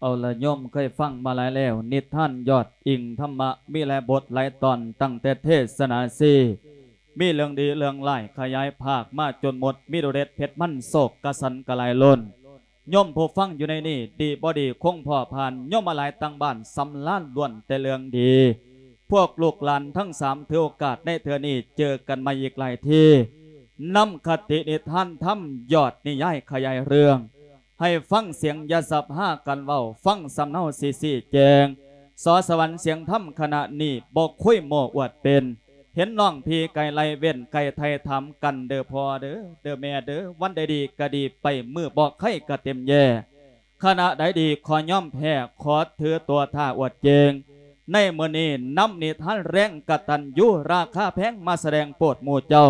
ເອົາລະ ໂຍມເຄີຍຟັງມາຫຼາຍແລ້ວ ນິທານຍອດອີງທຳມະ ມີຫຼາຍບົດຫຼາຍຕອນ ຕັ້ງແຕ່ເທສະໜາສີ່ ມີເລື່ອງດີເລື່ອງຮ້າຍ ຂະຫຍາຍພາກມາຈົນໝົດ ມີດູເດັດເຜັດມັນ ໂຊກກະສັນກະຫຼາຍລົ້ນ. ໂຍມຜູ້ຟັງຢູ່ໃນນີ້ ດີບໍ່ດີຄົງພໍຜ່ານ ໂຍມມາຫຼາຍຕ່າງບ້ານ ສຳລານລ້ວນແຕ່ເລື່ອງດີ. ພວກລູກຫຼານທັງສາມ ຖືໂອກາດໃນເທື່ອນີ້ ເຈີກັນໃໝ່ອີກຫຼາຍທີ ນຳຄະຕິນິທານທຳ ຍອດນິຍາຍຂະຫຍາຍເລື່ອງ ໃຫ້ຟັງສຽງຢ່າສັບຫາກັນເວົ້າ ຟັງສຳເນົາຊິຊີ້ແຈງ. ສອສະຫວັນສຽງທຳຄະນະນີ້ ບໍ່ຄຸຍໂມ້ອວດເປັນ ເຫັນນ້ອງພີ່ໄກ່ໄລ່ເວັ້ນ ໄກ່ໄຖ່ຖາມກັນເດີພໍ່ເດີ ເດີແມ່ເດີ ວັນໃດດີກະດີໄປ ມື້ບໍ່ໄຄກະເຕັມແຢ່ ຄະນະໃດດີຂໍຍອມແພ້ ຂໍຖືຕົວຖ້າອວດເກັ່ງ ໃນມື້ນີ້ນຳນິທານແຮງກະຕັນຍູ ລາຄາແພງ ມາສະແດງໂປດໝູ່ເຈົ້າ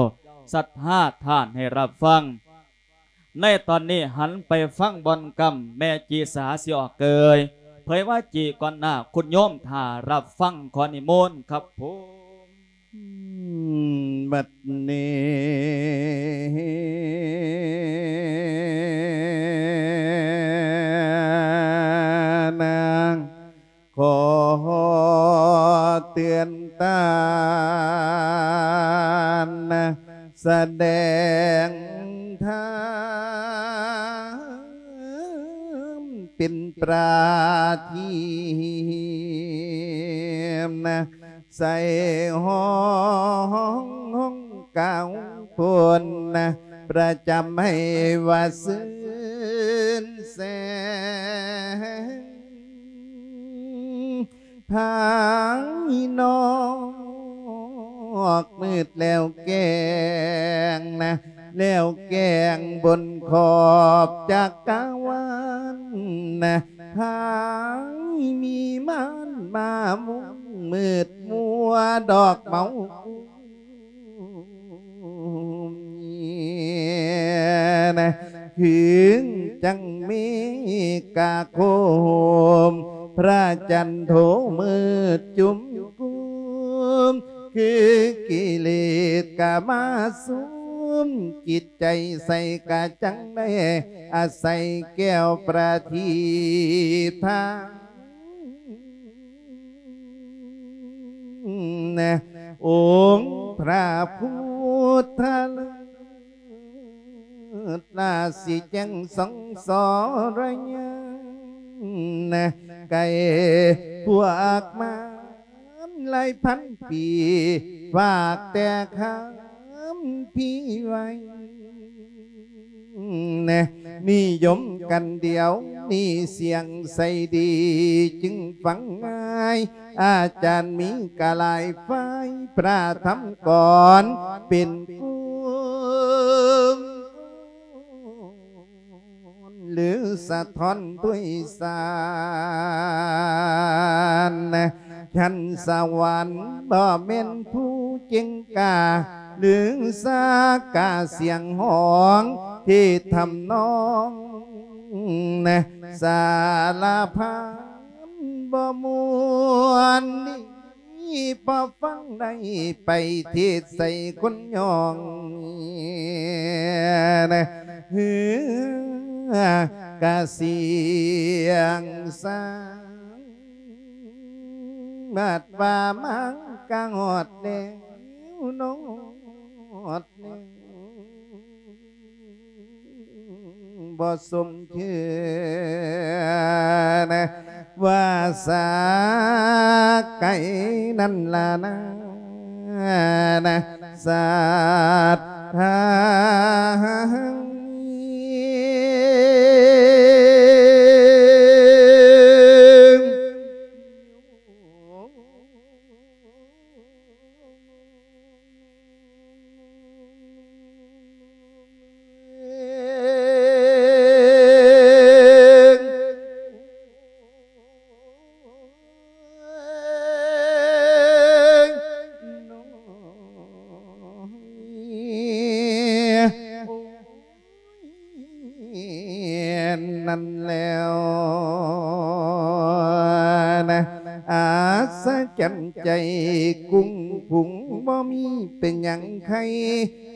ສັດທາທ່ານໃຫ້ຮັບຟັງ. ໃນຕອນນີ້ຫັນໄປຟັງບ່ອນກຳ ແມ່ຈີສາຊິອອກເກີຍ ເຜີຍວ່າຈີກ່ອນໜ້າ ຄຸນໂຍມຖ້າຮັບຟັງ ຂໍນິມົນຄັບຜົມ. ບັດນີ້ນາງ ຂໍເຕືອນຕານ ສະແດງທຳເປັນປະທີບ ໃສ່ຫ້ອງກາວໂພນ ປະຈຳໃຫ້ວ່າຊື່ນແສງ ພາຍນອກມືດແລ້ວແຈ້ງນະ ແລ້ວແຈ້ງບົນຂອບຈັກກະວານນະ ພາຍມີມານມາມຸງ ມືດມົວດອກເມົາ ນະ ເຖິງຈັ່ງມີກາໂຄມ ພະຈັນໂທມືດຈຸ້ມກຸມ ຄືກິເລດກະມາສຸມ ຈິດໃຈໃສກະຈັ່ງໄດ້ອາໄສແກ້ວປະທີບທາ ອົງພະພຸດທະເລີດ ລາຊິແຈ້ງສ່ອງສອລະຍານ ໄກ່ພວກມານຫຼາຍພັນປີ ຝາກແຕ່ຄຳພີໄວ້ ນະ ນິຍົມກັນດຽວນີ້ ສຽງໃສດີຈຶ່ງຟັງງ່າຍ ອາຈານມີກະຫຼາຍຝ່າຍ ພະທຳກອນເປັນກຸນ ຫຼືສະທ້ອນດ້ວຍສານ ຊັ້ນສະຫວັນບໍ່ແມ່ນຜູ້ເກັ່ງກ້າ ຫຼືສາກາສຽງຮ້ອງທີ່ທຳນອງ ສາລະພັນບໍ່ມ່ວນ ນີ້ພໍຟັງໄດ້ໄປເທດໃສ່ຄົນຍອງ ເຮືອກະສຽງສາງ ບາດວ່າມາກະຮອດແລ້ວ ຮອດແລ້ວ ບໍ່ສົມເທື່ອນະ ວ່າສາໄກນັ້ນລະນາ ນະ ສັດທານັ້ນແລ້ວນະ ອັດສະຈັນໃຈກຸ້ງກຸງ ບໍ່ມີເປັນຫຍັງໄຄ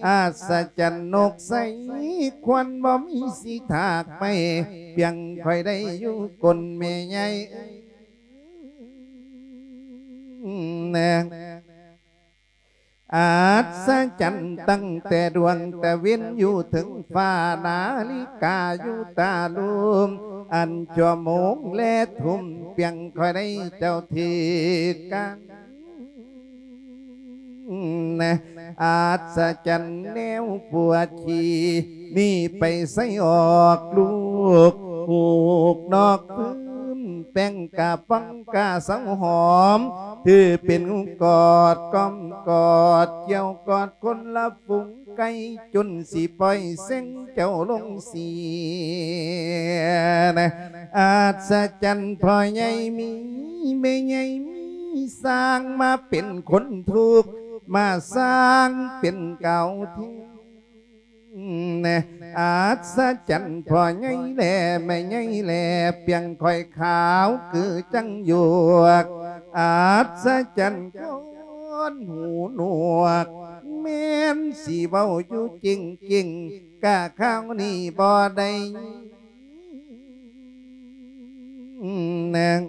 ອັດສະຈັນນົກໃສຄວັນ ບໍ່ມີສີຖາກໄມ້ ປຽງຂ້ອຍໄດ້ຢູ່ກົ້ນແມ່ໃຫຍ່ເອີຍ ອັດສະຈັນຕັ້ງແຕ່ດວງຕາເວັນຢູ່ເທິງຟ້າ ນາລິກາຢູ່ຕາລຸ່ມ ອັນຊົ່ວໂມງແລທຸ່ມ ປຽງຂ້ອຍໄດ້ເຈົ້າຖືກກັນ ອັດສະຈັນແນວປົວຂີ້ ນີ້ໄປໃສອອກລູກ ຫູກນອກພື້ນ ແປ້ງກະປ່ອງກະເຊົາຫອມ ຖືເປັນກອດ ກ້ອມກອດ ກ່ຽວກອດຄົນລະຝູງ ໃກ້ຈົນຊິປ່ອຍເສັງເຈົ້າລົງເສຍ ອັດສະຈັນພໍ່ໃຫຍ່ມີ ແມ່ໃຫຍ່ມີ ສ້າງມາເປັນຄົນທຸກ ມາສ້າງເປັນກາວເທັງ ອັດສະຈັນພໍ່ໃຫຍ່ແລ ແມ່ໃຫຍ່ແລ ປຽງຂ້ອຍຂາວຄືຈັງຢວກ ອັດສະຈັນຄົນຫູໜວກ ແມ່ນຊິເວົ້າຢູ່ຈິງໆ ກະຄາວນີ້ບໍ່ໄດ້ຍິນ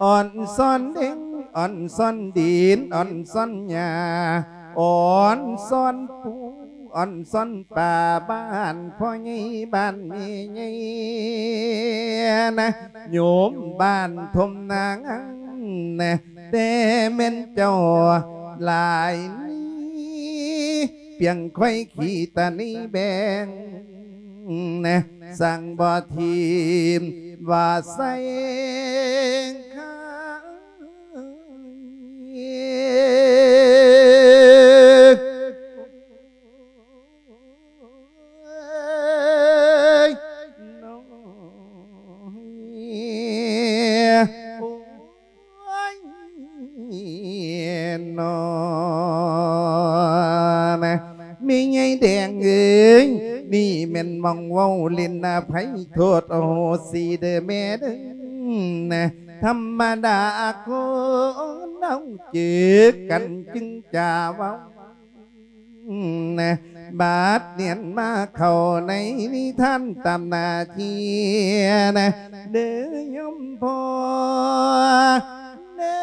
ອ່ອນຊອນດິນ ອ່ອນຊອນດິນ ອ່ອນຊອນຫຍ້າ ອ່ອນຊອນປູ ອ່ອນຊອນປາ ບ້ານພໍ່ໃຫຍ່ ບ້ານແມ່ໃຫຍ່ນະ ໂຍມບ້ານທົ່ມນາງນະ ແຕ່ແມ່ນເຈົ້າຫຼາຍນີ້ ປຽງຂ້ອຍຂີ້ຕານີ້ແບ່ງ ສັ່ງບໍ່ທີມວ່າໃສ່ຂາຍ ໂອ້ຍ ນອນ ແມ່ໃຫຍ່ແດງເອີຍ ນີ້ແມ່ນໝ່ອງເວົ້າຫຼິ້ນ ອະໄພໂທດໂອໂຫສີເດີແມ່ເດີ ທຳມະດາຄົນເຮົາຈື່ກັນຈຶ່ງຈະເວົ້າ ບາດນຽນມາເຂົ້າໃນນິທານຕາມໜ້າທີ່ນະ ເດີໂຍມພໍ່ ເດີ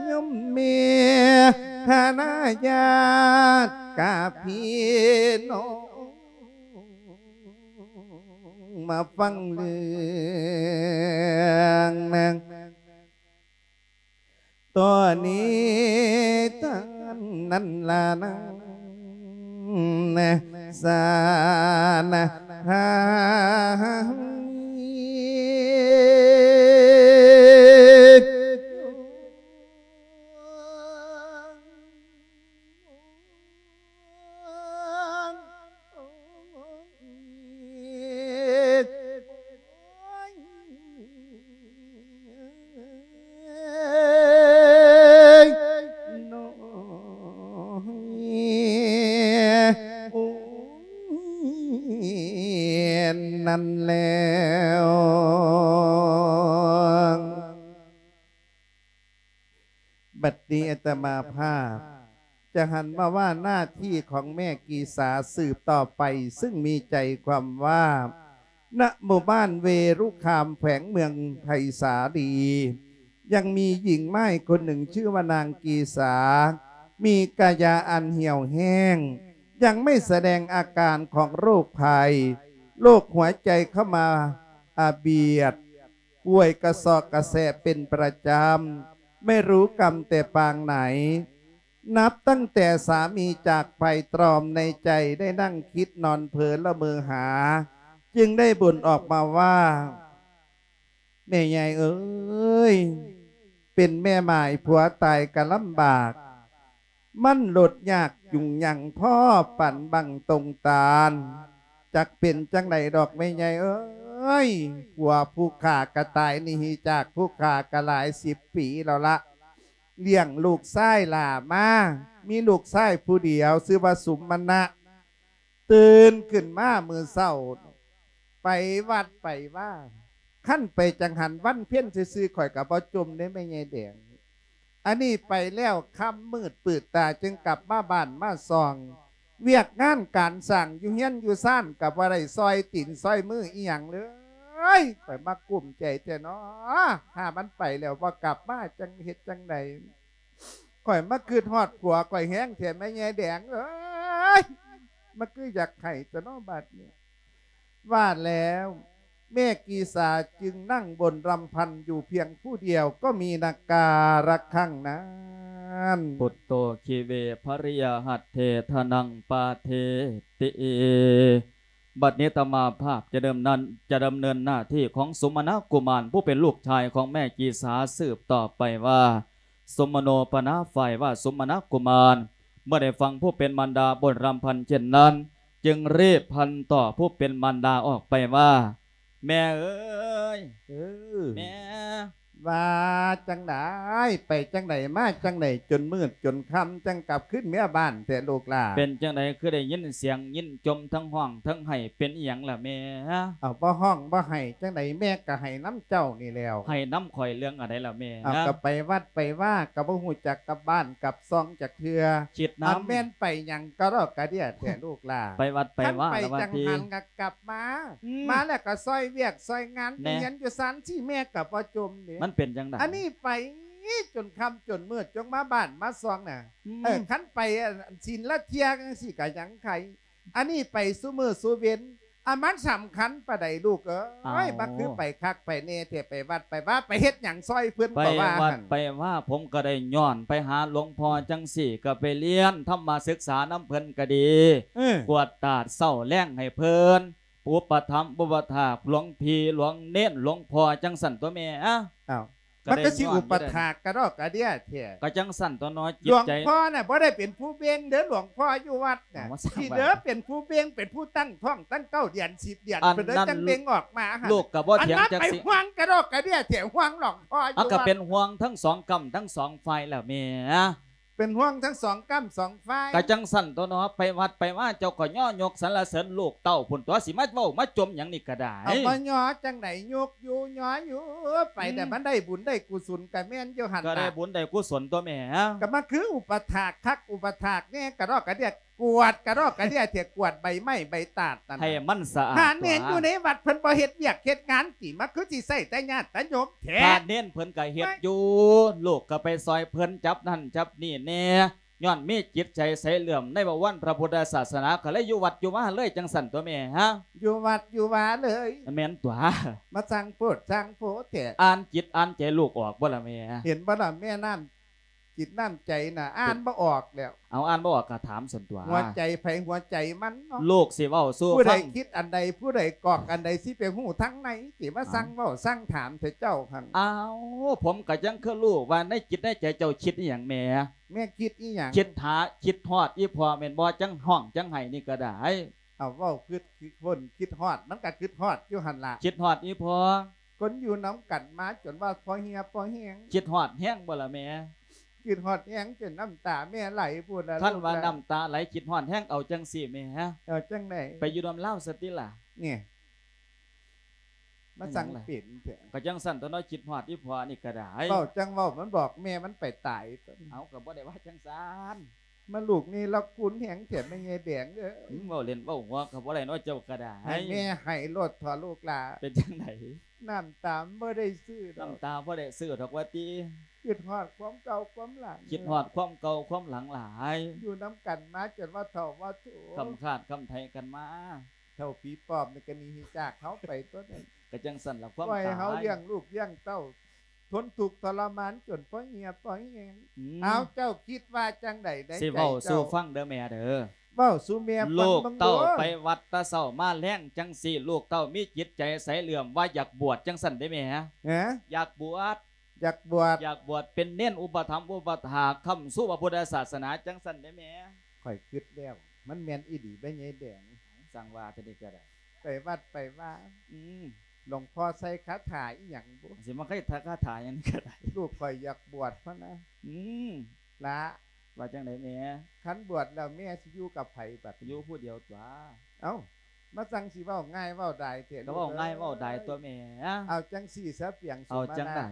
ໂຍມແມ່ ຄະນະຍາດກະພີ່ນ້ອງ ມາຟັງເລື່ອງນາງ ຕອນນີ້ທ່ານນັ້ນລະນາງ ສານະຫານັ້ນແລ້ວ ບັດນີ້ອາດຕະມາພາບຈະຫັນມາວ່າໜ້າທີ່ຂອງແມ່ກີສາສືບຕໍ່ໄປ ຊຶ່ງມີໃຈຄວາມວ່າ ນະໝູ່ບ້ານເວລຸຄາມ ແຂວງເມືອງໄຜ່ສາລີ ຍັງມີຍິງມ້າຍຄົນໜຶ່ງ ຊື່ວ່ານາງກີສາ ມີກາຍາອັນຫ່ຽວແຫ້ງ ຍັງໄມ່ສະແດງອາການຂອງໂລກໄພ ໂລກຫົວໃຈເຂົ້າມາອາບຽດ ປ່ວຍກະຊອກກະແສເປັນປະຈຳ ໄມ່ຮູ້ກຳແຕ່ປາງໃດ. ນັບຕັ້ງແຕ່ສາມີຈາກໄປ ຕຣອມໃນໃຈໄດ້ນັ່ງຄິດນອນເພີລະເມີຫາ ຈຶ່ງໄດ້ບົ່ນອອກມາວ່າ ແມ່ໃຫຍ່ເອີຍ ເປັນແມ່ໝ້າຍຜົວຕາຍກະລຳບາກ ມັນໂລດຍາກຈຸງຍັງພໍປານບັ້ງຕົງຕານ ຈັກເປັນຈັ່ງໃດດອກແມ່ໃຫຍ່ເອີຍ ຜົວຜູ້ຂ້າກະຕາຍໜີຈາກຜູ້ຂ້າກະຫຼາຍສິບປີແລ້ວລະ ລ້ຽງລູກຊາຍຫຼ້າມາ ມີລູກຊາຍຜູ້ດຽວຊື່ວ່າສຸມມະນະ ຕື່ນຂຶ້ນມາມື້ເຊົ້າ ໄປວັດໄປວາ ຄັນໄປຈັງຫັນວັນເພັນຊື່ໆ ຂ້ອຍກະບໍ່ຈົ່ມເດ້ແມ່ໃຫຍ່ແດງ ອັນນີ້ໄປແລ້ວຄ່ຳມືດປືດຕາຈຶ່ງກັບມາບ້ານມາຊ່ອງ ວຽກງານການສ້າງຢູ່ເຮືອນຢູ່ຊານກໍບໍ່ໄດ້ຊ່ອຍຕີນຊ່ອຍມືອີ່ຫຍັງເລີຍ. ຂ້ອຍມາກຸ້ມໃຈແທ້ເນາະ ຖ້າມັນໄປແລ້ວບໍ່ກັບມາ ຈັ່ງເຮັດຈັ່ງໃດ? ຂ້ອຍມາຄິດຮອດຜົວຂ້ອຍແຮງແທ້ ແມ່ໃຫຍ່ແດງເອີຍ ມັນຄືຢາກໄຫ້ແທ້ເນາະບາດນີ້. ວ່າແລ້ວ ແມ່ກີສາຈຶ່ງນັ່ງບົ່ນລຳພັນຢູ່ພຽງຜູ້ດຽວ ກໍມີນາກາລະຄັງນັ້ນ ພຸດໂຕ ຄີເວ ພະລິຍະຫັດເຖ ທະນັງ ປາເທຕິ. ບັດນີ້ອາດຕະມາພາບຈະດຳເນີນ ຈະດຳເນີນໜ້າທີ່ຂອງສຸມະນະກຸມານ ຜູ້ເປັນລູກຊາຍຂອງແມ່ກີສາ ສືບຕໍ່ໄປວ່າ ສຸມະໂນປະນາ ຝ່າຍວ່າສຸມະນະກຸມານ ເມື່ອໄດ້ຟັງຜູ້ເປັນມານດາບົ່ນລຳພັນເຊັ່ນນັ້ນ ຈຶ່ງຣີບພັນຕໍ່ຜູ້ເປັນມານດາອອກໄປວ່າ ແມ່ເອີຍ ເອີ ແມ່ ວ່າຈັ່ງໃດ? ໄປຈັ່ງໃດມາຈັ່ງໃດ ຈົນມືດຈົນຄ່ຳຈັ່ງກັບຄືນເມືອບ້ານແທ້ລູກຫຼ້າ? ເປັນຈັ່ງໃດຄືໄດ້ຍິນສຽງຍິນຈົ່ມ ທັງຮ້ອງທັງໄຫ້ ເປັນອີ່ຫຍັງລະແມ່? ເອົາ ບໍ່ຮ້ອງບໍ່ໄຫ້ຈັ່ງໃດ ແມ່ກໍໄຫ້ນຳເຈົ້ານີ້ແລ້ວ. ໄຫ້ນຳຂ້ອຍເລື່ອງອັນໃດລະແມ່? ເອົາ ກໍໄປວັດໄປວາກໍບໍ່ຮູ້ຈັກກັບບ້ານກັບຊ່ອງຈັກເທື່ອ ຄິດນຳ ອັນແມ່ນໄປຫຍັງກະດອກກະເດຽແທ້ລູກຫຼ້າ? ໄປວັດໄປວາ ຄັນໄປຈັ່ງຫັ້ນກໍກັບມາ ອືມ ມາແລ້ວກໍຊ່ອຍວຽກຊ່ອຍງານ ແນ່ ຢູ່ເຮືອນຢູ່ຊານ ຊິແມ່ກໍບໍ່ຈົ່ມເດ້. ມັນເປັນຈັ່ງໃດ? ອັນນີ້ໄປຈົນຄ່ຳຈົນມືດ ຈົ່ງມາບ້ານມາຊ່ອງນະ ອືມ ເອີ ຄັນໄປ ອັນ ສິນລະເທື່ອຈັ່ງຊີ້ກໍຍັງໄຄ ອັນນີ້ໄປຊຸມື້ຊຸເວັນ ອັນມັນສຳຄັນປານໃດລູກເອີຍ? ເອົ້າ ມັນຄືໄປຄັກໄປແນ່ແທ້ ໄປວັດໄປວາ ໄປເຮັດຫຍັງຊ່ອຍເພິ່ນ ໄປວັດໄປວາ ເພາະວ່າຫັ້ນ ໄປວາ ຜົມກໍໄດ້ຍ້ອນໄປຫາຫຼວງພໍ່ຈັ່ງຊີ້ ກໍໄປຮຽນທຳມະສຶກສານຳເພິ່ນກໍດີ ເອີ ກວດຕາເຊົ້າແລງໃຫ້ເພິ່ນ ອຸປະຖຳອຸປະຖາກຫຼວງພີ່ຫຼວງເນນຫຼວງພໍ່ຈັ່ງຊັ້ນຕົວະແມ່. ອ້າວ ມັນກໍຊິອຸປະຖາກກະດອກກະເດຍແທ້ ກໍຈັ່ງຊັ້ນຕົວະເນາະ ຈິດໃຈ ຫຼວງພໍ່ນະບໍ່ໄດ້ເປັນຜູ້ເບັ່ງເດີ ຫຼວງພໍ່ຢູ່ວັດນະ ຊິເດີເປັນຜູ້ເບັ່ງ ເປັນຜູ້ຕັ້ງທ້ອງຕັ້ງເກົ້າເດືອນສິບເດືອນ ອັນນັ້ນເພິ່ນເດີຈັ່ງເບັ່ງອອກມາ ລູກກໍບໍ່ຖຽງຈັກຊິ ອັນນັ້ນໄປຫ່ວງກະດອກກະເດຍແທ້ ຫ່ວງຫຼວງພໍ່ຢູ່ວັດ ກໍເປັນຫ່ວງທັງສອງກ້ຳທັງສອງຝ່າຍແລ້ວແມ່. ເປັນຫ່ວງທັງສອງກ້ຳສອງຝ່າຍ ກະຈັ່ງຊັ້ນຕົວະເນາະ ໄປວັດໄປວາເຈົ້າກໍຍໍຍົກສັນລະເສີນລູກເຕົ້າພຸ້ນຕົວະ ຊິມາເວົ້າມາຈົ່ມຫຍັງນີ້ກໍໄດ້. ເອົາມາຍໍຈັ່ງໃດ ຍົກຢູ່ຍໍຢູ່ ໄປແຕ່ ອືມ ມັນໄດ້ບຸນໄດ້ກຸສົນກະແມ່ນຢູ່ຫັ້ນລະ ກໍໄດ້ບຸນໄດ້ກຸສົນຕົວະແມ່ ກໍມາຄືອຸປະຖາກຄັກອຸປະຖາກແນ່ ກະດອກກະເດຍ ກວດກະດອກກະເດຍແທ້ ກວດໃບໄມ້ໃບຕາດນັ້ນ ໃຫ້ມັນສະອາດ ພະເນນຢູ່ໃນວັດເພິ່ນບໍ່ເຮັດວຽກເຮັດງານຕິ ມາຄືຊິໃຊ້ແຕ່ຍາດຕະໂຍມແທ້? ພະເນນເພິ່ນກໍເຮັດຢູ່ ເອີຍ ລູກກໍໄປຊ່ອຍເພິ່ນຈັບນັ້ນຈັບນີ້ແນ່ ຍ້ອນມີຈິດໃຈໃສເຫຼື້ອມໃນບະວອນພະພຸດທະສາສະໜາ ກໍເລີຍຢູ່ວັດຢູ່ວາເລີຍ ຈັ່ງຊັ້ນຕົວະແມ່. ຢູ່ວັດຢູ່ວາເລີຍ ແມ່ນຕົວະ ມາສ້າງໂພດສ້າງໂພແທ້ ອ່ານຈິດອ່ານໃຈລູກອອກບໍ່ລະແມ່? ເຫັນບໍ່ລະແມ່ ນ້ຳ ຈິດນ້ຳໃຈນະ ອ່ານບໍ່ອອກແລ້ວ. ເອົາ ອ່ານບໍ່ອອກກໍຖາມຊັ້ນຕົວະ ຫົວໃຈໃຜຫົວໃຈມັນເນາະ ລູກຊິເວົ້າສູ່ຟັງ ຜູ້ໃດຄິດອັນໃດ ຜູ້ໃດກອກອັນໃດ ຊິໄປຮູ້ທາງໃນຕິ ມາ ເອົ້າ ສັ່ງເວົ້າສັ່ງຖາມແທ້ເຈົ້າຫັ້ນ. ອ້າວ ຜົມກໍຍັງຄືຮູ້ວ່າໃນຈິດໃນໃຈເຈົ້າຄິດອີ່ຫຍັງແມ່? ແມ່ຄິດອີ່ຫຍັງ? ຄິດຫາ ຄິດຮອດອີ່ພໍ່ແມ່ນບໍ່? ຈັ່ງຮ້ອງຈັ່ງໄຫ້ນີ້ກໍໄດ້. ເອົາ ເວົ້າຄິດຄົນຄິດຮອດ ມັນກໍຄິດຮອດຢູ່ຫັ້ນລະ ຄິດຮອດອີ່ພໍ່ ຄົນຢູ່ນຳກັນມາຈົນວ່າພໍເຫຍພໍແຮງ ຄິດຮອດແຮງບໍ່ລະແມ່? ຄິດຮອດແຮງຈົນນ້ຳຕາແມ່ໄຫຼພຸ້ນລະ. ຄັນວ່າ ລູກລະ ນ້ຳຕາໄຫຼຄິດຮອດແຮງ ເອົາຈັ່ງຊີ້ແມ່ ເອົາຈັ່ງໃດ? ໄປຢູ່ນຳລາວຊະຕິລະ ນີ້ ມາສັ່ງເປັນແທ້ ກໍຈັ່ງຊັ້ນຕົວະເນາະ ຄິດຮອດອີ່ພໍ່ນີ້ກໍໄດ້. ເວົ້າຈັ່ງເວົ້າ ມັນບອກແມ່ມັນໄປຕາຍ. ເອົາ ກໍບໍ່ໄດ້ວ່າຈັ່ງຊັ້ນ ມາລູກນີ້ລະຄູນແຮງແທ້ແມ່ໃຫຍ່ແດງເອີຍ. ອືມ ເວົ້າຫຼິ້ນເວົ້າຫົວກໍບໍ່ໄດ້ເນາະ ເຈົ້າກໍໄດ້ ໃຫ້ແມ່ໄຫ້ໂລດເຖາະລູກຫຼ້າ. ເປັນຈັ່ງໃດ? ນ້ຳຕາບໍ່ໄດ້ຊື້ດອກ ນ້ຳຕາບໍ່ໄດ້ຊື້ດອກວ່າຕິ ຄິດຮອດຄວາມເກົ່າຄວາມຫຼັງ ຄິດຮອດຄວາມເກົ່າຄວາມຫຼັງຫຼາຍ ຢູ່ນຳກັນມາຈົນວ່າເຖົ້າວ່າໂຖ ຄຳຄາດຄຳໄຖກັນມາ ເຖົ້າຜີປອບນີ້ກໍໜີຈາກເຮົາໄປຕົວະນັ້ນ. ກໍຈັ່ງຊັ້ນລະ ຄວາມຕາຍ ປ່ອຍເຮົາລ້ຽງລູກລ້ຽງເຕົ້າ ທົນທຸກທໍລະມານຈົນພໍເຫຍພໍແຮງ. ອືມ ເອົາ ເຈົ້າຄິດວ່າຈັ່ງໃດໃນໃຈເຈົ້າ? ຊິເວົ້າສູ່ຟັງເດີແມ່ເດີ ເວົ້າສູ່ແມ່ຟັງເບິ່ງດູ. ລູກເຕົ້າໄປວັດແຕ່ເຊົ້າມາແລງຈັ່ງຊີ້ ລູກເຕົ້າມີຈິດໃຈໃສເຫຼື້ອມວ່າຢາກບວດຈັ່ງຊັ້ນເດ້ແມ່? ຮະ? ຢາກບວດ ຢາກບວດ ຢາກບວດເປັນເນນອຸປະຖຳອຸປະຖາກຄ້ຳຊູພະພຸດທະສາສະໜາຈັ່ງຊັ້ນເດ້ແມ່? ຂ້ອຍຄິດແລ້ວ ມັນແມ່ນອີ່ຫຼີແມ່ໃຫຍ່ແດງ. ສັ່ງວ່າແຕ່ນີ້ກໍໄດ້ ໄປວັດໄປວາ ອືມ ຫຼວງພໍ່ໃສ່ຄາຖາອີ່ຫຍັງບຸ ຊິມາໃສ່ຄາຖາຫຍັງນີ້ກໍໄດ້. ລູກຂ້ອຍຢາກບວດພະນະ. ອືມ ລະ ວ່າຈັ່ງໃດແມ່? ຄັນບວດແລ້ວແມ່ຊິຢູ່ກັບໃຜບັດນີ້? ຢູ່ຜູ້ດຽວຕົວະ. ເອົ້າ ມາສັ່ງຊິເວົ້າງ່າຍເວົ້າດາຍແທ້ ກໍເວົ້າງ່າຍເວົ້າດາຍຕົວະແມ່. ເອົາຈັ່ງຊີ້ຊະ ປຽງສຸມາລາ ເອົາຈັ່ງໃດ?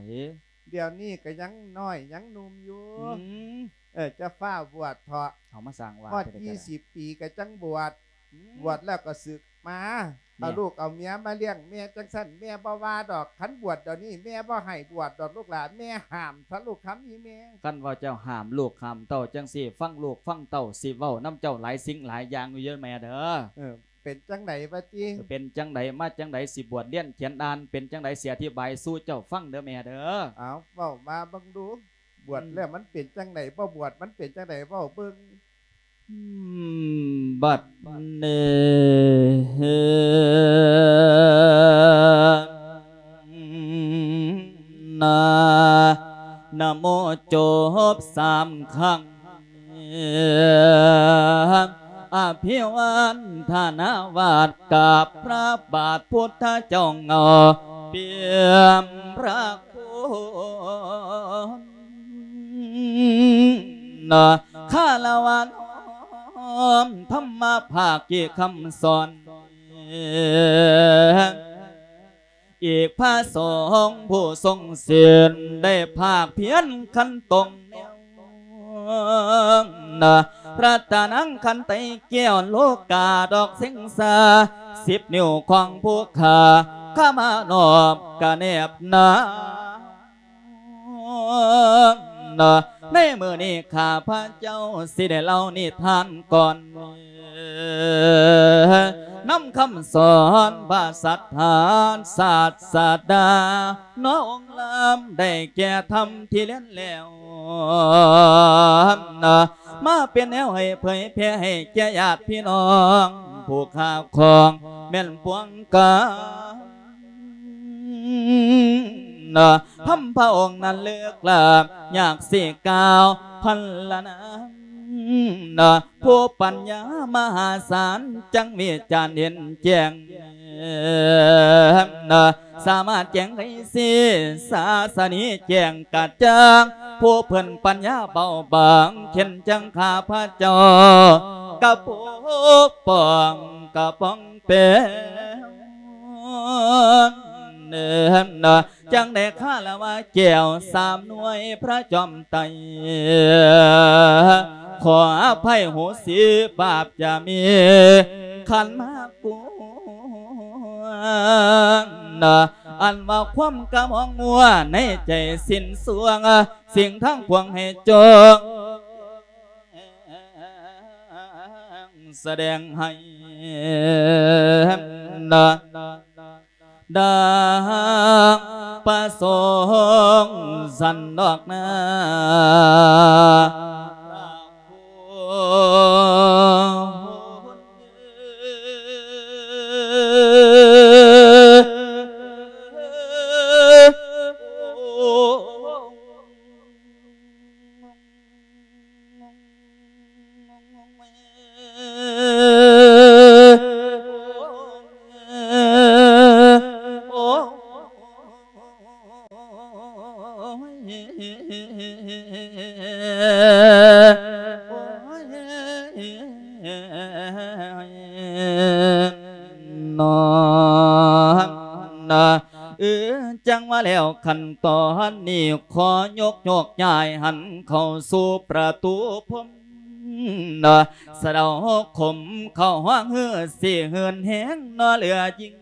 ດຽວນີ້ກໍຍັງນ້ອຍຍັງໜຸ່ມຢູ່. ອືມ ເອີ ຈະຟ້າວບວດເຖາະ. ເອົາມາສ້າງວ່າ ຮອດ ແຕ່ໃດກໍໄດ້ ຊາວປີກໍຈັ່ງບວດ. ອືມ ບວດແລ້ວກໍສຶກມາ. ແມ່ ເອົາລູກເອົາເມຍມາລ້ຽງແມ່ຈັ່ງຊັ້ນ ແມ່ບໍ່ວ່າດອກ. ຄັນບວດດຽວນີ້ແມ່ບໍ່ໃຫ້ບວດດອກລູກຫຼານ ແມ່ຫ້າມຊະລູກຄຳ ອີ່ແມ່. ຄັນວ່າເຈົ້າຫ້າມລູກຫ້າມເຕົ້າຈັ່ງຊີ້ ຟັງລູກຟັງເຕົ້າຊິເວົ້ານຳເຈົ້າຫຼາຍສິ່ງຫຼາຍຢ່າງຢູ່ເດີແມ່ເດີ. ເອີ ເປັນຈັ່ງໃດວະຕິ? ເປັນຈັ່ງໃດມາຈັ່ງໃດ ຊິບວດຮຽນຂຽນອ່ານ ເປັນຈັ່ງໃດ ຊິອະທິບາຍສູ່ເຈົ້າຟັງເດີແມ່ເດີ. ເອົາ ເວົ້າມາເບິ່ງດູ ບວດ ອືມ ແລ້ວມັນເປັນຈັ່ງໃດ? ບໍ່ບວດມັນເປັນຈັ່ງໃດ? ເວົ້າເບິ່ງ. ອືມ ບັດນີ້ນະ ນະໂມຈົບສາມຄັ້ງ ອະພິວັນທະນາວາດກັບພະບາດພຸດທະເຈົ້າເງົາ ປ່ຽມພະຄຸນ ຄາລະວະນ້ອມທຳມະພາກີຄຳສອນ ອີກພະສົງຜູ້ຊົງສິນ ໄດ້ພາກພຽນຂັນຕົງແນວ ລັດຕະນັງຂັນໄຕແກ້ວ ໂລກາດອກເສັງສາ ສິບນິ້ວຂອງຜູ້ຂ້າ ຂ້າມານອບກະແນບໜາ ໃນມື້ນີ້ຂ້າພະເຈົ້າຊິໄດ້ເລົ່ານິທານກ່ອນ ນຳຄຳສອນພະສັດຖາສາດສະດາ ເນາະອົງລຳໄດ້ແກ່ທຳທີ່ລຽນແລ້ວ ມາເປັນແນວໃຫ້ເຜີຍແຜ່ໃຫ້ແກ່ຍາດພີ່ນ້ອງ ຜູ້ຂ້າຂອງແມ່ນປວງການ ທຳພະອົງນັ້ນເລິກລ້ຳ ຍາກຊິກ່າວພັນລະນາມ ຜູ້ປັນຍາມະຫາສານ ຈັ່ງວິຈານເຫັນແຈ້ງ ສາມາດແຈ້ງໄຂຊີ້ສາສະໜີແຈ້ງກະຈ່າງ ຜູ້ເພິ່ນປັນຍາເບົາບາງ ເຊັ່ນຈັ່ງຂ້າພະເຈົ້າ ກະປົກປ້ອງກະປ້ອງແປງ ຈັ່ງໄດ້ຄາລະວະແກ້ວສາມໜ່ວຍພະຈອມໄຕ ຂໍອະໄພໂຫສິບາບຈະມີຂັນມາກວນ ອັນວ່າຄວາມກະມອງມົວໃນໃຈສິ້ນສວງ ສິ່ງທັງປວງໃຫ້ຈົ່ງສະແດງໃຫ້ ດັ່ງປະສົງສັນດອກນາ. ເອີ ຈັ່ງວ່າແລ້ວຂັ້ນຕອນນີ້ ຂໍຍົກໂຍກຍ້າຍຫັນເຂົ້າສູ່ປະຕູພົມ ສະເດົາຄົມເຂົ້າຮ້ອງຮື ຊິເຫີນແຮງເນາະເຫຼືອຍິ່ງ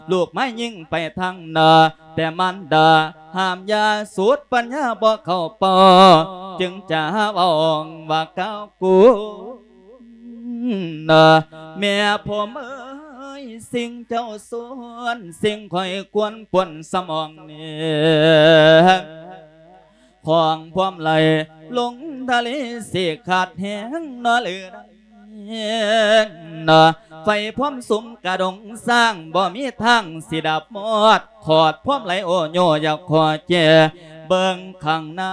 ລູກມາຍິງໄປທາງໜ້າ ແຕ່ມານດາຫ້າມຢ່າ ສຸດປັນຍາບໍ່ເຂົ້າເປົ້າ ຈຶ່ງຈະເວົ້າວ່າກ່າວກູ ນະ ແມ່ຜົມເອີຍ ສິ່ງເຈົ້າຊວນ ສິ່ງຂ້ອຍຄວນປ່ວນສະໝອງນີ້ ຂອງພວມໄຫຼລົງທະເລ ຊິຂາດແຮງເນາະ ຫຼື ນະ ໄຟພວມສຸມກະດົງສ້າງ ບໍ່ມີທາງຊິດັບມອດ ຂອດພວມໄຫຼໂອໂຍ ຢາກຂໍແຈເບິ່ງຂ້າງໜ້າ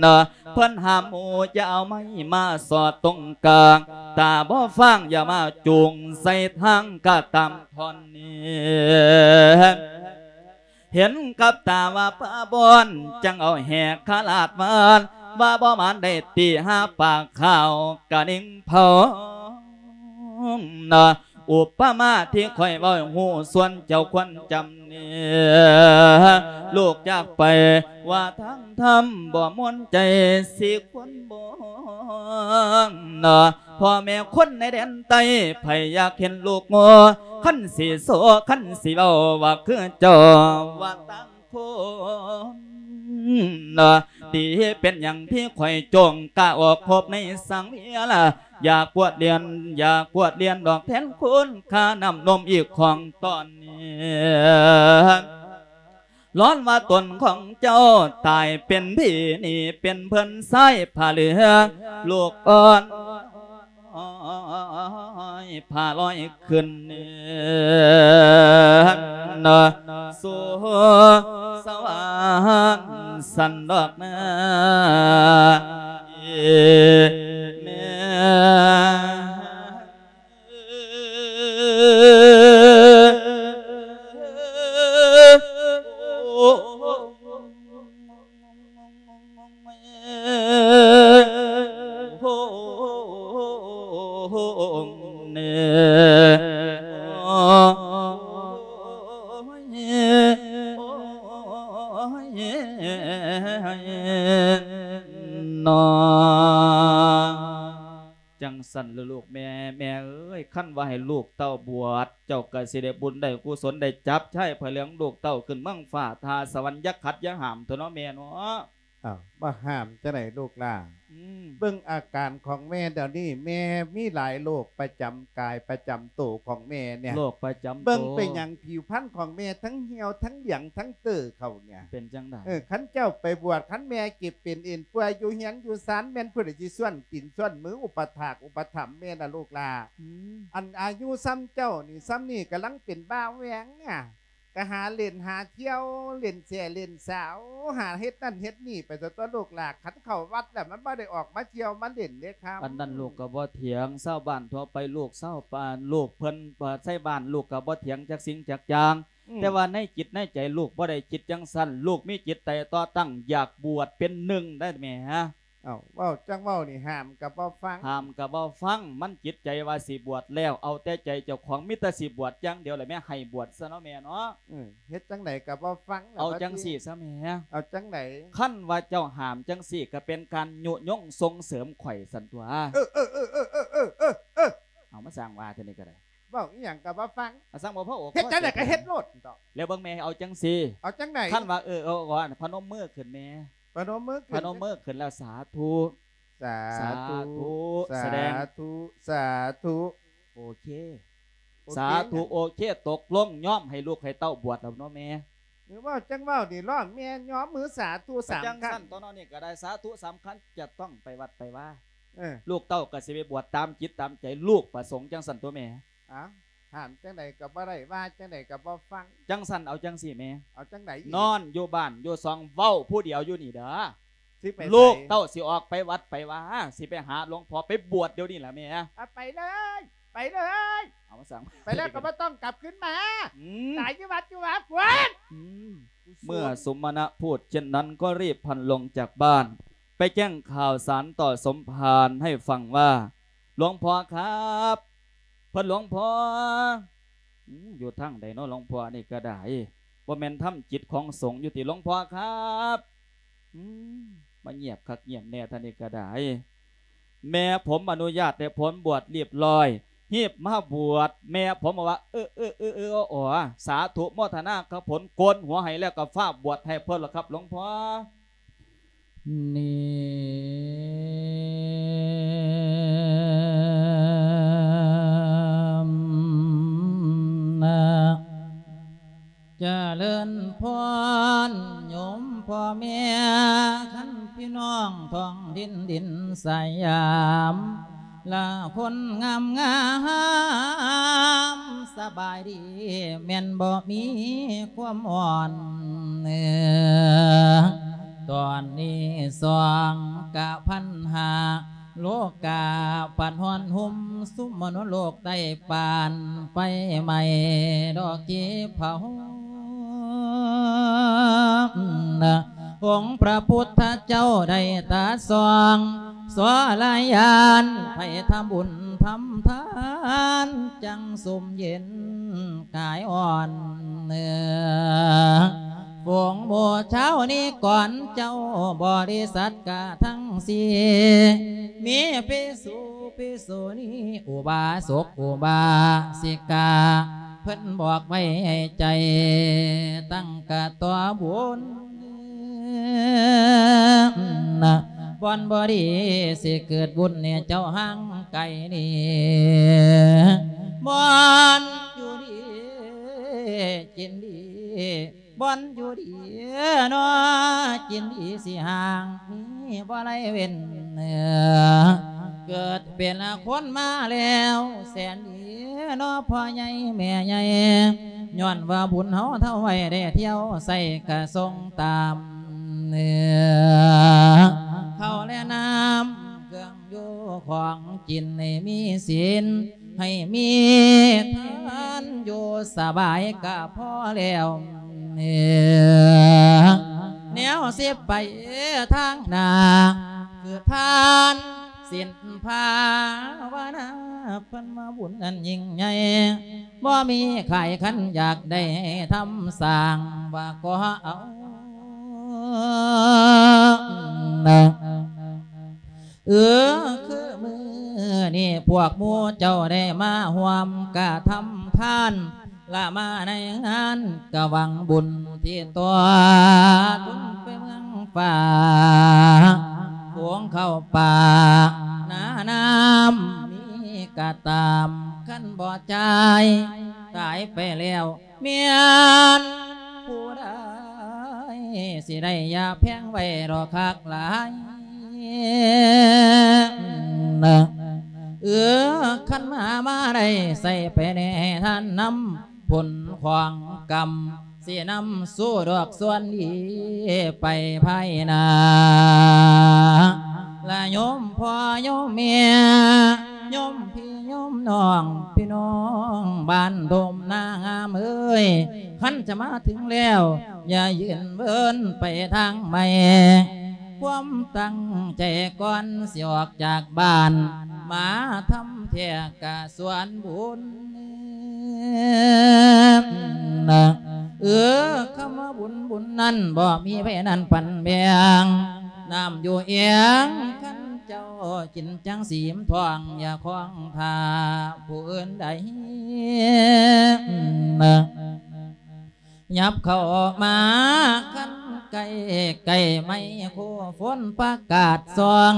ນະ ເພິ່ນຫ້າມໝູ່ຢ່າເອົາໄມ້ມາສອດຕົງກາງ ຕາບໍ່ຟາງຢ່າມາຈູງໃສ່ທາງກະຕາມທ່ອນນີ້ ເຫັນກັບຕາວ່າປາບ່ອນ ຈັ່ງເອົາແຫກຂະລາດວານ ວ່າບໍ່ໝານໄດ້ຕີຫາປາກຂາວກະນິງເຜົາ ນະ ອຸປະມາທີ່ຂ້ອຍເວົ້າ ຮູ້ສ່ວນເຈົ້າຄວນຈຳແນ ລູກຈາກໄປວ່າທາງທຳບໍ່ມ່ວນໃຈ ຊິຄວນບໍ່ ເນາະ ພໍ່ແມ່ຄົນໃນແດນໃຕ້ ໃຜຢາກເຫັນລູກງໍ ຄັນຊິໂຊ ຄັນຊິເວົ້າວ່າຄືເຈົ້າ ວ່າຕ່າງຄົນ ເນາະ ທີ່ເປັນຫຍັງທີ່ຂ້ອຍຈົ່ງກ້າອອກພົບໃນສັງວຽລາ ຢາກກວດລຽນ ຢາກກວດລຽນດອກແທນຄຸນຄ່ານ້ຳນົມອີກຂອງຕອນນີ້ ຮ້ອນວ່າຕົນຂອງເຈົ້າຕາຍເປັນຜີນີ້ ເປັນເພິ່ນຊາຍຜ້າເຫຼືອ ລູກອ່ອນຜ້າລອຍຂຶ້ນເໜືອ ສູ່ສະຫວ່າງຊັ້ນດອກນາ ແມ່ ເນາະ. ຈັ່ງຊັ້ນລະລູກແມ່ ແມ່ເອີຍ ຄັນວ່າໃຫ້ລູກເຕົ້າບວດ ເຈົ້າກໍຊິໄດ້ບຸນໄດ້ກຸສົນ ໄດ້ຈັບຊາຍຜ້າເຫຼືອງລູກເຕົ້າຂຶ້ນເມືອງຟ້າ ຖ້າສະຫວັນ ຢ່າຂັດຢ່າຫ້າມເຖາະເນາະແມ່ເນາະ. ອ້າວ ບໍ່ຫ້າມຈັ່ງໃດລູກຫຼ້າ ອືມ ເບິ່ງອາການຂອງແມ່ດຽວນີ້ ແມ່ມີຫຼາຍໂລກປະຈຳກາຍປະຈຳໂຕຂອງແມ່ເນຍ ໂລກປະຈຳໂຕ ເບິ່ງເປັນຫຍັງຜິວພັນຂອງແມ່ທັງຫ່ຽວທັງຫຼຽງທັງເຕີເຂົ້າ ເປັນຈັ່ງໃດ? ເອີ ຄັນເຈົ້າໄປບວດ ຄັນແມ່ເຈັບເປັນເອັນປ່ວຍຢູ່ເຮືອນຢູ່ຊານ ແມ່ນຜູ້ໃດຊິສ່ວນຕີນສ່ວນມືອຸປະຖາກອຸປະຖຳແມ່ນະລູກຫຼ້າ? ອືມ ອັນອາຍຸຊ່ຳເຈົ້ານີ້ ຊ່ຳນີ້ກຳລັງເປັນບ່າວແຫວ່ງອະ ກະຫາຫຼິ້ນຫາທ່ຽວ ຫຼິ້ນແຊເລ່ນສາວ ຫາເຮັດນັ້ນເຮັດນີ້ໄປຊະຕົວະລູກຫຼ້າ. ຄັນເຂົ້າວັດແລ້ວມັນບໍ່ໄດ້ອອກມາທ່ຽວມາຫຼິ້ນເດ້ຄຳ. ອັນນັ້ນລູກກໍບໍ່ຖຽງ ຊາວບ້ານທົ່ວໄປ ລູກຊາວບ້ານ ລູກເພິ່ນ ເອີ ໃສ່ບ້ານ ລູກກໍບໍ່ຖຽງຈັກສິ່ງຈັກຢ່າງ ອືມ ແຕ່ວ່າໃນຈິດໃນໃຈລູກບໍ່ໄດ້ຄິດຈັ່ງຊັ້ນ ລູກມີຈິດໃຈຕໍ່ຕັ້ງ ຢາກບວດເປັນໜຶ່ງໄດ້ແໝ. ເອົ້າ ເວົ້າຈັ່ງເວົ້ານີ້ ຫ້າມກໍບໍ່ຟັງ ຫ້າມກໍບໍ່ຟັງ ມັນຈິດໃຈວ່າຊິບວດແລ້ວ ເອົາແຕ່ໃຈເຈົ້າຂອງ ມີແຕ່ຊິບວດຢ່າງດຽວແຫຼະແມ່ ໃຫ້ບວດຊະເນາະແມ່ເນາະ. ເອີ ເຮັດຈັ່ງໃດກໍບໍ່ຟັງ ເອົາຈັ່ງຊີ້ຊະແມ່ ເອົາຈັ່ງໃດ? ຄັນວ່າເຈົ້າຫ້າມຈັ່ງຊີ້ ກໍເປັນການຍຸຍົງສົ່ງເສີມຂ້ອຍຊັ້ນຕົວະ. ເອີ ເອີ ເອີ ເອີ ເອີ ເອີ ເອີ ເອີ ເອົາມາສ້າງວ່າເທື່ອນີ້ກໍໄດ້ ເວົ້າອີ່ຫຍັງກໍບໍ່ຟັງ ອາ ສ້າງບໍ່ພໍອົກ ເຮັດຈັ່ງໃດກໍເຮັດໂລດ ແລ້ວເບິ່ງແມ່ ເອົາຈັ່ງຊີ້ ເອົາຈັ່ງໃດ? ຄັນວ່າ ເອີ ເອົາ ເອົາ ພະນົມມືຂຶ້ນແມ່ ພະນົມມືຂຶ້ນ ພະນົມມືຂຶ້ນແລ້ວ ສາທຸ ສາທຸ ສາທຸ ສາທຸ ສາທຸ ໂອເຄ ໂອເຄ ສາທຸ ໂອເຄ ຕົກລົງຍອມໃຫ້ລູກໃຫ້ເຕົ້າບວດແລ້ວເນາະແມ່. ເວົ້າຈັ່ງເວົ້ານີ້ ລ້ອງແມ່ຍອມມືສາທຸສາມຄັ້ງ ຈັ່ງຊັ້ນຕົວະເນາະ ນີ້ກໍໄດ້ ສາທຸສາມຄັ້ງ ຈະຕ້ອງໄປວັດໄປວາ ເອີ ລູກເຕົ້າກໍຊິໄປບວດຕາມຈິດຕາມໃຈລູກປະສົງ ຈັ່ງຊັ້ນຕົວະແມ່. ອ້າວ ຫ້າມຈັ່ງໃດກໍບໍ່ໄດ້ ວ່າຈັ່ງໃດກໍບໍ່ຟັງ ຈັ່ງຊັ້ນເອົາຈັ່ງຊີ້ແມ່ ເອົາຈັ່ງໃດອີກ? ນອນຢູ່ບ້ານຢູ່ຊ່ອງ ເວົ້າຜູ້ດຽວຢູ່ນີ້ເດີ ຊິໄປໃສ? ລູກເຕົ້າຊິອອກໄປວັດໄປວາ ຊິໄປຫາຫຼວງພໍ່ ໄປບວດດຽວນີ້ລະແມ່. ອາ ໄປເລີຍ ໄປເລີຍ ເອົາມາສັ່ງ ໄປແລ້ວກໍບໍ່ຕ້ອງກັບຄືນມາ ອືມ ຕາຍຢູ່ວັດຢູ່ວາພຸ້ນ. ອືມ ເມື່ອສົມມະນະພູດເຊັ່ນນັ້ນ ກໍຣີບພັນລົງຈາກບ້ານ ໄປແຈ້ງຂ່າວສານຕໍ່ສົມພານໃຫ້ຟັງວ່າ ຫຼວງພໍ່ຄັບ ເພິ່ນ ຫຼວງພໍ່ ອືມ ຢູ່ທາງໃດເນາະ ຫຼວງພໍ່ ອັນນີ້ກໍໄດ້ ບໍ່ແມ່ນທຳຈິດຂອງສົງຢູ່ຕິ ຫຼວງພໍ່ຄັບ ອືມ ມາງຽບຄັກງຽບແນ່ ທ່ານນີ້ກໍໄດ້. ແມ່ຜົມອະນຸຍາດໃຫ້ຜົມບວດລຽບລ້ອຍ ຮີບມາບວດ ແມ່ຜົມວ່າ ເອີ ເອີ ເອີ ເອີ ອໍ ສາທຸໂມທະນາກັບຜົມ ໂກນຫົວໃຫ້ແລ້ວກໍຟ້າວບວດໃຫ້ເພິ່ນລະຄັບ ຫຼວງພໍ່. ນີ້ນະ ຈະເລີນພອນໂຍມພໍ່ແມ່ ຄັນພີ່ນ້ອງທ້ອງຖິ່ນດິນສະຫຍາມ ລະຄົນງາມໆ ສະບາຍດີແມ່ນບໍ່ມີຄວາມອ່ອນ ເອີ ຕອນນີ້ສອງກະພັນຫ້າ ໂລກາພັດຮ້ອນຮຸ່ມ ຊຸມມະນຸດໂລກໃຕ້ປານໄຟໄໝ້ ດອກກີເຜົາ ອົງພຣະພຸດທະເຈົ້າໄດ້ຕາສ່ອງ ສວລະຍານ ໃຜທຳບຸນທຳທານ ຈັ່ງຊຸ່ມເຢັນກາຍອ່ອນເໜືອ ຝູງໝູ່ຊາວນິກອນເຈົ້າບໍລິສັດກະທັງສີ່ ມີພິສຸພິສຸນີ ອຸບາສົກອຸບາສິກາ ເພິ່ນບອກໄວ້ໃຫ້ໃຈຕັ້ງກະຕໍ່ບຸນ ບ່ອນບໍ່ດີຊິເກີດວຸ່ນເຈົ້າຫ່າງໄກນີ້ ບ່ອນຢູ່ດີກິນດີ ບ່ອນຢູ່ດີເນາະ ກິນດີຊິຫ່າງມີບໍ່ໄດ້ເວັ້ນ ເກີດເປັນຄົນມາແລ້ວແສນດີເນາະ ພໍ່ໃຫຍ່ແມ່ໃຫຍ່ ຍ້ອນວ່າບຸນເຮົາເທົ່າໄວ້ໄດ້ທ່ຽວໃສ່ກະຊົງຕາມ ເຂົ້າແລະນ້ຳເຄື່ອງ ຢູ່ຂອງກິນໃຫ້ມີສິນ ໃຫ້ມີທານ ຢູ່ສະບາຍກະພໍແລ້ວ ແນວຊິໄປທາງໜ້າ ຄືທານສິນພາວະນາ ເພິ່ນວ່າບຸນອັນຍິ່ງໃຫຍ່ ບໍ່ມີຂາຍ ຄັນຢາກໄດ້ທຳສ້າງ ວ່າກໍເອົາ ເອີ ຄືມື້ນີ້ພວກໝູ່ເຈົ້າໄດ້ມາຮ່ວມກະທຳທານ ລະມາໃນງານກະຫວັງບຸນທີ່ຕໍ່ ທຸນໄປເມືອງຟ້າ ໂຂງເຂົ້າປ່ານານ້ຳມີກະຕາມ ຄັນບໍ່ຈ່າຍຕາຍໄປແລ້ວ ແມ່ນຜູ້ໃດຊິໄດ້ຢ່າແພງໄວ້ດອກຄັກຫຼາຍ ເອີ ຄັນມາ ມາໄດ້ໃສ່ໄປແດ່ທ່ານນຳ ຜົນຂອງກຳ ຊິນຳສູ່ດອກສ່ວນດີໄປພາຍໜ້າ ລະໂຍມພໍ່ໂຍມແມ່ ໂຍມພີ່ໂຍມນ້ອງ ພີ່ນ້ອງບ້ານດົມນາງາມເອີຍ ຄັນຈະມາເຖິງແລ້ວ ຢ່າຢືນເວີນໄປທາງໃໝ່ ຄວາມຕັ້ງໃຈກ່ອນຊິອອກຈາກບ້ານ ມາທຳແທ້ກະສວນບຸນ ເອີ ຄຳວ່າບຸນ ບຸນນັ້ນບໍ່ມີໃຜນັ້ນປັນແບ່ງ ນ້ຳຢູ່ເອງ ຄັນເຈົ້າກິນຈັ່ງສີມທ້ອງ ຢ່າຄອງຖ້າຜູ້ອື່ນໃດ ຫຍັບເຂົ້າມາຄັນໃກ້ ໃກ້ໄມ້ໂຄຝົນປະກາດສ່ອງ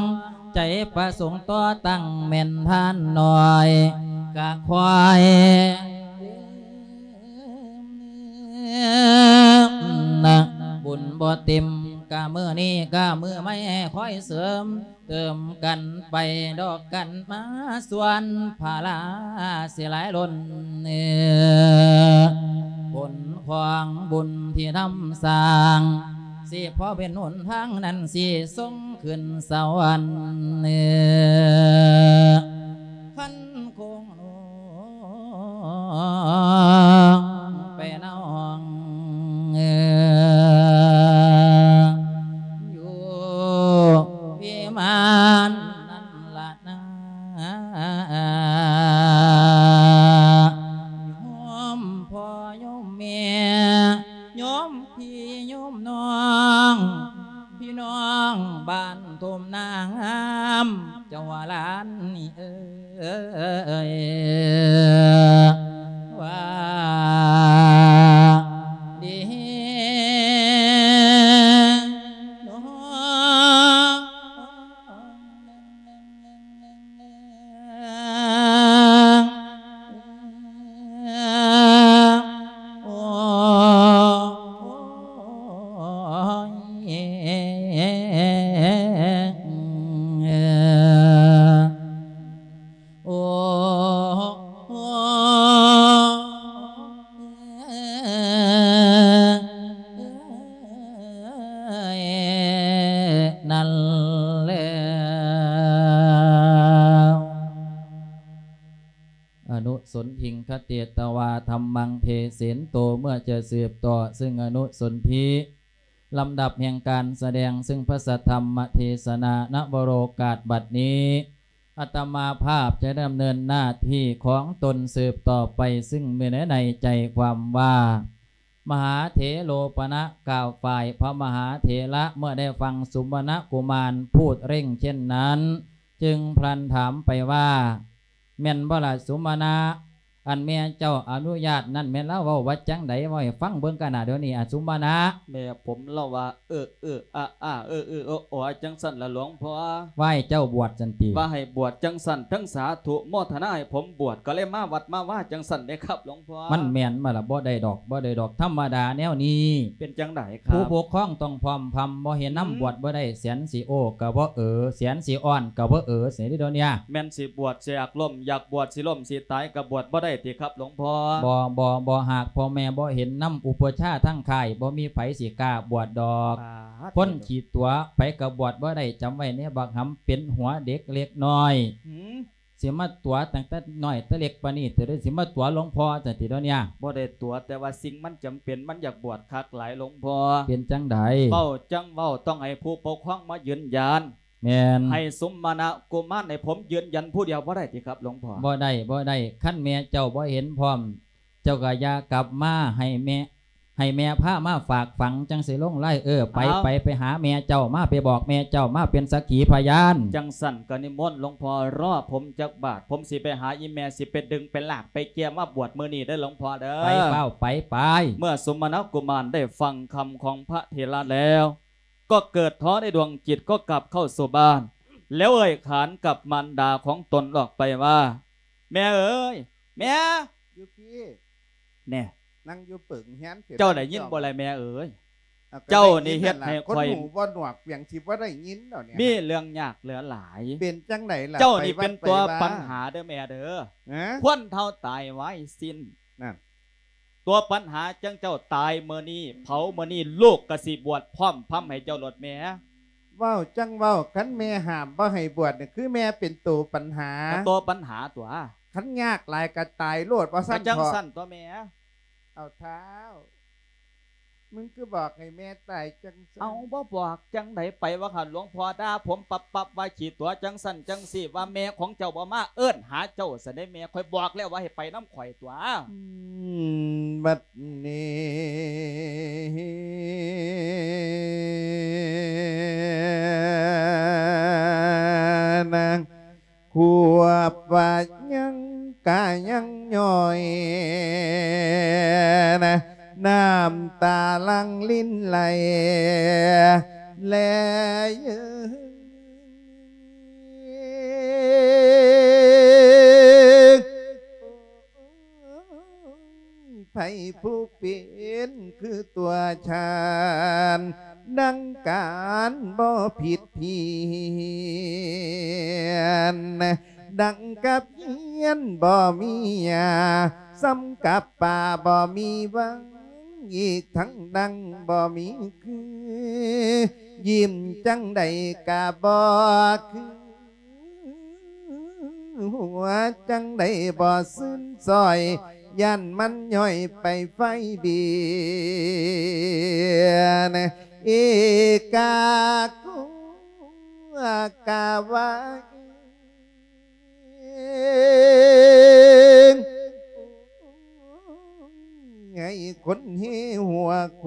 ໃຈປະສົງຕໍ່ຕັ້ງແມ່ນທ່ານນ້ອຍ ກະຄອຍ ບຸນບໍ່ເຕັມ ກະມື້ນີ້ກະມື້ໃໝ່ ຄອຍເສີມເຕີມກັນໄປ ດອກກັນມາສ່ວນພາລາຊິຫຼາຍລົ້ນ ຜົນຂອງບຸນທີ່ທຳສ້າງ ຊິພໍເປັນຫົນທາງນັ້ນ ຊິສົ່ງຂຶ້ນສະຫວັນ ຄັນຄົງ ໄປນ້ອງ ຢູ່ວິມານນັ້ນລະນາ ໂຍມພໍ່ໂຍມແມ່ ໂຍມພີ່ໂຍມນ້ອງ ພີ່ນ້ອງບ້ານທົ່ມນາງາມ ເຈົ້າວ່າຫຼານນີ້ເອີຍ ວ່າດີເນາະ ໂອ້ຍ ໂອ້ຍ ນັ້ນແຫຼະ ອະນຸສົນທິງຄະເຕຕະວາ ທຳມັງເທເສນໂຕ ເມື່ອຈະສືບຕໍ່ເຊິ່ງອະນຸສົນທິ ລຳດັບແຫ່ງການສະແດງເຊິ່ງພະສັດທຳມະເທສະນາ ນະວະໂລກາດບັດນີ້ ອາດຕະມາພາບຈະດຳເນີນໜ້າທີ່ຂອງຕົນສືບຕໍ່ໄປ ຊຶ່ງມີໃນໃຈຄວາມວ່າ ມະຫາເຖໂລປະນະກ່າວຝ່າຍພະມະຫາເຖລະ ເມື່ອໄດ້ຟັງສຸມະນະກຸມານພູດເລັ່ງເຊັ່ນນັ້ນ ຈຶ່ງພລັນຖາມໄປວ່າ ແມ່ນບໍ່ລະສຸມະນະ? ອັນແມ່ເຈົ້າອະນຸຍາດນັ້ນ ແມ່ນລາວເວົ້າວ່າຈັ່ງໃດ? ເວົ້າໃຫ້ຟັງເບິ່ງກະນະດຽວນີ້ ອະ ສຸມະນະ. ແມ່ຜົມລາວວ່າ ເອີ ເອີ ອາ ອາ ເອີ ເອີ ໂອ ໂອ ຈັ່ງຊັ້ນລະຫຼວງພໍ່. ວ່າໃຫ້ເຈົ້າບວດຊັ້ນຕິ? ວ່າໃຫ້ບວດຈັ່ງຊັ້ນ ທັງສາທຸໂມທະນາໃຫ້ຜົມບວດ ກໍເລີຍມາວັດມາວາຈັ່ງຊັ້ນເດ້ຄັບຫຼວງພໍ່. ມັນແມ່ນບໍ່ລະ? ບໍ່ໄດ້ດອກ ບໍ່ໄດ້ດອກ ທຳມະດາແນວນີ້. ເປັນຈັ່ງໃດຄັບ? ຜູ້ປົກຄອງຕ້ອງພ້ອມພຳ ບໍ່ເຮັດນຳ ອືມ ບວດບໍ່ໄດ້ ແສນຊິໂອ້ກໍບໍ່ເອີ ແສນຊິອ້ອນກໍບໍ່ເອີ ຊີ້ເດ້ດຽວນີ້. ແມ່ນຊິບວດຊິຢາກລົ້ມ ຢາກບວດຊິລົ້ມຊິຕາຍກໍບວດບໍ່ໄດ້ຕິຄັບຫຼວງພໍ່? ບໍ່ ບໍ່ ບໍ່ ຫາກພໍ່ແມ່ບໍ່ເຫັນນຳ ອຸປະຊາທາງຄ້າຍ ບໍ່ມີໃຜຊິກ້າບວດດອກ. ປາດ ຄົນຂີ້ຕົວະ ໃຜກໍບວດບໍ່ໄດ້ ຈຳໄວ້ແນ່ບັກຫຳ ເປັນຫົວເດັກເລັກນ້ອຍ. ຫືມ? ຊິມາຕົວະຕັ້ງແຕ່ນ້ອຍແຕ່ເລັກປານນີ້ ແຕ່ໄດ້ຊິມາຕົວະຫຼວງພໍ່ຈັ່ງຊີ້ດຽວນີ້. ບໍ່ໄດ້ຕົວະ ແຕ່ວ່າສິ່ງມັນຈຳເປັນ ມັນຢາກບວດຄັກຫຼາຍຫຼວງພໍ່. ເປັນຈັ່ງໃດ? ເວົ້າຈັ່ງເວົ້າ ຕ້ອງໃຫ້ຜູ້ປົກຄອງມາຢືນຢັນ. ແມ່ນ. ໃຫ້ສຸມະນະກຸມານໃຫ້ຜົມຢືນຢັນຜູ້ດຽວບໍ່ໄດ້ຕິຄັບຫຼວງພໍ່? ບໍ່ໄດ້ ບໍ່ໄດ້ ຄັນແມ່ເຈົ້າບໍ່ເຫັນພ້ອມ ເຈົ້າກໍຢ່າກັບມາ ໃຫ້ແມ່ ໃຫ້ແມ່ພາມາຝາກຝັງ ຈັ່ງຊິລົງລາຍ. ເອີ ໄປ ເອົາ ໄປ ໄປຫາແມ່ເຈົ້າມາ ໄປບອກແມ່ເຈົ້າມາເປັນສັກຂີພະຍານ. ຈັ່ງຊັ້ນກໍນິມົນຫຼວງພໍ່ ລໍຜົມຈັກບາດ ຜົມຊິໄປຫາອີ່ແມ່ ຊິໄປດຶງໄປລາກໄປເກ່ຍມາບວດມື້ນີ້ເດີຫຼວງພໍ່ເດີ. ໄປ ຟ້າວໄປ ໄປ. ເມື່ອສຸມະນະກຸມານໄດ້ຟັງຄຳຂອງພະເຖລະແລ້ວ ກໍເກີດທໍໃນດວງຈິດ ກໍກັບເຂົ້າສູ່ບ້ານ ແລ້ວເອີ່ຍຂານກັບມານດາຂອງຕົນອອກໄປວ່າ ແມ່ເອີຍ ແມ່ ຢູ່ພີ້ ແນ່ ນັ່ງຢູ່ເປິງເຮືອນພີ້ ເຈົ້າໄດ້ຍິນບໍ່ລະແມ່ເອີຍ? ເອົາ ເຈົ້ານີ້ເຮັດໃຫ້ຂ້ອຍ ຄົນຫູບໍ່ໜວກ ພຽງຊິບໍ່ໄດ້ຍິນດອກນີ້ ມີເລື່ອງຍາກເຫຼືອຫຼາຍ. ເປັນຈັ່ງໃດລະ? ເຈົ້ານີ້ເປັນຕົວປັນຫາເດີແມ່ເດີ. ຄວນເຖົ້າຕາຍໄວສິ້ນ ນັ້ນ ຕົວະປັນຫາຈັ່ງເຈົ້າຕາຍມື້ນີ້ ເຜົາມື້ນີ້ ລູກກໍຊິບວດພ້ອມພຳໃຫ້ເຈົ້າໂລດແມ່. ເວົ້າຈັ່ງເວົ້າ ຄັນແມ່ຫ້າມບໍ່ໃຫ້ບວດນີ້ ຄືແມ່ເປັນໂຕປັນຫາ. ກໍຕົວະປັນຫາຕົວະ. ຄັນຍາກຫຼາຍກໍຕາຍໂລດ ວ່າຊັ້ນເຖາະ. ກໍຈັ່ງຊັ້ນຕົວະແມ່. ເອົາທ້າວ ມຶງຄືບອກໃຫ້ແມ່ຕາຍຈັ່ງຊັ້ນ? ເອົາ ບໍ່ບອກຈັ່ງໃດ ໄປວ່າຫັ້ນ ຫຼວງພໍ່ດ່າຜົມປັບໆ ວ່າຂີ້ຕົວະຈັ່ງຊັ້ນຈັ່ງຊີ້ ວ່າແມ່ຂອງເຈົ້າບໍ່ມາເອີ້ນຫາເຈົ້າຊັ້ນເດ້ແມ່. ຂ້ອຍບອກແລ້ວວ່າໃຫ້ໄປນຳ ຂ້ອຍຕົວະ. ອືມ ບັດນີ້ນະ ຄວບວ່າຍັງກະຍັງຍ້ອຍນະ ນ້ຳຕາຫຼັ່ງລິນໄຫຼແລເຢີ. ໃຜຜູ້ເປັນຄືຕົວະຊານ ດັ່ງການບໍ່ຜິດພຽນ ດັ່ງກັບຮຽນບໍ່ມີຢາ ສ່ຳກັບປ່າບໍ່ມີຫວັງ ອີກທັງດັ່ງບໍ່ມີຄື ຍິ້ມຈັ່ງໃດກະບໍ່ຄື ຫົວຈັ່ງໃດບໍ່ຊື່ນຊ່ອຍ ຢ້ານມັນຍ້ອຍໄປໄຟເບຍນ ເອກາກຸ ກາວາ ໃຫ້ຄົນເຮຫົວຄ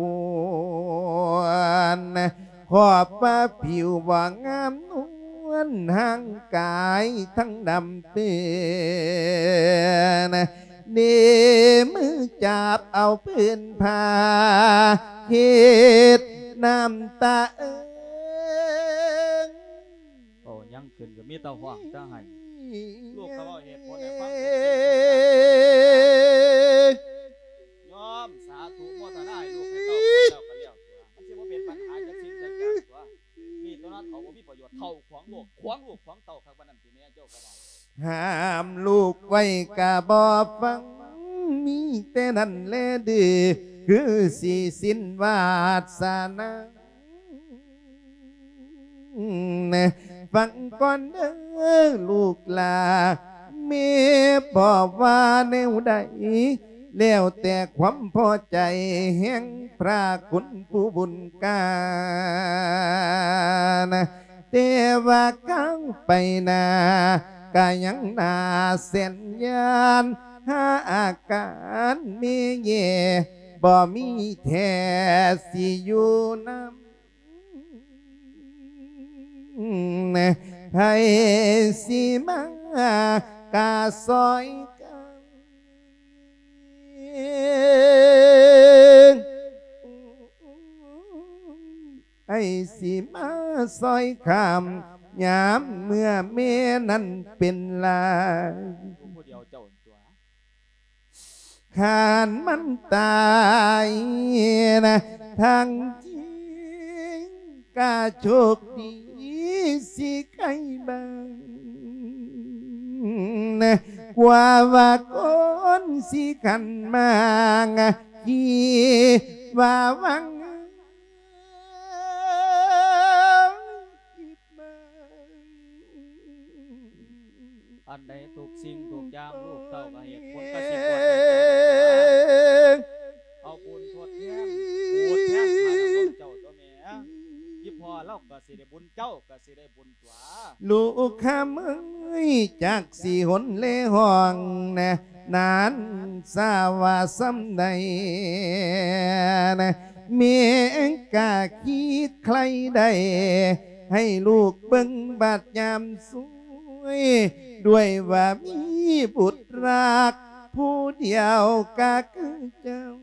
ວນ ຂອບວ່າຜິວບໍ່ງາມນວນ ຮ່າງກາຍທັງດຳເຕີນ ເນມືຈັບເອົາພື້ນຜ້າ ເຮັດນ້ຳຕາເອີງ. ເວົ້າຫຍັງຂຶ້ນກໍມີແຕ່ຮ້ອງແຕ່ໄຫ້. ລູກກໍເວົ້າເຫດຜົນໃຫ້ຟັງ. ຍອມສາທຸໂມທະນາໃຫ້ລູກໃຫ້ເຕົ້າ ແລ້ວກໍແລ້ວຕົວະ. ມັນຊິບໍ່ເປັນບັນຫາຈັກສິ່ງຈັກຢ່າງຕົວະ. ມີຕົວນັ້ນເຂົາບໍ່ມີປະໂຫຍດ. ເຖົ້າຂວາງລູກ ຂວາງລູກຂວາງເຕົ້າຄັກປານນັ້ນຕິແມ່ເຈົ້າກໍໄດ້. ຫ້າມລູກໄວ້ກໍບໍ່ຟັງ ມີແຕ່ນັ້ນແລະດື້ ຄືຊິສິ້ນວາສະໜາ. ຟັງກ່ອນເດີລູກຫຼ້າ ແມ່ບອກວ່າແນວໃດ ແລ້ວແຕ່ຄວາມພໍໃຈແຫ່ງພະຄຸນຜູ້ບຸນການ ແຕ່ວ່າກ້າວໄປໜ້າ ກະຍັງໜ້າແສນຢ້ານ ຫາອາການແມ່ແຍ່ ບໍ່ມີແທ້ຊິຢູ່ນຳ ໃຜຊິມາກະຊ່ອຍກັນ ໃຜຊິມາຊ່ອຍຄ້ຳ ຍາມເມື່ອແມ່ນັ້ນເປັນລາຍ ຜູ້ດຽວເຈົ້າຕົວະ ຄັນມັນຕາຍນະ ທາງຈິງກະໂຊກດີຊິໄຄບາງນະ ກວ່າວ່າຄົນຊິຂັນມາງ ທີ່ວ່າຫວັງ ອັນໃດທຸກສິ່ງທຸກຢ່າງ ລູກເຕົ້າກໍເຮັດ ຜົນກໍຊິບວດໃຫ້ເຈົ້າ ເອົາບຸນທົດແທນ ໂອດແທນພະນະຄຸນເຈົ້າຕົວະແມ່ ອີ່ພໍ່ລາວກໍຊິໄດ້ບຸນ ເຈົ້າກໍຊິໄດ້ບຸນຕົວະ ລູກຄຳເອີຍ ຈັກຊິຫົນແລຮ້ອງນະ ນານຊາວ່າສ່ຳໃດນະ ແມ່ກະຄິດໃຄ່ໄດ້ ໃຫ້ລູກເບິ່ງບາດຍາມສວຍ ດ້ວຍວ່າມີບຸດຮັກຜູ້ດຽວກະຄືເຈົ້າ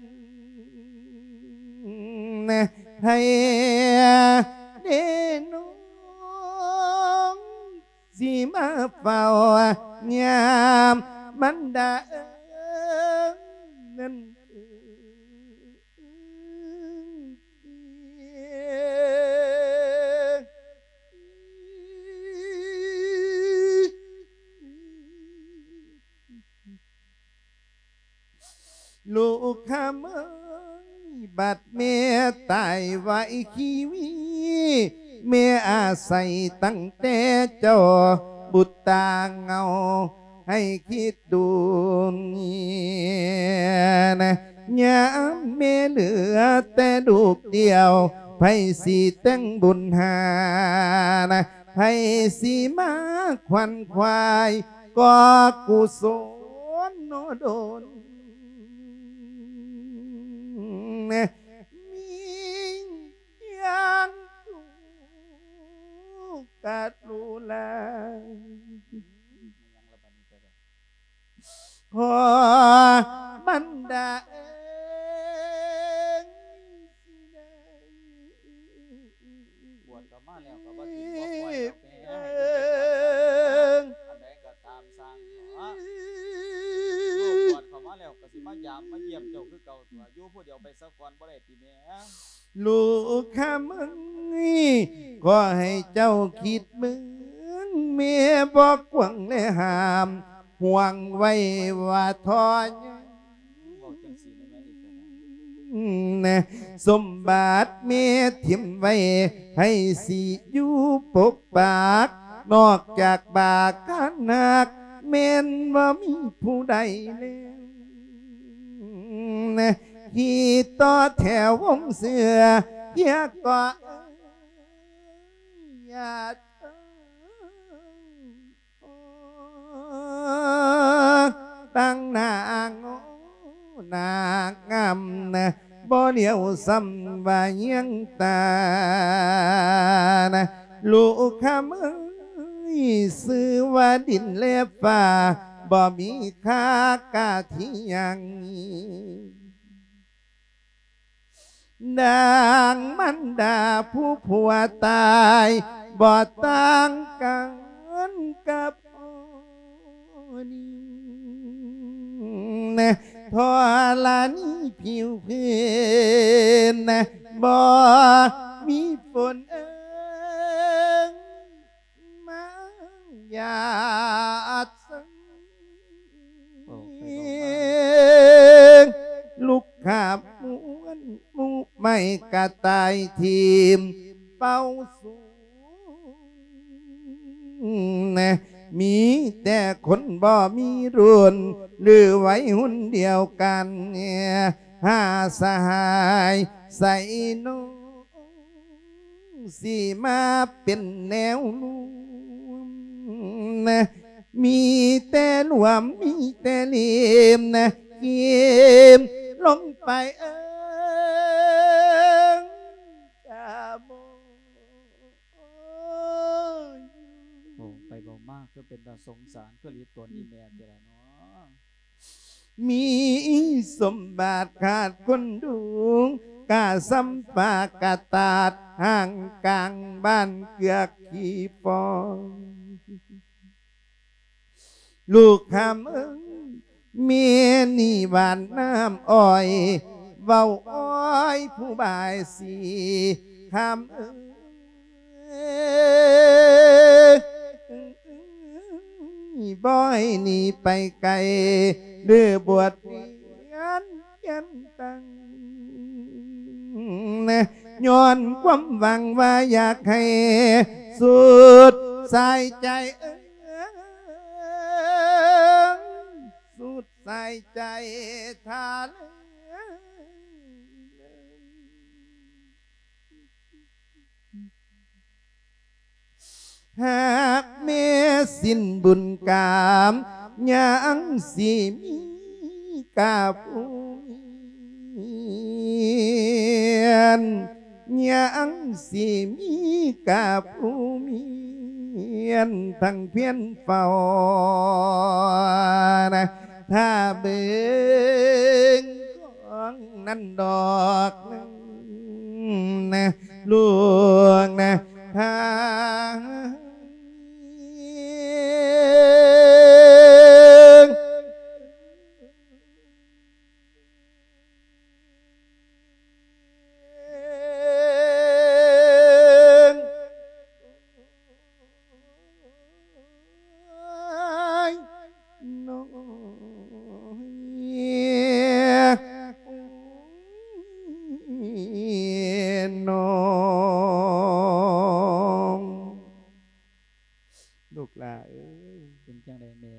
ໃຫ້ແດ່ນ້ອງ ຊິມາເຝົ້າຍາມມັນດາເອີຍ ນັ້ນເອີຍ ລູກຄຳເອີຍ ບັດແມ່ຕາຍໄວຊີວິດ ແມ່ອາໄສຕັ້ງແຕ່ເຈົ້າບຸດຕາເຫງົາ ໃຫ້ຄິດດູນະ ຍາມແມ່ເຫຼືອແຕ່ລູກດຽວ ໃຜຊິແຕ່ງບຸນຫານະ ໃຜຊິມາຂວັນຂວາຍ ກໍກຸສົນໂນດົນ ມີຢ່າງທຸກກະລຸລາ ພໍ່ມັນດາເອີຍ ຊິໄດ້ ບວດເຂົ້າມາແລ້ວກໍບໍ່ຖິ້ມບໍ່ປ່ອຍດອກແມ່ ໃຫ້ລູກໄດ້ບວດ ອັນໃດກໍຕາມຊ່າງເນາະ ລູກບວດເຂົ້າມາແລ້ວກໍຊິມາຢາມມາຢ້ຽມເຈົ້າຄືເກົ່າຕົວະ ຢູ່ຜູ້ດຽວໄປສາກ່ອນບໍ່ໄດ້ຕິແມ່? ລູກຄຳເອີຍ ຂໍໃຫ້ເຈົ້າຄິດເບິ່ງ ແມ່ບໍ່ກວາງແລຫ້າມ ຫ່ວງໄວ້ວ່າທໍ່ໃຫຍ່ ເວົ້າຈັ່ງຊີ້ແມ່ນອີກແລ້ວນະ ສົມບັດແມ່ຖິ້ມໄວ້ ໃຜຊິຢູ່ປົກປັກ ນອກຈາກບາການຮັກ ແມ່ນບໍ່ມີຜູ້ໃດແລ້ວ ທີ່ຕໍ່ແຖວວົງເຊື້ອ ເພຍກໍເອີຍ ຍາດເອີຍ ຕັ້ງໜ້າງໍໜ້າງາມນະ ບໍ່ຫຼຽວຊ້ຳວ່າຍຽງຕານະ ລູກຄຳເອີຍ ຊື່ວ່າດິນແລະຟ້າ ບໍ່ມີຄ່າກາທີ່ຫຍັງ ດັ່ງມານດາຜູ້ຜົວຕາຍ ບໍ່ຕ່າງກັນກັບພໍ່ນີ້ ທໍລະນີຜິວພື້ນ ບໍ່ມີຝົນເອີງ ມາຢາດເຊິ່ງ ເວົ້າໄປເວົ້າມາ ລຸກຂາບມ້ວນໝູ່ໄມ້ກະຕ່າຍຖິ້ມເປົ່າສູງ ມີແຕ່ຄົນບໍ່ມີລຸ້ນ ຫຼືໄວຮຸ້ນດຽວກັນ ຫາສະຫາຍໃສນ້ອງ ຊິມາເປັນແນວລວມ ມີແຕ່ລວມ ມີແຕ່ເລມນະ ເກມລົງໄປເອີງກະບໍ່ ໂອ້ ໄປເວົ້າມາຄືເປັນຕາສົງສານ ຄືຫຼີຕົນອີແມ່ແທ້ລະເນາະ. ມີສົມບັດຂາດຄົນດຸງ ກະສ່ຳປາກະຕາດ ຫ່າງກາງບ້ານເກືອກຂີ້ຟອງ. ລູກຄຳເອີຍ ແມ່ນີ້ຫວານນ້ຳອ້ອຍ ເວົ້າອ້ອຍຜູ້ບາຍສີ ຄຳເອີຍ ບໍ່ໃຫ້ໜີໄປໄກ ຫຼືບວດຮຽນ ຮຽນຕັ້ງ ຍ້ອນຄວາມຫວັງວ່າຢາກໃຫ້ສຸດສາຍໃຈ ເອີ ສຸດສາຍໃຈທ່ານ ຫາກແມ່ສິ້ນບຸນກາມ ຍັງຊິມີກະຜູ້ມຽນ ຍັງຊິມີກະຜູ້ມຽນ ທັງພຽນເຝົ້ານະ ຖ້າເບິ່ງຂອງນັ້ນດອກໜຶ່ງນະ ຫຼວງນະ ທາງ ລູກຫຼ້າເອີຍ ເປັນຈັ່ງໃດແມ່?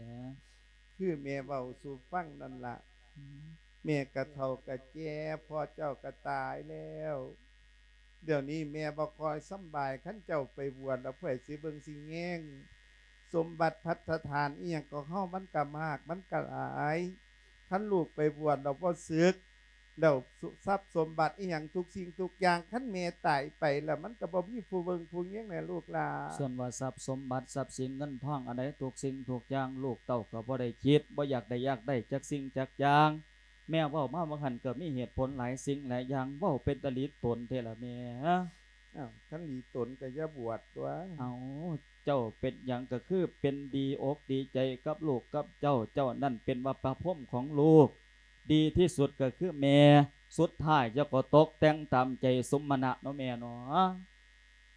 ຄືແມ່ເວົ້າສູ່ຟັງນັ້ນລະ ອືມ ແມ່ກະເຖົ້າກະແກ່ ພໍ່ເຈົ້າກະຕາຍແລ້ວ ດຽວນີ້ແມ່ບໍ່ຄ່ອຍສຳບາຍ ຄັນເຈົ້າໄປບວດແລ້ວ ໃຜຊິເບິ່ງຊິແຍງ ສົມບັດພັດຖະຖານອີ່ຫຍັງຂອງເຮົາມັນກະມາກ ມັນກະຫຼາຍ ຄັນລູກໄປບວດແລ້ວບໍ່ສຶກ ແລ້ວ ສ- ຊັບສົມບັດອີ່ຫຍັງທຸກສິ່ງທຸກຢ່າງ ຄັນແມ່ຕາຍໄປແລ້ວ ມັນກໍບໍ່ມີຜູ້ເບິ່ງຜູ້ແຍງແຫຼະລູກຫຼ້າ. ສ່ວນວ່າຊັບສົມບັດ ຊັບສິນເງິນທອງອັນໃດ ທຸກສິ່ງທຸກຢ່າງ ລູກເຕົ້າກໍບໍ່ໄດ້ຄິດ ບໍ່ຢາກໄດ້ຢາກໄດ້ຈັກສິ່ງຈັກຢ່າງ. ແມ່ເວົ້າມາວ່າຫັ້ນກໍມີເຫດຜົນຫຼາຍສິ່ງຫຼາຍຢ່າງ ເວົ້າເປັນຕາຫຼີຕົນແທ້ລະແມ່. ອ້າວ ຄັນຫຼີຕົນກໍຢ່າບວດຕົວະ. ເອົາ ເຈົ້າເປັນຫຍັງກໍຄືເປັນດີອົກດີໃຈກັບລູກກັບເຕົ້າ ເຈົ້ານັ້ນເປັນວ່າພະພົມຂອງລູກ ດີທີ່ສຸດກໍຄືແມ່ ສຸດທ້າຍເຈົ້າກໍຕົກແຕ່ງຕາມໃຈສົມມະນະເນາະແມ່ເນາະ.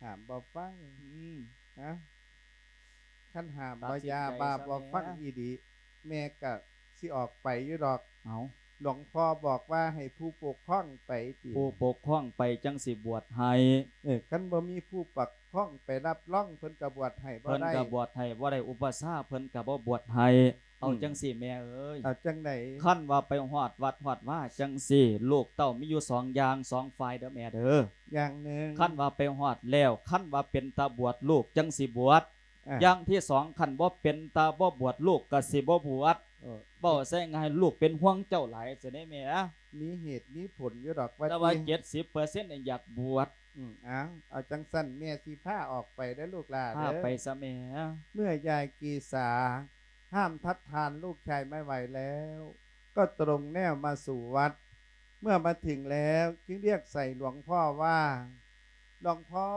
ຫ້າມບໍ່ຟັງ ອືມ ຮະ ຄັນຫ້າມບໍ່ຢ່າ ບາບບໍ່ຟັງອີ່ຫຼີ ແມ່ກະຊິອອກໄປຢູ່ດອກ. ເອົາ ຫຼວງພໍ່ບອກວ່າໃຫ້ຜູ້ປົກຄອງໄປຕິ. ຜູ້ປົກຄອງໄປຈັ່ງຊິບວດໃຫ້. ເອີ ຄັນບໍ່ມີຜູ້ປົກຄອງໄປຮັບຮອງ ເພິ່ນກະບວດໃຫ້ບໍ່ໄດ້. ເພິ່ນກະບວດໃຫ້ບໍ່ໄດ້ ອຸປະຊາເພິ່ນກະບໍ່ບວດໃຫ້. ເອົາ ອືມ ຈັ່ງຊີ້ແມ່ເອີຍ ເອົາຈັ່ງໃດ? ຄັນວ່າໄປຮອດວັດຮອດວາຈັ່ງຊີ້ ລູກເຕົ້າມີຢູ່ສອງຢ່າງ ສອງຝ່າຍເດີແມ່ເດີ. ຢ່າງໜຶ່ງ ຄັນວ່າໄປຮອດແລ້ວ ຄັນວ່າເປັນຕາບວດ ລູກຈັ່ງຊິບວດ. ອ່າ ຢ່າງທີສອງ ຄັນບໍ່ເປັນຕາບໍ່ບວດ ລູກກໍຊິບໍ່ບວດ. ເອີ ເວົ້າໃສ່ງ່າຍ ລູກເປັນຫ່ວງເຈົ້າຫຼາຍຊັ້ນເດ້ແມ່. ມີເຫດມີຜົນຢູ່ດອກວ່າ ແຕ່ວ່າເຈັດສິບເປີເຊັນນີ້ຢາກບວດ. ອືມ ເອົາ ເອົາຈັ່ງຊັ້ນ ແມ່ຊິພາອອກໄປເດີລູກຫຼ້າເດີ ພາໄປຊະແມ່. ເມື່ອຍາຍເກສາຫ້າມທັດທານລູກຊາຍໄມ່ໄຫວແລ້ວ ກໍຕົງແນວມາສູ່ວັດ. ເມື່ອມາເຖິງແລ້ວ ຈຶ່ງຮຽກໃສ່ຫຼວງພໍ່ວ່າ ຫຼວງພໍ່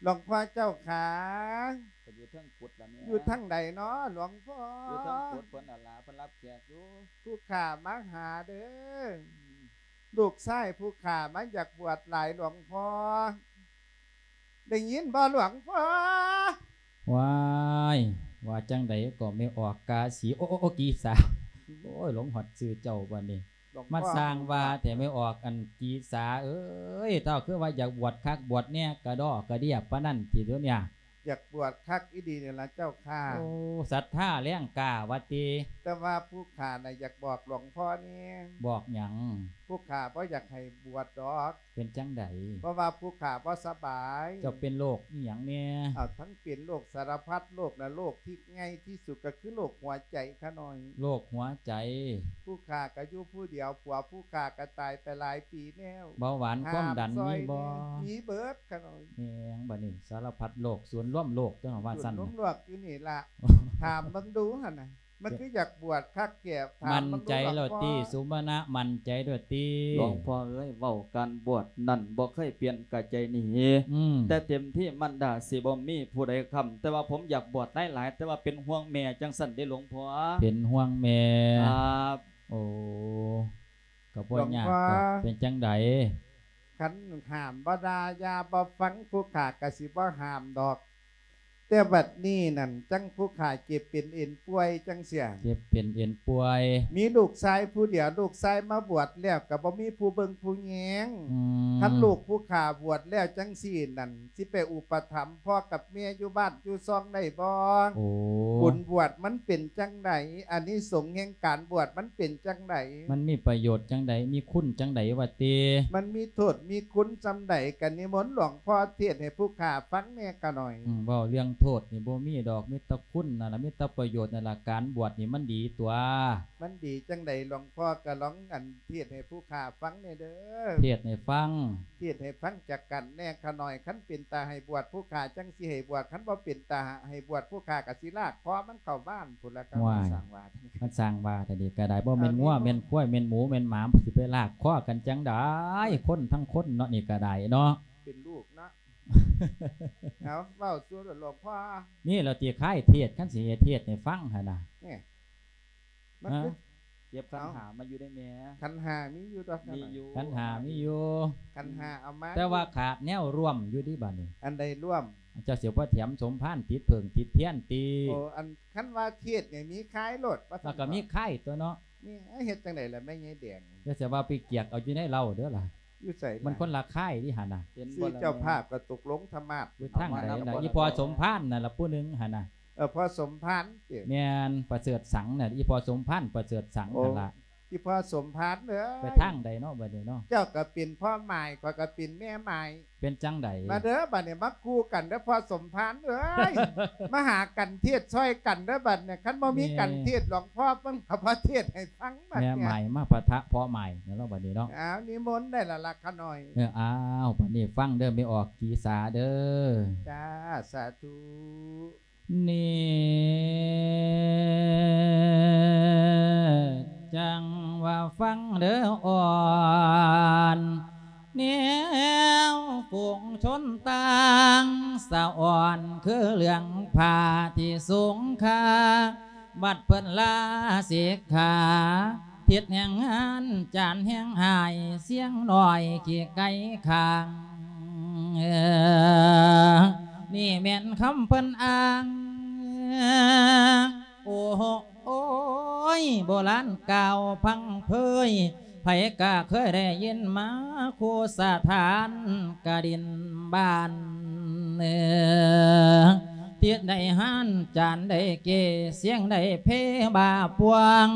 ຫຼວງພໍ່ເຈົ້າຂາ. ເພິ່ນຢູ່ເທິງກຸດລະແມ່. ຢູ່ທາງໃດນໍຫຼວງພໍ່? ຢູ່ເທິງກຸດເພິ່ນຫັ້ນລະ ເພິ່ນຮັບແຂກຢູ່. ຜູ້ຂ້າມາຫາເດີ. ອືມ ລູກຊາຍຜູ້ຂ້າມາຢາກບວດຫຼາຍຫຼວງພໍ່. ໄດ້ຍິນບໍ່ຫຼວງພໍ່? ວ້າຍ ວ່າຈັ່ງໃດກໍແມ່ອອກກາສີ ໂອ ໂອ ໂອ ກີສາ. ໂອ້ຍ ຫຼົງຮອດຊື່ເຈົ້າບັດນີ້. ມາສ້າງວ່າແທ້ແມ່ອອກ ອັນ ກີສາເອີຍ ເຈົ້າຄືວ່າຢາກບວດຄັກບວດແນ່ ກະດໍ້ກະເດຍປານນັ້ນຕິດຽວນີ້. ຢາກບວດຄັກອີ່ຫຼີນີ້ລະເຈົ້າຂ້າ. ໂອ້ ສັດທາແຮງກ້າວ່າຕິ. ແຕ່ວ່າຜູ້ຂ້ານະຢາກບອກຫຼວງພໍ່ແດ່. ບອກຫຍັງ? ຜູ້ຂ້າບໍ່ຢາກໃຫ້ບວດດອກ. ເປັນຈັ່ງໃດ? ເພາະວ່າຜູ້ຂ້າບໍ່ສະບາຍ. ເຈົ້າເປັນໂລກອີ່ຫຍັງແດ່? ເອົາ ທັງເປັນໂລກສາລະພັດໂລກນະ ໂລກທີ່ໃຫຍ່ທີ່ສຸດກໍຄືໂລກຫົວໃຈຂ້ານ້ອຍ. ໂລກຫົວໃຈ. ຜູ້ຂ້າກໍຢູ່ຜູ້ດຽວ ຜົວຜູ້ຂ້າກໍຕາຍໄປຫຼາຍປີແລ້ວ. ເບົາຫວານຄວາມດັນມີບໍ່? ແມ່ນ ມີເບິດຂ້ານ້ອຍ. ແມ່ນ ບັດນີ້ສາລະພັດໂລກ ສູນລວມໂລກຕົວະ ວ່າຊັ້ນ. ສູນລວມໂລກຢູ່ນີ້ລະ. ຖາມເບິ່ງດູຫັ້ນນະ ມັນຄືຢາກບວດຄັກແທ້. ໝັ້ນໃຈແລ້ວຕິ ສຸມະນະ ໝັ້ນໃຈແລ້ວຕິ? ຫຼວງພໍ່ເອີຍ ເວົ້າການບວດນັ້ນບໍ່ເຄີຍປ່ຽນກະໃຈໜີ. ອືມ ແຕ່ເຕັມທີ່ມັນດາຊິບໍ່ມີຜູ້ໃດຄ້ຳ ແຕ່ວ່າຜົມຢາກບວດຫຼາຍໆ ແຕ່ວ່າເປັນຫ່ວງແມ່ຈັ່ງຊັ້ນເດ້ຫຼວງພໍ່. ເປັນຫ່ວງແມ່. ຄັບ. ໂອ້ ກໍບໍ່ຍາກດອກ. ເປັນຈັ່ງໃດ? ຄັນຫ້າມບໍ່ດ່າຢ່າບໍ່ຟັງ ຜູ້ຂ້າກໍຊິບໍ່ຫ້າມດອກ. ແຕ່ບັດນີ້ນັ້ນ ຈັ່ງຜູ້ຂ້າເຈັບເປັນເອັນປ່ວຍຈັ່ງຊີ້. ເຈັບເປັນເອັນປ່ວຍ. ມີລູກຊາຍຜູ້ດຽວ ລູກຊາຍມາບວດແລ້ວກໍບໍ່ມີຜູ້ເບິ່ງຜູ້ແຍງ. ອືມ ຄັນລູກຜູ້ຂ້າບວດແລ້ວຈັ່ງຊີ້ນັ້ນ ຊິໄປອຸປະຖຳພໍ່ກັບແມ່ຢູ່ບ້ານຢູ່ຊ່ອງໄດ້ບໍ່? ໂອ້ ບຸນບວດມັນເປັນຈັ່ງໃດ? ອານິສົງແຫ່ງການບວດມັນເປັນຈັ່ງໃດ? ມັນມີປະໂຫຍດຈັ່ງໃດ? ມີຄຸນຈັ່ງໃດວ່າຕິ? ມັນມີໂທດມີຄຸນສ່ຳໃດ? ກະນິມົນຫຼວງພໍ່ເທດໃຫ້ຜູ້ຂ້າຟັງແດ່ຂ້ານ້ອຍ. ອືມ ເວົ້າເລື່ອງໂທດນີ້ບໍ່ມີດອກ ມີແຕ່ຄຸນນັ້ນລະ ມີແຕ່ປະໂຫຍດນັ້ນລະ. ການບວດນີ້ມັນດີຕົວະ. ມັນດີຈັ່ງໃດ ຫຼວງພໍ່ກະລອງ ອັນ ເທດໃຫ້ຜູ້ຂ້າຟັງແດ່ເດີ. ເທດໃຫ້ຟັງ. ເທດໃຫ້ຟັງຈັກກັນແດ່ຂ້ານ້ອຍ. ຄັນເປັນຕາໃຫ້ບວດ ຜູ້ຂ້າຈັ່ງຊິໃຫ້ບວດ, ຄັນບໍ່ເປັນຕາໃຫ້ບວດ ຜູ້ຂ້າກະຊິລາກຄໍມັນເຂົ້າບ້ານພຸ້ນລະ. ໂອ້ຍ ມັນສ້າງວ່າ ມັນສ້າງວ່າແທ້ນີ້ກະໄດ້. ບໍ່ແມ່ນງົວ ແມ່ນຄວາຍ ແມ່ນໝູ ແມ່ນໝາ ຊິໄປລາກຄໍກັນຈັ່ງໃດ? ຄົນທັງຄົນເນາະ ນີ້ກະໄດ້ເນາະ. ເປັນລູກເນາະ. ເອົາ ເວົ້າສູ່ຫຼວງພໍ່. ນີ້ລະຕິ ຄາຍເທດ ຄັນຊິເຮັດເທດໃຫ້ຟັງຫັ້ນນະ. ນີ້ ມັນຄື ເກັບຂັນຫ້າມາຢູ່ໄດ້ແມ່. ຂັນຫ້າມີຢູ່ດອກ. ມີຢູ່ ຂັນຫ້າມີຢູ່. ຂັນຫ້າເອົາມາ ແຕ່ວ່າຂາດແນວຮ່ວມຢູ່ເດບັດນີ້. ອັນໃດຮ່ວມ? ເຈົ້າຊິບໍ່ແຖມສົມພານຕິດເຜິ້ງຕິດທຽນຕິ? ໂອ້ ອັນ ຄັນວ່າເທດນີ້ມີຂາຍໂລດວ່າຊັ້ນ. ແລ້ວກໍມີຂາຍຕົວະເນາະ. ນີ້ ເຮັດຈັ່ງໃດລະແມ່ໃຫຍ່ແດງ? ຢ່າຊິວ່າໄປກຽກເອົາຢູ່ໃນເຫຼົ້າເດີລະ. ຢູ່ໃສລະ? ມັນຄົນລະຂາຍເດຫັ້ນນະ. ຊື່ເຈົ້າພາບກໍຕົກລົງທຳມາດ. ຢູ່ທາງໃດລະ? ອີ່ພໍ່ສົມພານນັ້ນລະ ຜູ້ໜຶ່ງຫັ້ນນະ. ເອີ ພໍ່ສົມພານຕິ? ແມ່ນ ປະເສີດສັງນະ. ອີ່ພໍ່ສົມພານ ປະເສີດສັງ ໂອ້ ຫັ້ນລະ. ອີ່ພໍ່ສົມພານເອີຍ ໄປທາງໃດເນາະບັດນີ້ເນາະ? ເຈົ້າກໍເປັນພໍ່ໝາຍ ຂ້ອຍກໍເປັນແມ່ໝາຍ. ເປັນຈັ່ງໃດ? ມາເດີ ບັດນີ້ມາຄູ່ກັນເດີພໍ່ສົມພານເອີຍ. ມາຫາກັນເທດຊ່ອຍກັນເດີບັດນີ້. ຄັນບໍ່ມີ ແມ່ ກັນເທດ ຫຼວງພໍ່ເພິ່ນກໍບໍ່ເທດໃຫ້ຟັງບັດນີ້. ແມ່ໝາຍມາປະທະພໍ່ໝາຍແລ້ວບັດນີ້ເນາະ. ອ້າວ ນິມົນໄດ້ລະລະຂ້ານ້ອຍ. ເອີ ອ້າວ ບັດນີ້ຟັງເດີ ແມ່ອອກກີສາເດີ. ຈ້າ ສາທຸ. ນີ້ຈັ່ງວ່າຟັງເດີອ່ອນ ແນວຝູງຊົນຕ່າງສະອອນ ຄືເລື່ອງຜ້າທີ່ສູງຄ່າ ບັດເພິ່ນລາສິກຂາ ທິດແຫ່ງງານຈານແຫ່ງຫາຍ ສຽງນ້ອຍຂີ້ໄກ່ຂ້າງ. ນີ້ແມ່ນຄຳເພິ່ນອ້າງ ໂອ້ໂຫ ໂອ້ຍ ໂບລານກ່າວພັງເຜີຍ ໃຜກະເຄີຍໄດ້ຍິນມາ ຄູ່ສະຖານກະດິນບ້ານ ເອີ ທິດໃດຫານຈານໃດເກ ສຽງໃດເພບາປວງ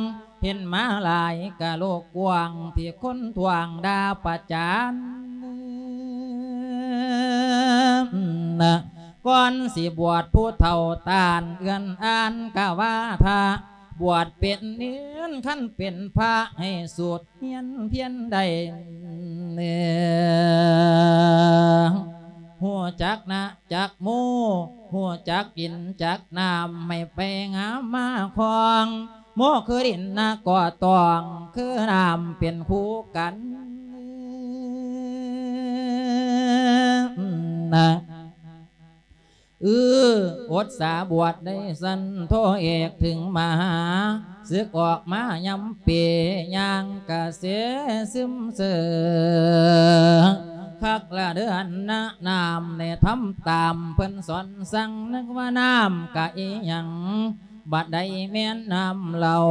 ເຫັນມາຫຼາຍກະໂລກກວ້າງ ທີ່ຄົນທ້ວງດ່າປະຈານ ນະ ກ່ອນຊິບວດຜູ້ເຖົ້າຕ້ານເອື້ອນອ່ານກະວ່າຖ້າ ບວດເປັນເນນ ຄັນເປັນພະໃຫ້ສູດຮຽນພຽນໄດ້ ເອີ ຮູ້ຈັກນະ ຈັກໝູ ຮູ້ຈັກກິນຈັກນ້ຳ ໃຫ້ໄປງາມມາຄອງ ໝູຄືດິນນະກໍຕ້ອງ ຄືນ້ຳເປັນຄູ່ກັນນະ ອື ອົດສາບວດໄດ້ຊັ້ນ ໂທເອກເຖິງມະຫາ ສຶກອອກມາຍາມເປ ຍ່າງກະເສຊຶມເຊີ ຄັກລະເດີອັນນະ ນ້ຳໄດ້ທຳຕາມເພິ່ນສອນສັ່ງ ນຶກວ່ານ້ຳກະອີ່ຫຍັງ ບັດໃດແມ່ນນ້ຳເຫຼົ້າ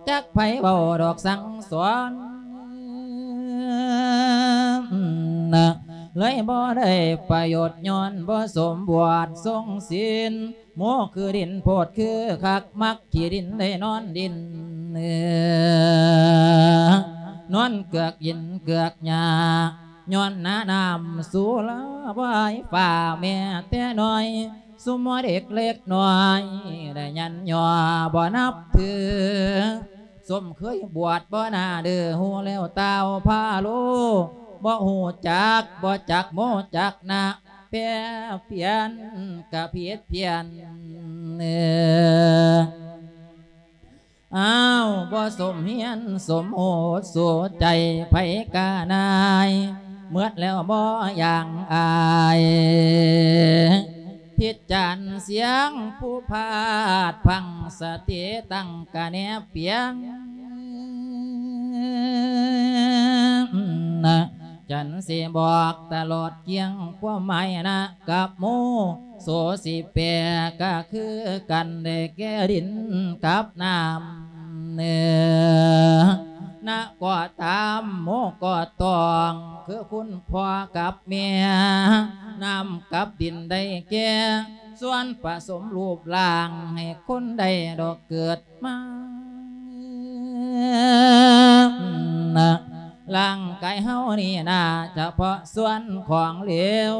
ຈັກໃຜເວົ້າດອກສັ່ງສອນ ນະ ເລີຍບໍ່ໄດ້ປະໂຫຍດ ຍ້ອນບໍ່ສົມບວດຊົງສິນ. ໝູ່ຄືດິນໂພດຄືຄັກ ມັກຂີ້ດິນໄດ້ນອນດິນ ເອີ ນອນເກືອກຫີນເກືອກຫຍ້າ ຍ້ອນໜ້ານ້ຳສຸລາວາຍຟ້າແມ່ແຕ່ນ້ອຍ ຊຸມເດັກເລັກນ້ອຍໄດ້ຢັນຍໍບໍ່ນັບຖື. ສົມເຄີຍບວດບໍ່ໜ້າດື້ ຮູ້ແລ້ວຕ່າວພາໂລ ບໍ່ຮູ້ຈັກ ບໍ່ຈັກໂມຈັກນະ ແປປ່ຽນກະຜິດພຽນ ເອີ ອ້າວ ບໍ່ສົມຮຽນສົມຮູ້ສູໃຈ ໃຜກະນາຍ ໝົດແລ້ວບໍ່ຢ່າງອາຍ ຜິດຈານສຽງຜູ້ພາດພັງ ສະຕິຕັ້ງກະແນບປຽງ ນະ ຈັນຊິບອກຕະຫຼອດກ້ຽງ ຄວາມໝາຍນະກັບໝູ່ ໂສຊິແປກະຄືກັນ ໄດ້ແກ່ດິນກັບນ້ຳ ເອີ ນະກໍຕາມ ໝູ່ກໍຕ້ອງ ຄືຄຸນພໍ່ກັບແມ່ ນ້ຳກັບດິນໄດ້ແກ່ ສ່ວນປະສົມຮູບຮ່າງ ໃຫ້ຄົນໄດ້ດອກເກີດມາ ນະ ຮ່າງກາຍເຮົານີ້ນາ ສະເພາະສ່ວນຂອງເຫຼວ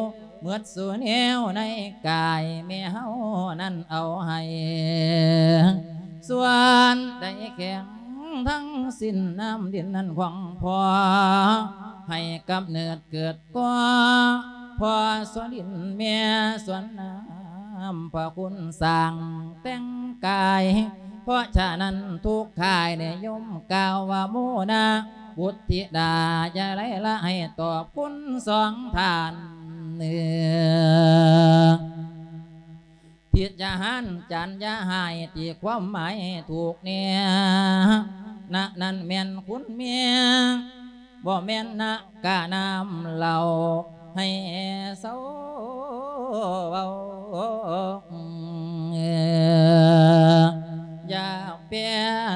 ໝົດສູ່ແນວໃນກາຍ ແມ່ເຮົານັ້ນເອົາໃຫ້ ສ່ວນໃດແຂງທັງສິ້ນ ນ້ຳດິນນັ້ນຂອງພໍ່ ໃຫ້ກຳເນີດເກີດ ກໍພໍ່ສ່ວນດິນແມ່ສ່ວນນ້ຳ ພະຄຸນສ້າງແຕ່ງກາຍ ເພາະສະນັ້ນທຸກຂ້າຍນິຍົມກ່າວວ່າ ໂມນະບຸດທິດາ ຢ່າໄລລະໃຫ້ຕອບຄຸນສອງທ່ານ ເອີ ຜິດຢ່າຫານ ຈານຢ່າຫາຍ ຕີຄວາມໝາຍໃຫ້ຖືກແນ່ ນະນັ້ນແມ່ນຄຸນແມ່ ບໍ່ແມ່ນນະກະນ້ຳເຫຼົ້າ ໃຫ້ເຊົາເວົ້າ ຢ່າແປ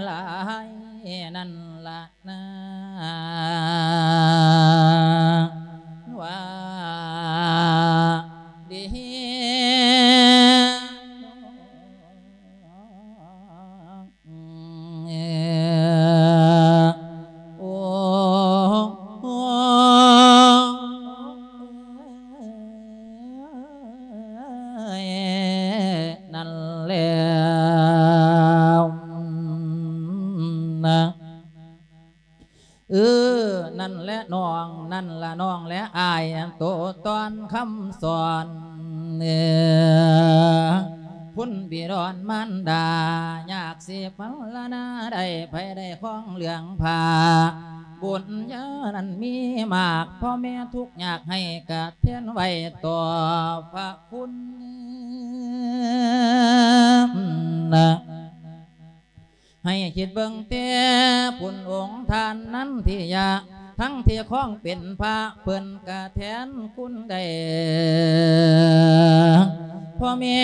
ຫຼາຍນັ້ນລະ ນາ ວ່າດີ ໂອ້ ນັ້ນແຫຼະ ນະ ເອີ ນັ້ນແຫຼະນ້ອງ ນັ້ນລະນ້ອງແລະອ້າຍ ໂຕຕອນຄຳສອນ ເອີ ຄຸນບິດອນມານດາ ຍາກຊິພັນລະນາໄດ້ ໃຜໄດ້ຄອງເລື່ອງຜ້າ ບຸນຍານັ້ນມີມາກ ພໍ່ແມ່ທຸກຍາກໃຫ້ກະແທນໄວ້ຕໍ່ພະຄຸນ ນະ ໃຫ້ຄິດເບິ່ງແຕ່ພຸ້ນ ອົງທ່ານນັນທິຍະ ທັງທີ່ຄອງເປັນພະ ເພິ່ນກະແທນຄຸນໄດ້ ພໍ່ແມ່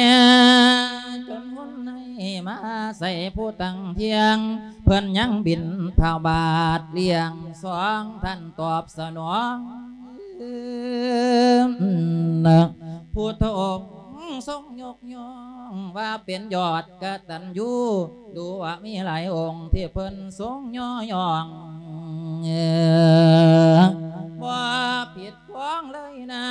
ຈົນຮຸນໃຫ້ມາໃສ່ຜູ້ຕັ້ງທ່ຽງ ເພິ່ນຍັງບິນທະບາດລ້ຽງສອງ ທ່ານຕອບສະໜອງ ຜູ້ທົບຊົງຍົກ ຍ້ອງວ່າເປັນຍອດກະຕັນຍູ ດູວ່າມີຫຼາຍອົງທີ່ເພິ່ນຊົງຍໍຍ້ອງ ບໍ່ຜິດຂອງເລີຍນາ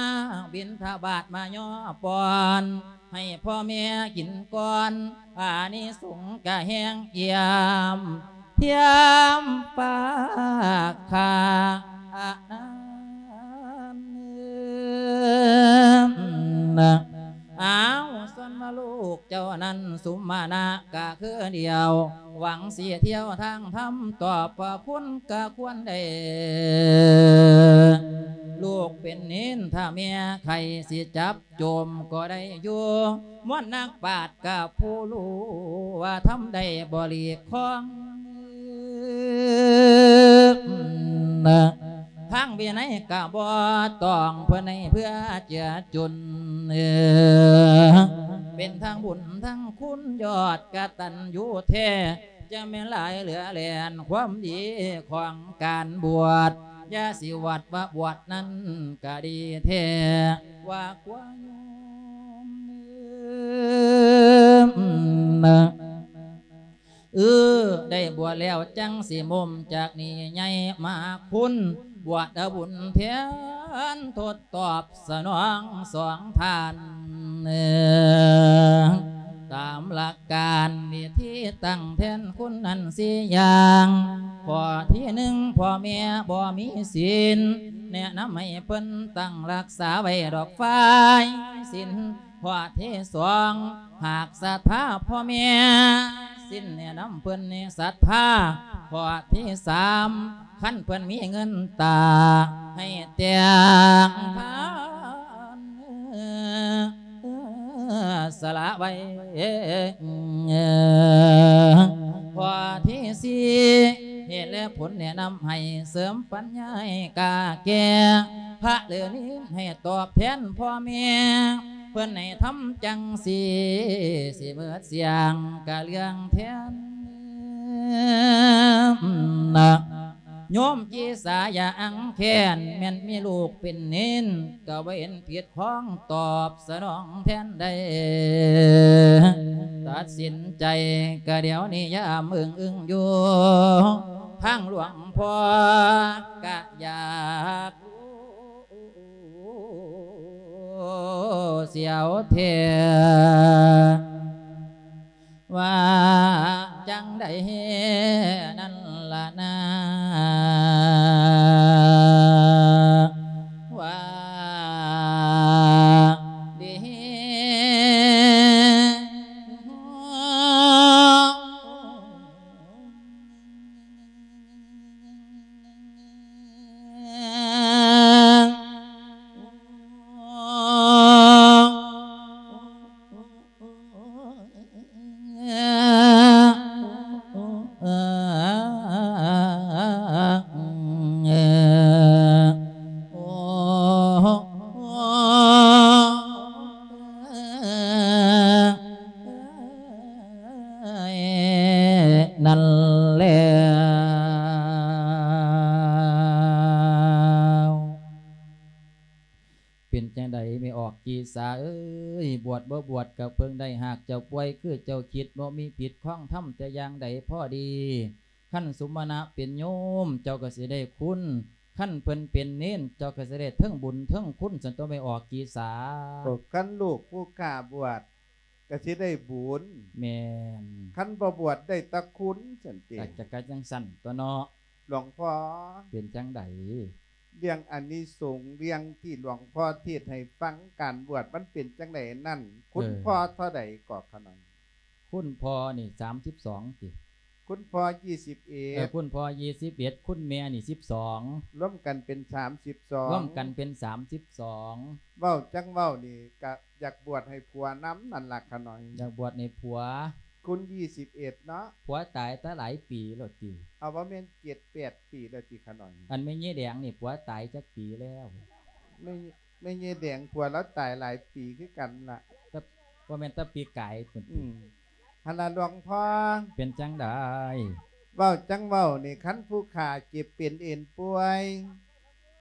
ບິນທະບາດມາຍໍປ້ອນ ໃຫ້ພໍ່ແມ່ກິນກ່ອນ ອານິສົງກະແຮງອຽມ ທຽມປາກຄາອານ ອ້າວ ສ່ວນວ່າລູກເຈົ້ານັ້ນ ສຸມມະນະກະຄືດຽວ ຫວັງຊິທ່ຽວທາງທຳ ຕອບພະຄຸນກະຄວນໄດ້ ລູກເປັນເນນ ຖ້າແມ່ໃຄຊິຈັບ ໂຈມກໍໄດ້ຢູ່ ມວນນັກປາດກະຜູ້ຮູ້ວ່າທຳໄດ້ບໍລິຄອງ ທາງວິໄນກະບໍ່ຕ້ອງ ເພິ່ນໃຫ້ເພື່ອເຈືອຈຸນ ເປັນທັງບຸນທັງຄຸນ ຍອດກະຕັນຍູແທ້ ຈະແມ່ນຫຼາຍເຫຼືອແລ່ນ ຄວາມດີຂອງການບວດ ຢ່າຊິວັດວ່າບວດນັ້ນກະດີແທ້ ວ່າກວ່າໂຍມເອີ ເອີ ໄດ້ບວດແລ້ວຈັ່ງຊິໝົມຈາກນີ້ໃຫຍ່ມາຄຸນ ບວດເອົາບຸນແທນທົດຕອບສະໜອງສອງທ່ານ ຕາມຫຼັກການວິທີຕັ້ງແທນຄຸນນັ້ນສີ່ຢ່າງ. ຂໍ້ທີໜຶ່ງ ພໍ່ແມ່ບໍ່ມີສິນ ແນະນຳໃຫ້ເພິ່ນຕັ້ງຮັກສາໄວ້ດອກຝ່າຍສິນ. ຂໍ້ທີສອງ ຫາກສັດທາພໍ່ແມ່ສິນ ແນະນຳເພິ່ນໃຫ້ສັດທາ. ຂໍ້ທີສາມ ຄັນເພິ່ນມີເງິນຕາ ໃຫ້ແຕ່ງທານສະຫຼະໄວ້. ຂໍ້ທີສີ່ ເຫດແລະຜົນແນະນຳໃຫ້ເສີມປັນຍາໃຫ້ກ້າແກ່ ພະຫຼືນີນໃຫ້ຕອບແທນພໍ່ແມ່ ເພິ່ນໃຫ້ທຳຈັ່ງຊີ້ ຊິເໝິດສຽງກະເລື່ອງແທນນະ. ໂຍມກີສາຢ່າອັງແຄ້ນ ແມ່ນມີລູກເປັນເນນ ກະບໍ່ເຫັນຜິດຂອງຕອບສະໜອງແທນໃດ. ຕັດສິນໃຈກະດຽວນີ້ຢ່າເມີງອຶງຢູ່ ທາງຫຼວງພໍ່ກະຢາກ ສຽວແທ້ ວ່າຈັ່ງໃດນັ້ນລະນາ ວ່າດີ. ນັ້ນແລ້ວ. ເປັນຈັ່ງໃດແມ່ອອກກີສາເອີຍ ບວດບໍ່ບວດກະເພິ່ງໄດ້ ຫາກເຈົ້າປ່ວຍຄືເຈົ້າຄິດ ບໍ່ມີຜິດຂອງທຳແຕ່ຢ່າງໃດ ພໍດີ. ຄັນສົມມະນະເປັນໂຍມ ເຈົ້າກະຊິໄດ້ຄຸນ ຄັນເພິ່ນເປັນເນນ ເຈົ້າກະຊິໄດ້ເທິງບຸນເທິງຄຸນ ຊັ້ນຕົວະແມ່ອອກກີສາ. ໂອ້ ຄັນລູກຜູ້ຂ້າບວດກະຊິໄດ້ບຸນ ແມ່ນ ຄັນບໍ່ບວດໄດ້ແຕ່ຄຸນ ຊັ້ນຕິ. ກະ ກະ ກະຈັ່ງຊັ້ນຕົວະເນາະ ຫຼວງພໍ່. ເປັນຈັ່ງໃດ? ເລື່ອງອານິສົງ ເລື່ອງທີ່ຫຼວງພໍ່ເທດໃຫ້ຟັງ ການບວດມັນເປັນຈັ່ງໃດນັ້ນ ຄຸນ ເອີ ພໍ່ເທົ່າໃດເກາະຂະນ້ອຍ? ຄຸນພໍ່ນີ້ສາມສິບສອງຕິ? ຄຸນພໍ່ຊາວເອັດ ເອີ ຄຸນພໍ່ຊາວເອັດ ຄຸນແມ່ນີ້ສິບສອງ ລວມກັນເປັນສາມສິບສອງ ລວມກັນເປັນສາມສິບສອງ. ເວົ້າຈັ່ງເວົ້ານີ້ກະຢາກບວດໃຫ້ຜົວນຳນັ້ນລະຂະນ້ອຍ. ຢາກບວດໃຫ້ຜົວ. ຄຸນຊາວເອັດເນາະ ຜົວຕາຍແຕ່ຫຼາຍປີແລ້ວຕິ? ເອົາ ບໍ່ແມ່ນເຈັດແປດປີແລ້ວຕິຂະນ້ອຍ? ອັນແມ່ຍາຍແດງນີ້ຜົວຕາຍຈັກປີແລ້ວ? ແມ່ ແມ່ຍາຍແດງຜົວລາວຕາຍຫຼາຍປີຄືກັນລະ ແຕ່ ບໍ່ແມ່ນແຕ່ປີກາຍພຸ້ນຕິ? ອືມ ຫັ້ນລະຫຼວງພໍ່. ເປັນຈັ່ງໃດ? ເວົ້າຈັ່ງເວົ້ານີ້ ຄັນຜູ້ຂ້າເຈັບເປັນເອັນປ່ວຍ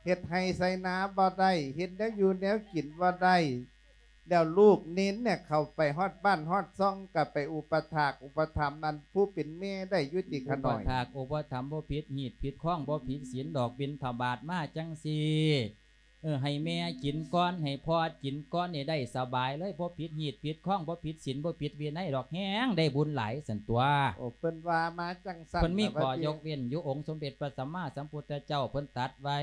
ເຮັດໄຮ່ໄຖນາບໍ່ໄດ້ ເຮັດແນວຢູ່ແນວກິນບໍ່ໄດ້ ແລ້ວລູກເນນເນຍເຂົ້າໄປຮອດບ້ານຮອດຊ່ອງ ກະໄປອຸປະຖາກອຸປະຖຳອັນຜູ້ເປັນແມ່ໄດ້ຢູ່ຕິຂະນ້ອຍ? ອຸປະຖາກອຸປະຖຳ ບໍ່ຜິດຮີດຜິດຄອງ ບໍ່ຜິດສິນດອກ ບິນທະບາດມາຈັ່ງຊີ້ ເອີ ໃຫ້ແມ່ກິນກ່ອນ ໃຫ້ພໍ່ກິນກ່ອນນີ້ໄດ້ສະບາຍເລີຍ ບໍ່ຜິດຮີດຜິດຄອງ ບໍ່ຜິດສິນ ບໍ່ຜິດວິໄນດອກ ແຮງໄດ້ບຸນຫຼາຍຊັ້ນຕົວະ. ໂອ້ ເພິ່ນວ່າມາຈັ່ງຊັ້ນ ເພິ່ນມີຂໍ້ຍົກເວັ້ນຢູ່ ອົງສົມເດັດພະສຳມາສຳພຸດທະເຈົ້າເພິ່ນຕັດໄວ້.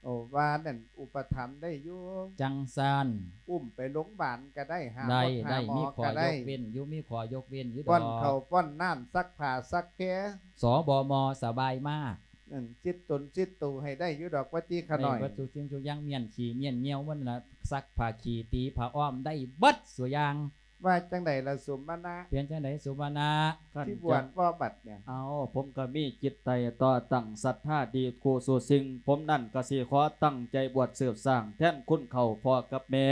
ໂອ້ ວ່ານັ້ນອຸປະຖຳໄດ້ຢູ່ ຈັ່ງຊັ້ນ ອຸ້ມໄປໂລງບານກະໄດ້ ຫາ ໄດ້ ໝົດ ໄດ້ ຫາໝໍກະໄດ້ ມີຂໍ້ຍົກເວັ້ນຢູ່ ມີຂໍ້ຍົກເວັ້ນຢູ່ດອກ ປ້ອນເຂົ້າປ້ອນນ້ຳ ຊັກຜ້າຊັກແພ ສບມ ສະບາຍມາກ. ນັ້ນ ຊິດຕົນຊິດໂຕໃຫ້ໄດ້ຢູ່ດອກ ວ່າຕິຂະນ້ອຍ. ໄດ້ເບິດທຸກສິ່ງທຸກຢ່າງ ມ້ຽນຂີ້ມ້ຽນຍ່ຽວມັນລະ ຊັກຜ້າຂີ້ຕີຜ້າອ້ອມໄດ້ເບິດສູ່ຢ່າງ. ວ່າຈັ່ງໃດລະສົມມະນະ? ເປັນຈັ່ງໃດສົມມະນະ? ຄັນ ຊິບວດບໍ່ບັດນີ້? ເອົາ ຜົມກະມີຈິດໃຈຕໍ່ຕັ້ງສັດທາດີຄູ່ສູ່ສິ່ງ ຜົມນັ້ນກະຊິຂໍຕັ້ງໃຈບວດສືບສ້າງແທນຄຸນເຖົ້າພໍ່ກັບແມ່.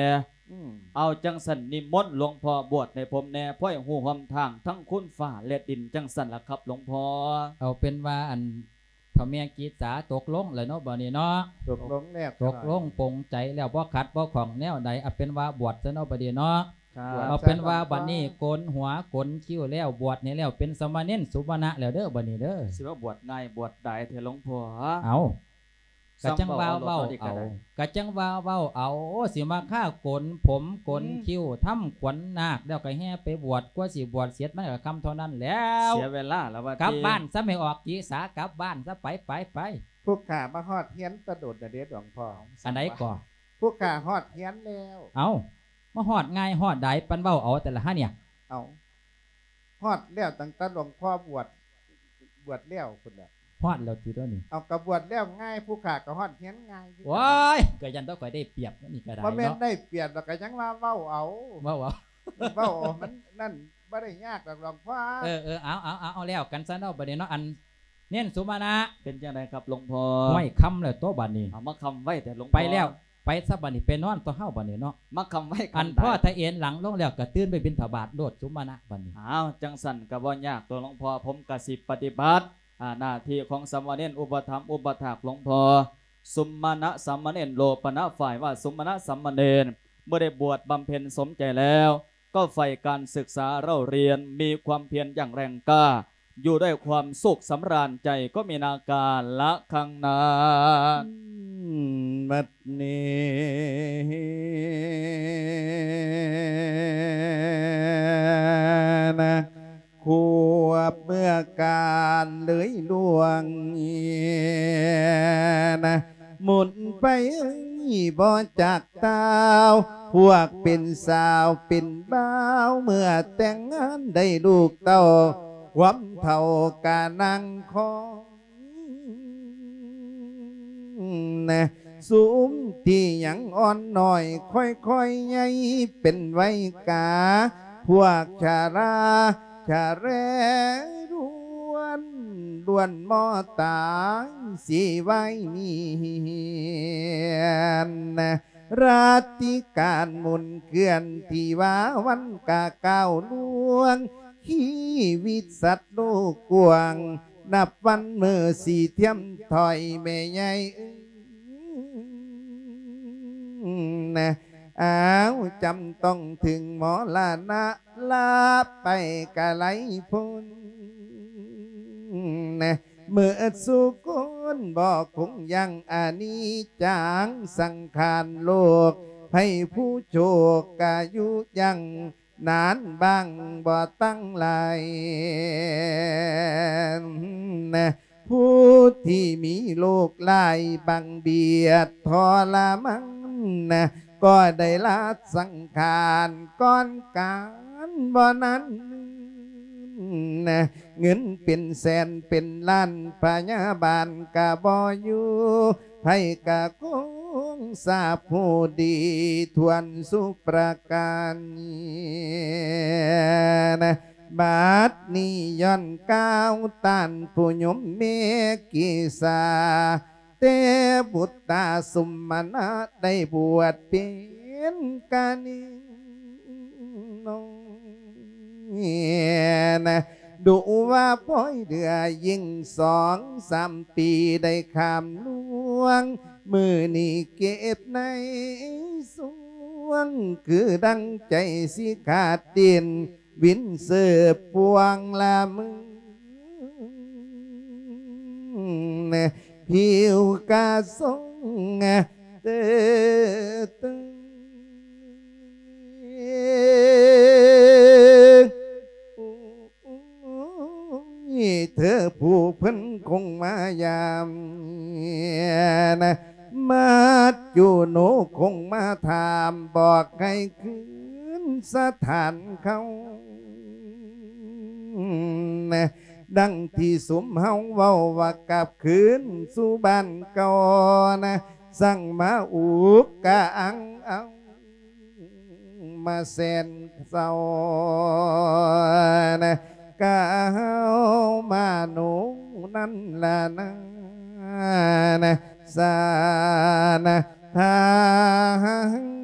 ອືມ ເອົາຈັ່ງຊັ້ນນິມົນຫຼວງພໍ່ບວດໃຫ້ຜົມແດ່ ພອຍຮູ້ຮ່ວມທາງທັງຄຸນຟ້າແລະດິນ ຈັ່ງຊັ້ນລະຄັບຫຼວງພໍ່. ເອົາເປັນວ່າອັນ ເຖົ້າແມ່ກີດສາຕົກລົງແລ້ວເນາະ ບັດນີ້ເນາະ ຕົກລົງແລ້ວ ຕົກລົງ ເຈົ້າ ປົງໃຈແລ້ວ ບໍ່ຂັດບໍ່ຂ້ອງແນວໃດ ເອົາເປັນວ່າບວດຊະເນາະ ບັດນີ້ເນາະ ບວດ ເອົາເປັນວ່າ ຊະ ບັດນີ້ ໂກນຫົວໂກນຄິ້ວແລ້ວ ບວດໃຫ້ແລ້ວ ເປັນສາມະເນນສຸມະນະແລ້ວເດີ້ ບັດນີ້ເດີ້ ຊິວ່າບວດງ່າຍບວດດາຍແທ້ ຫຼວງພໍ່ ເອົ້າ ກະຈັ່ງວ່າເວົ້າເອົາ ກະຈັ່ງວ່າເວົ້າເອົາ ໂອ້ ຊິມາຄາໂກນຜົມໂກນ ອືມ ຄິ້ວ ທຳຂວັນນາກ ແລ້ວກະແຫ່ໄປບວດ ກວ່າຊິບວດເສັດ ມັນກະຄ່ຳເທົ່ານັ້ນແລ້ວ ເສຍເວລາລະວ່າຕິ ກັບບ້ານຊະ ໃຫ້ອອກກີສາ ກັບບ້ານຊະ ໄປ ໄປ ໄປ ຜູ້ຂ້າມາຮອດເຮືອນແຕ່ດົນແລ້ວເດ້ ຫຼວງພໍ່ ອັນໃດກໍ ຜູ້ຂ້າຮອດເຮືອນແລ້ວ ເອົ້າ ມາຮອດງ່າຍຮອດດາຍ ປານເວົ້າເອົາແຕ່ລະຫະເນຍ ເອົ້າ ຮອດແລ້ວຕັ້ງແຕ່ຫຼວງພໍ່ບວດ ບວດແລ້ວພຸ້ນແຫຼະ ຮອດແລ້ວຕິດຽວນີ້ ເອົາ ກະບວດແລ້ວງ່າຍ ຜູ້ຂ້າກະຮອດເຮືອນງ່າຍຄືກັນ ໂອ້ຍ ກະຢ້ານແຕ່ຂ້ອຍໄດ້ປຽບ ອັນນີ້ກະໄດ້ ບໍ່ແມ່ນເນາະ ໄດ້ປຽບ ແລ້ວກະຍັງວ່າເວົ້າເອົາ ເວົ້າເອົາ ເວົ້າເອົາ ມັນນັ້ນ ບໍ່ໄດ້ຍາກດອກຫຼວງພໍ່ ເອີ ເອີ ເອົາ ເອົາ ເອົາ ເອົາແລ້ວກັນຊະເນາະ ບັດນີ້ເນາະ ອັນ ເນນສຸມະນະ ເປັນຈັ່ງໃດຄັບຫຼວງພໍ່ ຫ້ວຍ ຄ່ຳແລ້ວຕົວະບັດນີ້ ເອົາ ມາຄ່ຳໄວແທ້ຫຼວງພໍ່ ໄປແລ້ວ ໄປຊະບັດນີ້ ໄປນອນຕົວະເຮົາບັດນີ້ເນາະ ມາຄ່ຳໄວ ອັນພໍ່ ຖ້າເອນຫຼັງລົງແລ້ວກະຕື່ນໄປບິນທະບາດໂລດສຸມະນະບັດນີ້ ອ້າວ ຈັ່ງຊັ້ນກະບໍ່ຍາກຕົວະຫຼວງພໍ່ ຜົມກະຊິປະຕິບັດ ອາ ໜ້າທີ່ຂອງສາມະເນນອຸປະຖຳອຸປະຖາກຫຼວງພໍ່ ສຸມະນະສາມະເນນ ໂລປະນະ ຝ່າຍວ່າສຸມະນະສາມະເນນ ເມື່ອໄດ້ບວດບຳເພັນສົມໃຈແລ້ວ ກໍໃຝ່ການສຶກສາເລົ່າຮຽນ ມີຄວາມພຽນຢ່າງແຮງກ້າ ຢູ່ດ້ວຍຄວາມສຸກສຳລານໃຈ ກໍມີນາກາລະຄັງນານ ບັດນີ້ນະ ຄວບເມື່ອການເລີຍລ່ວງ ນະ ໝຸນໄປບໍ່ຈັກຕາວ ພວກເປັນສາວເປັນບ່າວ ເມື່ອແຕ່ງງານໄດ້ລູກເຕົ້າ ຄວາມເຖົ້າກະນັ່ງຄອງ ນະ ຊຸມທີ່ຍັງອ່ອນນ້ອຍ ຄ່ອຍໆໃຫຍ່ເປັນໄວກາ ພວກຊະລາຊະແລລ້ວນ ລ້ວນມໍຕາຍຊິໄວມີນະ ລາດຕິການໝູນເຄື່ອນ ທີ່ວ່າວັນກະກ້າວລ່ວງ ຊີວິດສັດໂລກກວ້າງ ນັບວັນມື້ຊິທຽມຖອຍແມ່ໃຫຍ່ເອີຍ ນະ ອ້າວ ຈຳຕ້ອງເຖິງມໍລະນະ ລາໄປກະໄລພົ້ນ ນະ ເໝິດສູ່ຄົນບໍ່ຄົງຢັ້ງ ອະນິດຈັງສັງຂານໂລກ ໃຜຜູ້ໂຊກກະຢູ່ຍັງ ນານບາງບໍ່ຕັ້ງຫຼາຍ ນະ ຜູ້ທີ່ມີໂລກຫຼາຍບັງບຽດທໍລະມັນ ນະ ກໍໄດ້ລາສັງຂານກ່ອນການບໍ່ນັ້ນ ນະ ເງິນເປັນແສນເປັນລ້ານ ພະຍາບານກະບໍ່ຢູ່ ໃຜກະຄົງຊາບຮູ້ດີຖ້ວນສຸປະການ ນະ ບັດນີ້ຍ້ອນກ່າວຕ້ານຜູ້ຍົມເມກິສາ ແຕ່ບຸດຕາສຸມມະນະໄດ້ບວດເປັນກະນິງນ້ອຍ ນະ ດຸວ່າພອຍເຫຼືອຍິ່ງສອງສາມປີໄດ້ຂ້າມລ່ວງ ມື້ນີ້ເກັບໃນຊ່ວງ ຄືດັ່ງໃຈຊິຂາດດິນ ວິນເສີບພວງລະມື ຜິວກະຊົງເຕີເຕີ ເທີຜູ້ເພິ່ນຄົງມາຢາມ ນະ ມາຈູໂນຄົງມາຖາມ ບອກໃຫ້ຄືນສະຖານເກົ່າ ນະ ດັ່ງທີ່ຊຸມເຮົາເວົ້າວ່າກັບຄືນສູ່ບ້ານເກົ່າ ນະ ສັ່ງມາອຸກກະອັງເອົາ ມາແສນເສົ້າ ນະ ກະເຮົາມາໂນນັ້ນລະນາ ນະ ສານະທາງ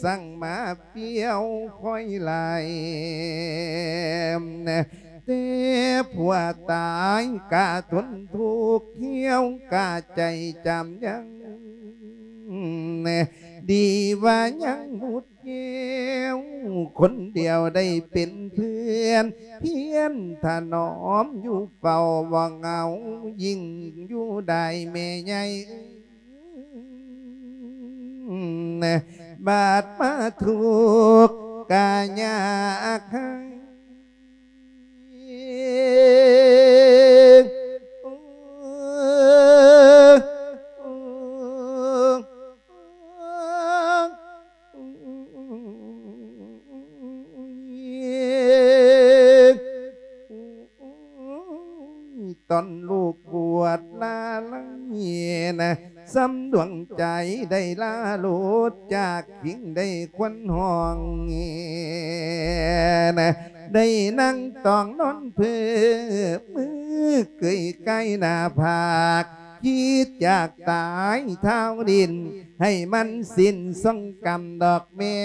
ສັ່ງມາປ່ຽວຄອຍຫຼາຍ ແຕ່ຜົວຕາຍກະທົນທຸກ ຫ່ຽວກະໃຈຈຳຍັງ ດີວ່າຍັງບຸດແກ້ວ ຄົນດຽວໄດ້ເປັນເພື່ອນ ພຽນຖະໜອມຢູ່ເຝົ້າ ບໍ່ເຫງົາຍິ່ງຢູ່ໄດ້ແມ່ໃຫຍ່ ບາດມາທຸກກະຍາກໃຫ້ ຕອນລູກບວດລາໄລນະ ສ່ຳດວງໃຈໄດ້ລາໂລດຈາກຄິງ ໄດ້ຄວັນຫ້ອງແງນະ ໄດ້ນັ່ງຕ້ອງນອນເພີ ມືເກີຍກາຍໜ້າຜາກ ຄິດຢາກຕາຍທ້າວດິນ ໃຫ້ມັນສິ້ນສົງກຳດອກແມ່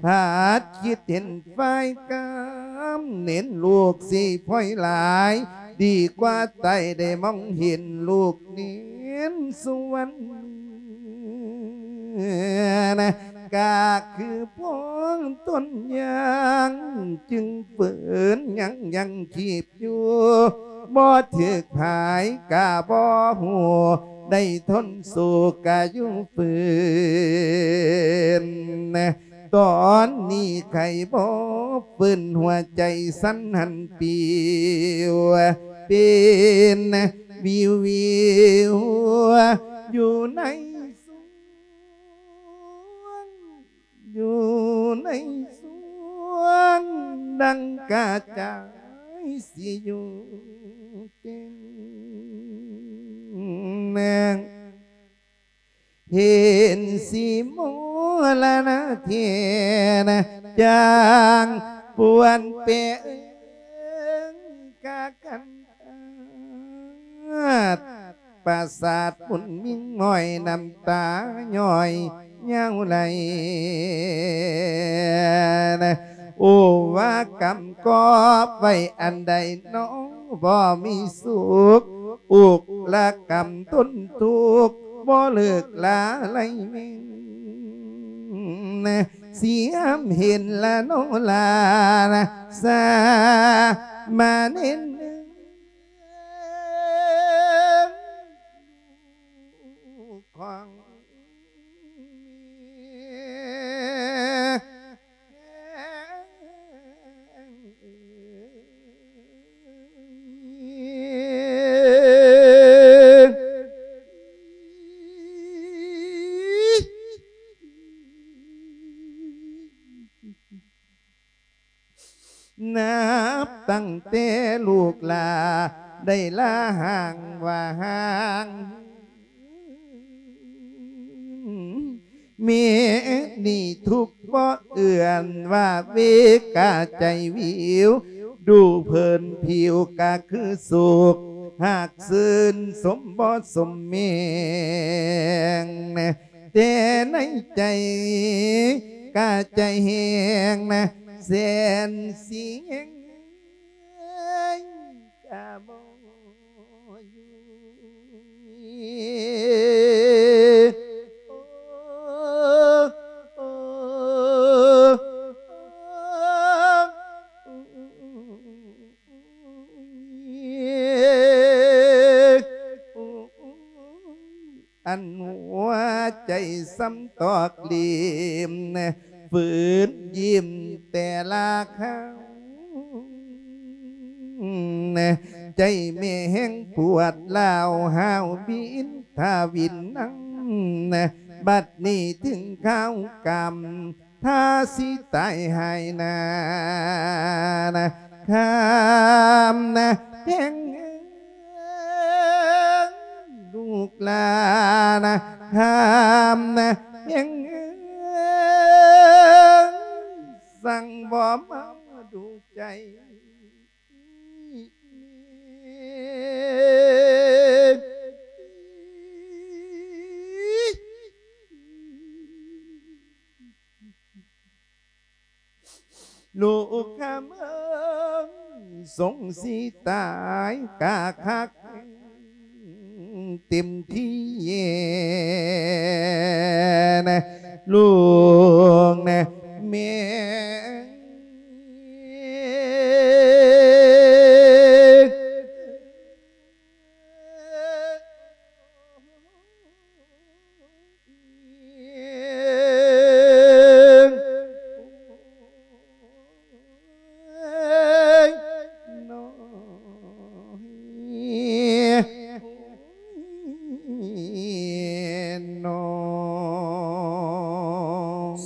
ພາດຄິດເຫັນຝ່າຍກາມ ເໜັນລູກຊິພອຍຫຼາຍ ດີກວ່າຕາຍໄດ້ມອງເຫັນລູກເໜັນສວນ ກະຄືພວງຕົ້ນຍາງ ຈຶ່ງເຟີນຍັງຍັງຊີບ ຢູ່ ບໍ່ຖືກພາຍກະບໍ່ຮູ້ ໄດ້ທົນໂສກກະຢູ່ຟື້ນ ຕອນນີ້ໄຂ້ບໍ່ຟື້ນ ຫົວໃຈສັ່ນຫັ້ນປິວ ເປັນວິວໆ ຢູ່ໃນສວງ ຢູ່ໃນສວງ ດັ່ງກະຈາຍຊິຢູ່ເຕັມ ເຫັນຊິມໍລະນະເທນະ ຈາງປວນເປງກະກັນ ປາສາດບຸນມິງ ຫງອຍນ້ຳຕາຍ້ອຍຍາວໄຫຼ ໂອ້ ວ່າກຳກອບໄວ້ອັນໃດໜໍ ບໍ່ມີສຸກ ອຸກລະກຳທົນທຸກ ບໍ່ເລີກລາໄລເມັນ ຊິຫາມເຫັນລະໂນລານະ ສາມາເນນ ຂອງແມ່ ນັບຕັ້ງແຕ່ລູກຫຼ້າໄດ້ລາຮ່າງວ່າຮ່າງ ແມ່ນີ້ທຸກບໍ່ເອື້ອນວ່າເວກາໃຈວິວ ດູເພີນຜິວກະຄືສຸກ ຫາກຊື່ນສົມບໍ່ສົມແມງ ແຕ່ໃນໃຈກະໃຈແຮງນະ ແສນສິງກະບໍ່ຢູ່ ໂອ້ ໂອ້ ໂອ້ ອັນຫົວໃຈສ່ຳຕອກຫຼີມ ຝືນຍິ້ມແຕ່ລະຄາວ ໃຈແມ່ແຮງປວດລ້າວຫ້າວບິນ ຖ້າວິນນັ່ງ ບັດນີ້ເຖິງຄາວກຳ ຖ້າຊິຕາຍຫາຍໜ້ານະ ຄຳນະແພງເອີຍ ລູກຫຼ້ານະ ຄຳນະແພງເອີຍ ສັ່ງບໍ່ມາດູໃຈ. ລູກຄຳເອີຍ ສົງຊິຕາຍກະຄັກເຕັມທີ່ນະ ລູກນະແມ່.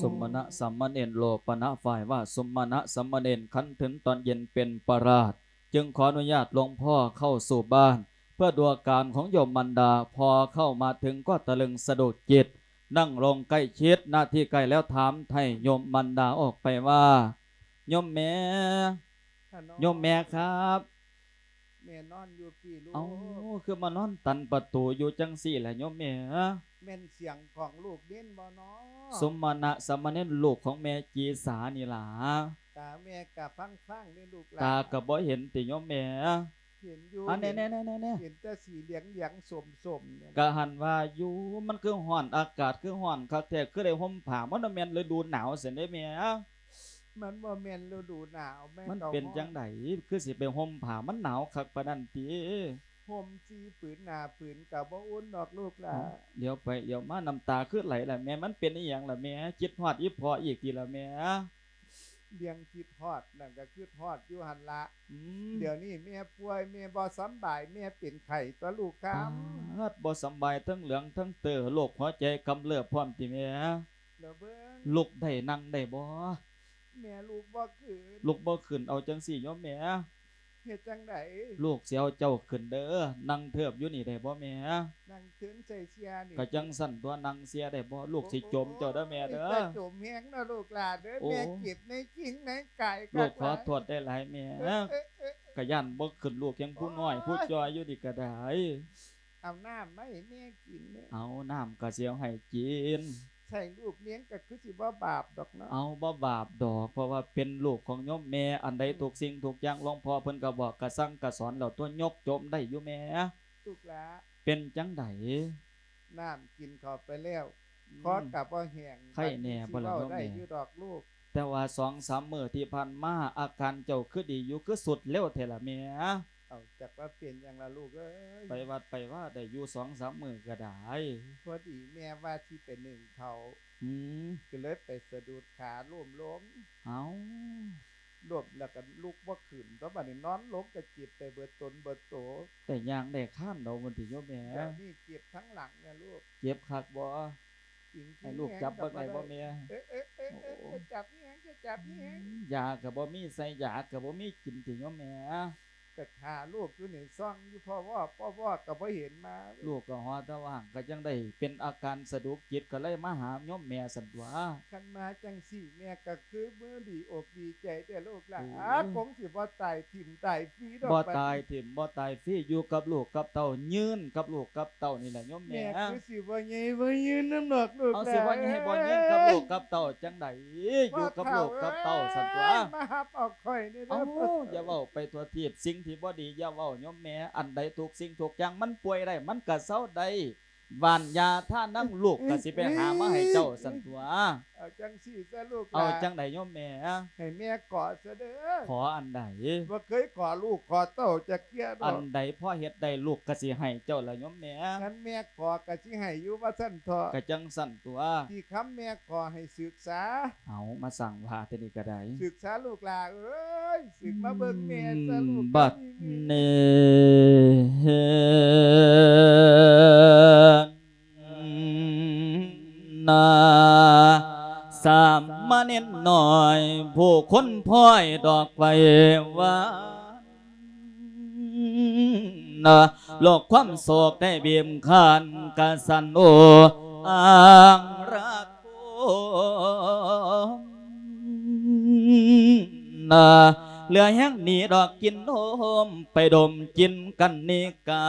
ສົມມະນະສາມະເນນໂລປະນະ ຝ່າຍວ່າ ສົມມະນະສາມະເນນ ຄັນເຖິງຕອນເຢັນເປັນປະຫຼາດ ຈຶ່ງຂໍອະນຸຍາດຫຼວງພໍ່ເຂົ້າສູ່ບ້ານ ເພື່ອດູອາການຂອງໂຍມມານດາ. ພໍເຂົ້າມາເຖິງກໍຕະລຶງສະດຸດຈິດ, ນັ່ງລົງໃກ້ຊິດ ນາທີ່ໃກ້ແລ້ວຖາມໄຖ່ໂຍມມານດາອອກໄປວ່າ ໂຍມແມ່ ໂຍມແມ່ຄັບ ແມ່ນອນຢູ່ພີ້ລູກ. ເອົ້າ ຄືມານອນຕັນປະຕູຢູ່ຈັ່ງຊີ້ລະໂຍມແມ່? ແມ່ນສຽງຂອງລູກເນນບໍ່ນໍ? ສົມມະນະສາມະເນນ ລູກຂອງແມ່ຈີສານີ້ລະ. ຕາແມ່ກະຟາງໆເດ້ລູກຫຼານ. ຕາກະບໍ່ເຫັນຕິໂຍມແມ່? ເຫັນຢູ່. ອາ ແນ່ໆໆໆ ເຫັນແຕ່ສີເຫຼືອງໆສົ້ມໆນີ້ລະ. ກະຫັ້ນວ່າຢູ່ ມັນຄືຮ້ອນ ອາກາດຄືຮ້ອນຄັກແທ້ ຄືໄດ້ຫົ່ມຜ້າ ມັນບໍ່ແມ່ນລະດູໜາວຊັ້ນເດ້ແມ່? ມັນບໍ່ແມ່ນລະດູໜາວແມ່. ມັນເປັນຈັ່ງໃດ ຄືຊິໄປຫົ່ມຜ້າ ມັນໜາວຄັກປານນັ້ນຕິ? ຫົ່ມສີ່ຜືນ ຫ້າຜືນກະບໍ່ອຸ່ນດອກລູກຫຼານ. ເອົ້າ ຫຼຽວໄປຫຼຽວມາ ນ້ຳຕາຄືໄຫຼລະແມ່? ມັນເປັນອີ່ຫຍັງລະແມ່? ຄິດຮອດອີ່ພໍ່ອີກຕິລະແມ່? ເລື່ອງຄິດຮອດນັ້ນກະຄິດຮອດຢູ່ຫັ້ນລະ. ອືມ ດຽວນີ້ແມ່ປ່ວຍ ແມ່ບໍ່ສຳບາຍ ແມ່ເປັນໄຂ້ຕົວະລູກຄຳ. ປາດ ບໍ່ສຳບາຍ ທັງເຫຼືອງທັງເຕີ ໂລກຫົວໃຈກຳເລີບພ້ອມຕິແມ່? ລະເບິ່ງ ລຸກໄດ້ ນັ່ງໄດ້ບໍ່? ແມ່ລຸກບໍ່ຂຶ້ນ. ລຸກບໍ່ຂຶ້ນ ເອົາຈັ່ງຊີ້ໂຍມແມ່ ເຮັດຈັ່ງໃດ? ລູກຊິເອົາເຈົ້າຂຶ້ນເດີ ນັ່ງເທີບຢູ່ນີ້ໄດ້ບໍ່ແມ່? ນັ່ງເທິງໃສ່ເຊຍນີ້. ກະຈັ່ງຊັ້ນຕົວະ ນັ່ງເຊຍໄດ້ບໍ່? ລູກຊິຈົມເຈົ້າເດີແມ່ເດີ. ໂອ້ຍ ຢ່າຈົມແຮງເນາະລູກຫຼານເດີ. ໂອ້ ແມ່ເຈັບໃນຈິງໃນກາຍ. ລູກຂໍໂທດໄດ້ຫຼາຍແມ່. ເອີ ເອີ ເອີ ກະຢ້ານບໍ່ຂຶ້ນ ລູກຍັງຜູ້ນ້ອຍ ໂອ້ຍ ຜູ້ຈ່ອຍຢູ່ນີ້ກະໄດ້. ເອົານ້ຳມາໃຫ້ແມ່ກິນເດີ. ເອົາ ນ້ຳກະຊິເອົາໃຫ້ກິນ. ໃສ່ລູກລ້ຽງກະຄືຊິບໍ່ບາບດອກເນາະ. ເອົາ ບໍ່ບາບດອກ ເພາະວ່າເປັນລູກຂອງໂຍມແມ່. ອັນໃດ ອືມ ທຸກສິ່ງທຸກຢ່າງ ຫຼວງພໍ່ເພິ່ນກະບອກກະສັ່ງກະສອນແລ້ວຕົວະ ຍົກໂຈມໄດ້ຢູ່ແມ່. ລູກຫຼານ ເປັນຈັ່ງໃດ? ນ້ຳກິນເຂົ້າໄປແລ້ວ ອືມ ຄໍກະບໍ່ແຫ້ງ. ໄຄແນ່ບໍ່ລະໂຍມແມ່? ບາດນີ້ຊິເວົ້າໄດ້ຢູ່ດອກລູກ. ແຕ່ວ່າສອງສາມມື້ທີ່ຜ່ານມາ ອາການເຈົ້າຄືດີຢູ່ ຄືສຸດເລັວແທ້ລະແມ່? ເອົາ ຈັກວ່າເປັນຫຍັງລະລູກເອີຍ. ໄປວັດໄປວາໄດ້ຢູ່ສອງສາມມື້ກະໄດ້. ພໍດີແມ່ວ່າຊິໄປໜຶ້ງເຂົ້າ. ອືມ ກະເລີຍໄປສະດຸດຂາລົ້ມລົງ. ເອົ້າ ລົ້ມແລ້ວກະລຸກບໍ່ຂຶ້ນ ແລ້ວບາດນີ້ນອນລົງກະເຈັບໄປເບິດຕົນເບິດໂຕ. ໄດ້ຍ່າງໄດ້ຄານເອົາພຸ້ນຕິໂຍມແມ່? ດຽວນີ້ເຈັບທັງຫຼັງນະລູກ. ເຈັບຄັກບໍ່? ໃຫ້ລູກຈັບເບິ່ງໄດ້ບໍ່ແມ່? ເອີ ເອີ ເອີ ເອີ ໂອ້ ຈະຈັບແຮງ ຈະຈັບແຮງ. ຢາກະບໍ່ມີໃສ່ ຢາກະບໍ່ມີກິນຕິໂຍມແມ່? ກະຖ້າລູກຢູ່ນີ້ ສ່ອງຢູ່ ພໍ່ວອກ ພໍ່ວອກກະບໍ່ເຫັນມາ. ລູກກະຫໍ່ແຕ່ວ່າ ກະຈັ່ງໄດ້ເປັນອາການສະດຸດຈິດ ກະເລີຍມາຫາໂຍມແມ່ຊັ້ນຕົວະ. ຄັນມາຈັ່ງຊີ້ ແມ່ກະຄືມືດີອົກດີໃຈແທ້ລູກຫຼານ. ໂອ້ຍ ຄົງຊິບໍ່ຕາຍຖິ້ມຕາຍຟຣີດອກ. ບໍ່ຕາຍຖິ້ມບໍ່ຕາຍຟຣີ ຢູ່ກັບລູກກັບເຕົ້າ ຍືນກັບລູກກັບເຕົ້ານີ້ແຫຼະໂຍມແມ່. ແມ່ຄືຊິບໍ່ໃຫຍ່ບໍ່ຍືນນຳດອກລູກຫຼານ. ເອົາ ຊິບໍ່ໃຫຍ່ບໍ່ຍືນກັບລູກກັບເຕົ້າຈັ່ງໃດ? ຢູ່ກັບລູກກັບເຕົ້າຊັ້ນຕົວະ. ມາຮັບເອົາຂ້ອຍແດ່ເດີ. ເອົ້າ ຢ່າເວົ້າໄປທົ່ວທີບ ສິ່ງທີ່ບໍ່ດີຢ່າເວົ້າໂຍມແມ່. ອັນໃດທຸກສິ່ງທຸກຢ່າງມັນປ່ວຍໄດ້ ມັນກະເຊົາໄດ້. ຫວ່ານຢາທານຳ ລູກກະຊິໄປຫາມາໃຫ້ເຈົ້າຊັ້ນຕົວະ. ເອົາຈັ່ງຊີ້ຊະລູກຫຼານ. ເອົາຈັ່ງໃດໂຍມແມ່? ໃຫ້ແມ່ຂໍຊະເດີ. ຂໍອັນໃດ? ບໍ່ເຄີຍຂໍລູກຂໍເຕົ້າຈັກເທື່ອດອກ. ອັນໃດພໍເຮັດໄດ້ ລູກກະຊິໃຫ້ເຈົ້າລະໂຍມແມ່. ຄັນແມ່ຂໍກະຊິໃຫ້ຢູ່ວ່າຊັ້ນເຖາະ. ກະຈັ່ງຊັ້ນຕົວະ. ທີ່ຄຳແມ່ຂໍໃຫ້ສຶກສາ. ເອົາ ມາສ້າງວ່າແຕ່ນີ້ກະໄດ້. ສຶກສາລູກຫຼານເອີຍ ສຶກມາເບິ່ງແມ່ຊະລູກ. ບັດນີ້ ນາ ສາມະເນນນ້ອຍ ຜູ້ຄົນພ້ອຍດອກໄຟຫວານ ນາ ໂລກຄວາມໂສກໄດ້ບີບຄັ້ນກະສັ່ນໂອ ອ້າງລະໂຄ ນາ ເຫຼືອແຮງໜີດອກກິນໂຮມ ໄປດົມກິນກັນນິກາ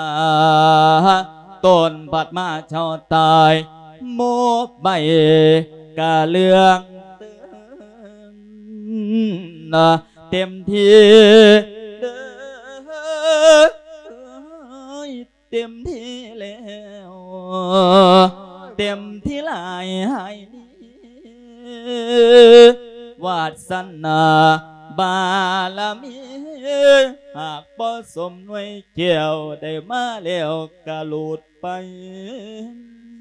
ຕົ້ນບັດມາເຈົ້າຕາຍ ໂມບໃບກະເຫຼືອງເຕີງ ນະ ເຕັມທີ່ເດີ ເຕັມທີ່ແລ້ວ ເຕັມທີ່ຫຼາຍໃຫ້ດີ ວາດສະໜາບາລະມີ ຫາກບໍ່ສົມໜ່ວຍແກ້ວ ໄດ້ມາແລ້ວກະຫຼຸດໄປ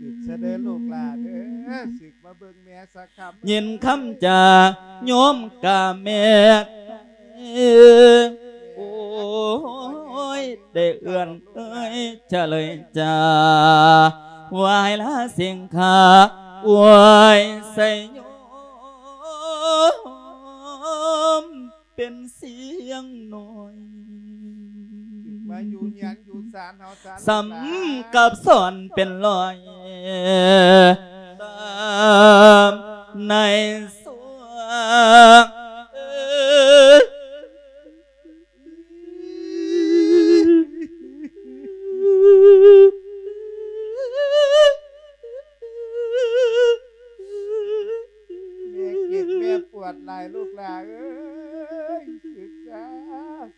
ສຶກຊະເດີລູກຫຼ້າເດີ ສຶກມາເບິ່ງແມ່ສັກຄຳ ຍິນຄຳຈາໂຍມກະແມ່ນ ໂອ້ຍ ໄດ້ເອື້ອນເອີຍຈະເລີຍຈາ ວາຍລາສິງຂາ ອວຍໄຊໂຍມ ເປັນສຽງນ້ອຍ ມາຢູ່ເຮືອນຢູ່ຊານເຮົາຊະ ສ່ຳກັບສອນເປັນລອຍ ຕາມໃນສວງ ແມ່ເຈັບແມ່ປວດຫຼາຍລູກຫຼ້າເອີຍ ສຶກຊະ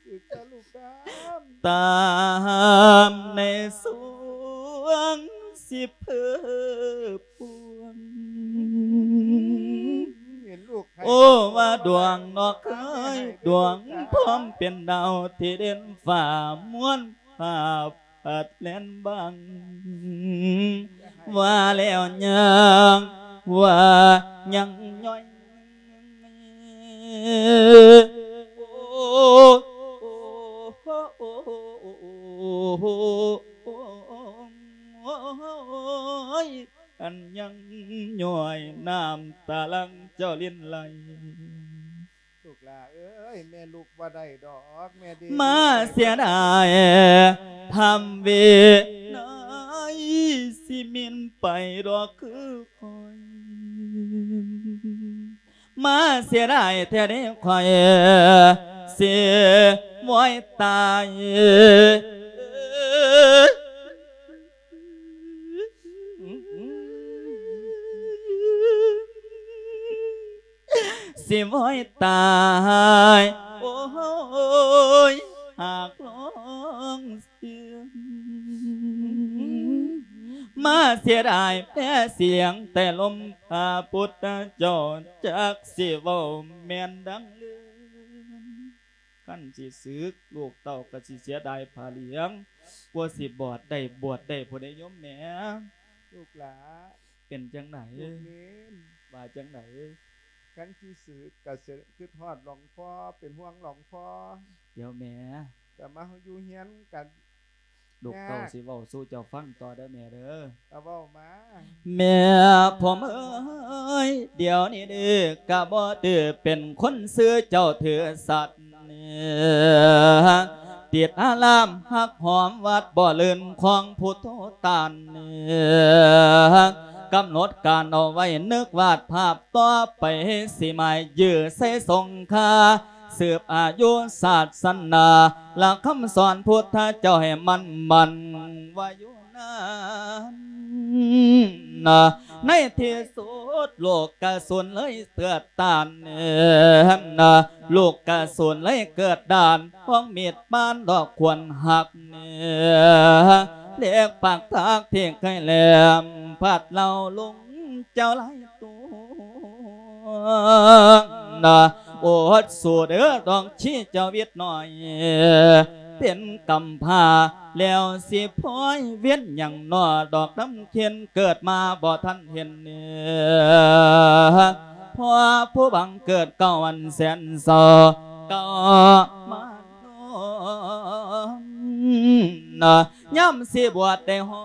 ສຶກຊະລູກດາ ຕາມໃນສວງຊິເພີພວງ ເຫັນລູກໄຂ້ ໂອ້ ວ່າດວງນອກເອີຍ ດວງພ້ອມເປັນດາວທີ່ເດັ່ນຟ້າ ມ່ວນພາບພັດແລ່ນບັງ ວ່າແລ້ວຍັງວ່າຍັງຍ້ອຍ ໂອ້ ໂອ້ ໂອ້ຍ ອັນຍັງຍ້ອຍນ້ຳຕາຫຼັ່ງເຈົ້າລິນໄຫຼ ລູກຫຼ້າເອີຍ ແມ່ລຸກບໍ່ໄດ້ດອກ ແມ່ເດ ມາເສຍດາຍທຳເວໄນ ຊິມິນໄປດອກຄືຂ້ອຍ ມາເສຍດາຍແທ້ເດ້ຂ້ອຍ ຊິວອຍຕາຍ ຊິວອຍຕາຍ ໂອ້ຍ ຫາກລອງເຊື່ອ ມາເສຍດາຍແພ້ສຽງແຕ່ລົມ ພະພຸດທະເຈົ້າ ຈັກຊິເວົ້າແມ່ນດັ່ງເລື່ອງ ຄັນຊິສຶກ ລູກເຕົ້າກໍຊິເສຍດາຍຜ້າຫຼຽງ ກວ່າຊິບວດໄດ້ ບວດໄດ້ພຸ້ນເດ້ໂຍມແມ່ ລູກຫຼ້າ ເປັນຈັ່ງໃດ ລູກເນນ ວ່າຈັ່ງໃດ ຄັນຊິສຶກກໍຄິດຮອດຫຼວງພໍ່ ເປັນຫ່ວງຫຼວງພໍ່ ດຽວແມ່ ກໍມາຢູ່ເຮືອນກັນ ລູກເຕົ້າ ຍາກ ຊິເວົ້າສູ່ເຈົ້າຟັງຕໍ່ເດີແມ່ເດີ ກໍເວົ້າມາ ແມ່ຜົມເອີຍ ດຽວນີ້ເດີກະບໍ່ຖືເປັນຄົນຊື່ເຈົ້າຖືສັດ ຕິດອາລາມຮັກຫອມວັດບໍ່ລື່ນຂອງພຸດໂທຕານ ກຳນົດການເອົາໄວ້ນຶກວາດພາບຕໍ່ໄປ ຊິໝາຍຢື້ໃສ່ສົງຄາ ສືບອາຍຸສາສະໜາ ຫຼັກຄຳສອນພຸດທະເຈົ້າໃຫ້ໝັ້ນ ໝັ້ນວ່າຢູ່ນານ ໃນທີ່ສຸດໂລກກະສູນເລີຍເກືອດຕ້ານ ໂລກກະສູນເລີຍເກີດດ້ານ ຂອງມີດບານດອກຄວນຫັກ ເຫຼັກປາກທາກທີ່ເຄີຍແຫຼມ ພັດເຫຼົາລົງເຈົ້າຫຼາຍຕົວ ນະ ອົດສູ້ເດີດອກຊີເຈົ້າວິດໜ້ອຍ ເປັນກຳພ້າແລ້ວຊິພອຍວຽນຫຍັງນໍ ດອກນຳເຂັນເກີດມາບໍ່ທັນເຫັນ ເພາະຜູ້ບັງເກີດເກົ່າອັນແສນເສົ້າ ເກົ່າມານອນ ນະ ຍາມຊິບວດໄດ້ຮ້ອ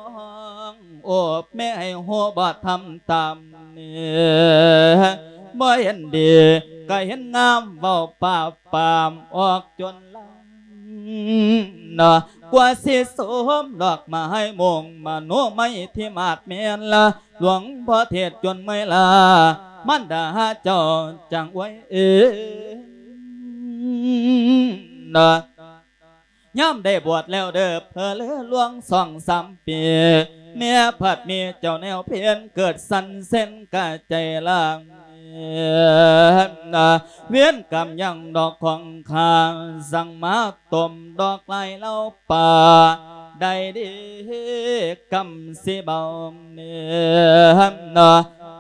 ງ ໂອ້ ແມ່ໃຫ້ຮູ້ບໍ່ທຳຕາມນີ້ ບໍ່ເຫັນດີກໍເຫັນງາມ ເວົ້າປາບປາມອອກຈົນລາ ນະ ກວ່າຊິສົມດອກໄມ້ມຸງມະໂນໄມທີ່ມາດແມ່ນລະ ຫຼວງພໍ່ເທດຈົນເມື່ອຍລາ ມານດາເຈົ້າຈັ່ງອວຍເອ ນະ ຍາມໄດ້ບວດແລ້ວເດີ ເພີເຫຼືອຫຼວງສອງສາມປີ ແມ່ພັດມີເຈົ້າແນວເພັນ ເກີດສັ່ນເຊັນກະໃຈລາງ ເວນກຳຍັງດອກຂອງຂ້າ ສັ່ງມາຕົ້ມດອກລາຍເລົ່າປາ ໄດ້ເດ້ກຳຊິເບົາ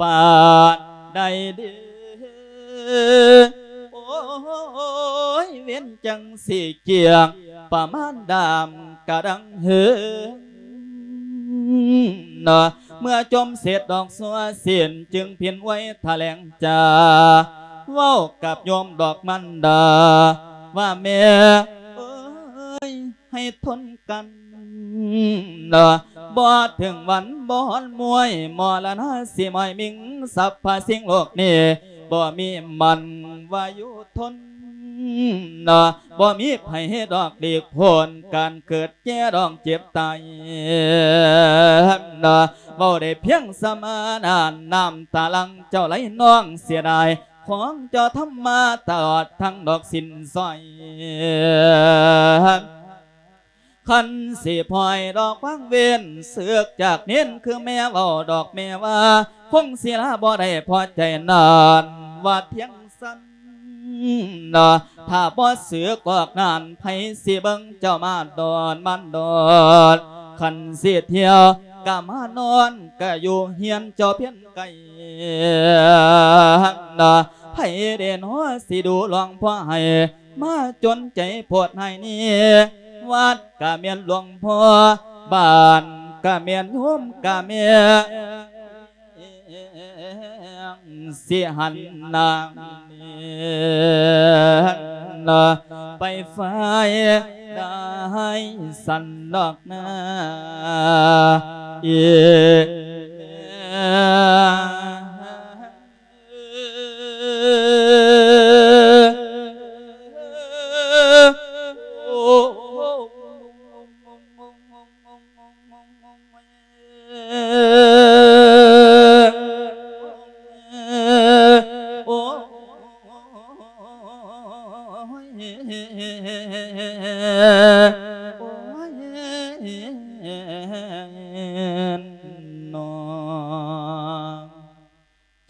ປານໃດເດ້ ໂອ້ຍ ເວນຈັ່ງຊິກຽງ ປະມານດາມກະດັງເຮີ ເມື່ອຈົ່ມເສັດດອກຊົ່ວສິ້ນ ຈຶ່ງພິນໄວ້ຖະແຫຼງຈາ ເວົ້າກັບໂຍມດອກມັນດາ ວ່າແມ່ເອີຍ ໃຫ້ທົນກັນ ບໍ່ເຖິງວັນບໍ່ຮອນມວຍ ມໍລະນາຊິມອຍມິງ ສັບພະສິ່ງໂລກນີ້ ບໍ່ມີມັນວ່າຢູ່ທົນ ບໍ່ມີໃຜດອກຫຼີກພົ້ນ ການເກີດແກ່ດອງເຈັບຕາຍ ເວົ້າໄດ້ພຽງສ່ຳນັ້ນ ນ້ຳຕາຫຼັງເຈົ້າໄຫຼນອງເສຍດາຍ ຂອງເຈົ້າທຳມາຕະຫຼອດທັງດອກສິ້ນສອຍ ຄັນຊິປ່ອຍດອກວາງເວັນ ເສືອກຈາກເນນຄືແມ່ເວົ້າດອກແມ່ວ່າ ຄົງສິລາບໍ່ໄດ້ພໍໃຈນັ້ນ ວ່າທຽງຊັ້ນ ຖ້າບໍ່ເສືອກອອກນັ້ນ ໃຜຊິເບິ່ງເຈົ້າມາດອນມາດອນ ຄັນຊິທ່ຽວກະມານອນ ກະຢູ່ເຮືອນເຈົ້າພຽນໄກ ໃຜເດເນາະຊິດູຫຼວງພໍ່ໃຫ້ ມາຈົນໃຈໂພດໃຫ້ນີ້ ວັດກະແມ່ນຫຼວງພໍ່ ບ້ານກະແມ່ນໂຍມກະແມ່ນ ຊິຫັນໜ້າ ໄປຝ່າຍໃດສັນດອກນາ ເອີ.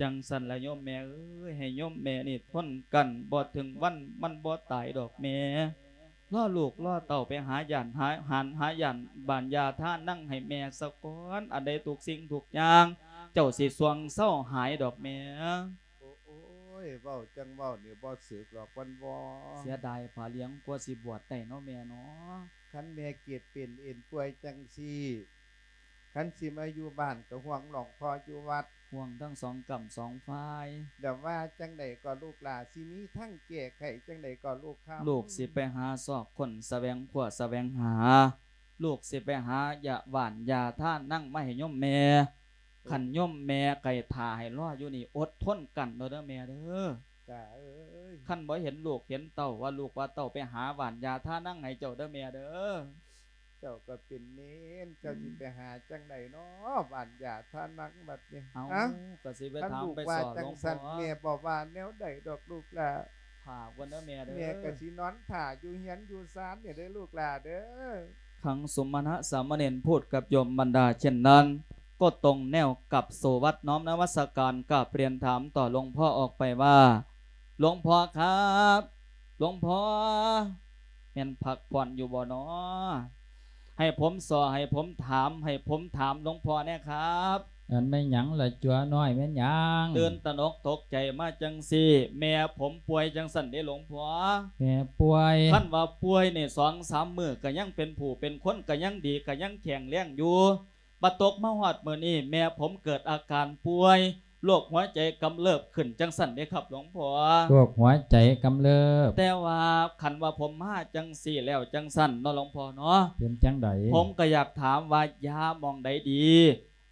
ຈັ່ງຊັ້ນລະໂຍມແມ່ເອີຍ ໃຫ້ໂຍມແມ່ນີ້ທົນກັນ ບໍ່ເຖິງວັນມັນບໍ່ຕາຍດອກແມ່. ລໍລູກລໍເຕົ້າໄປຫາຢ້ານ ຫາ ຫານ ຫາຢ້ານບ້ານຢາທານັງໃຫ້ແມ່ສາກ່ອນ ອັນໃດທຸກສິ່ງທຸກຢ່າງ ເຈົ້າຊິຊ່ວງເຊົາຫາຍດອກແມ່. ໂອ້ຍ ເວົ້າຈັ່ງເວົ້ານີ້ບໍ່ຖືກດອກວັນວໍ. ເສຍດາຍຜ້າຫຼຽງກວ່າຊິບວດໄດ້ເນາະແມ່ເນາະ. ຄັນແມ່ເຈັບເປັນເອັນປ່ວຍຈັ່ງຊີ້ ຄັນຊິມາຢູ່ບ້ານກໍຫ່ວງຫຼວງພໍ່ຢູ່ວັດ ຫ່ວງທັງສອງກ້ຳສອງຝ່າຍ ແລ້ວວ່າຈັ່ງໃດກໍລູກຫຼ້າ ຊິມີທາງແກ້ໄຂຈັ່ງໃດກໍລູກຄຳ? ລູກຊິໄປຫາຊອກຄົ້ນສະແຫວງຄວ້າສະແຫວງຫາ ລູກຊິໄປຫາຢາຫວ່ານຢາທານາງມາໃຫ້ໂຍມແມ່. ຄັນໂຍມແມ່ໄກ່ຖ້າໃຫ້ລໍຢູ່ນີ້ ອົດທົນກັນເນາະເດີແມ່ເດີ. ຈ້າເອີຍ ຄັນບໍ່ເຫັນລູກເຫັນເຕົ້າ ວ່າລູກວ່າເຕົ້າໄປຫາຫວ່ານຢາທານາງໃຫ້ເຈົ້າເດີແມ່ເດີ. ເຈົ້າກໍເປັນເນນ ເຈົ້າຊິໄປຫາຈັ່ງໃດເນາະ ຫວ່ານຢາທານາງບັດນີ້? ເອົ້າ ກະຊິໄປຖາມໄປສໍ້ ຄັນລູກວ່າຈັ່ງຊັ້ນ ແມ່ບໍ່ວ່າແນວໃດດອກລູກຫຼ້າ. ຖ້າກ່ອນເດີແມ່ເດີ ແມ່ກະຊິນອນຖ້າຢູ່ເຮືອນຢູ່ຊານນີ້ເດີລູກຫຼ້າເດີ. ຄັງສົມນະສາມະເນນພູດກັບໂຍມບັນດາເຊັ່ນນັ້ນ ກໍຕົງແນວກັບໂສວັດນ້ອມນະມັດສະການກາບຮຽນຖາມຕໍ່ຫຼວງພໍ່ອອກໄປວ່າ ຫຼວງພໍ່ຄັບ ຫຼວງພໍ່ ແມ່ນພັກຜ່ອນຢູ່ບໍ່ນໍ? ໃຫ້ຜົມສໍ້ ໃຫ້ຜົມຖາມ ໃຫ້ຜົມຖາມຫຼວງພໍ່ແດ່ຄັບ. ອັນແມ່ນຫຍັງລະຈົວນ້ອຍ ແມ່ນຫຍັງ? ຕື່ນຕະໜົກຕົກໃຈມາຈັ່ງຊີ້ ແມ່ຜົມປ່ວຍຈັ່ງຊັ້ນເດ້ຫຼວງພໍ່. ແມ່ປ່ວຍ? ຄັນວ່າປ່ວຍນີ້ ສອງສາມມື້ກະຍັງເປັນຜູ້ເປັນຄົນ ກະຍັງດີ ກະຍັງແຂງແຮງຢູ່. ມາຕົກມາຮອດມື້ນີ້ ແມ່ຜົມເກີດອາການປ່ວຍ ໂລກຫົວໃຈກຳເລີບຂຶ້ນຈັ່ງຊັ້ນເດ້ຄັບຫຼວງພໍ່. ໂລກຫົວໃຈກຳເລີບ? ແຕ່ວ່າຄັນວ່າຜົມມາຈັ່ງຊີ້ແລ້ວຈັ່ງຊັ້ນເນາະຫຼວງພໍ່ເນາະ ເປັນຈັ່ງໃດ? ຜົມກໍຢາກຖາມວ່າຢາໝ່ອງໃດດີ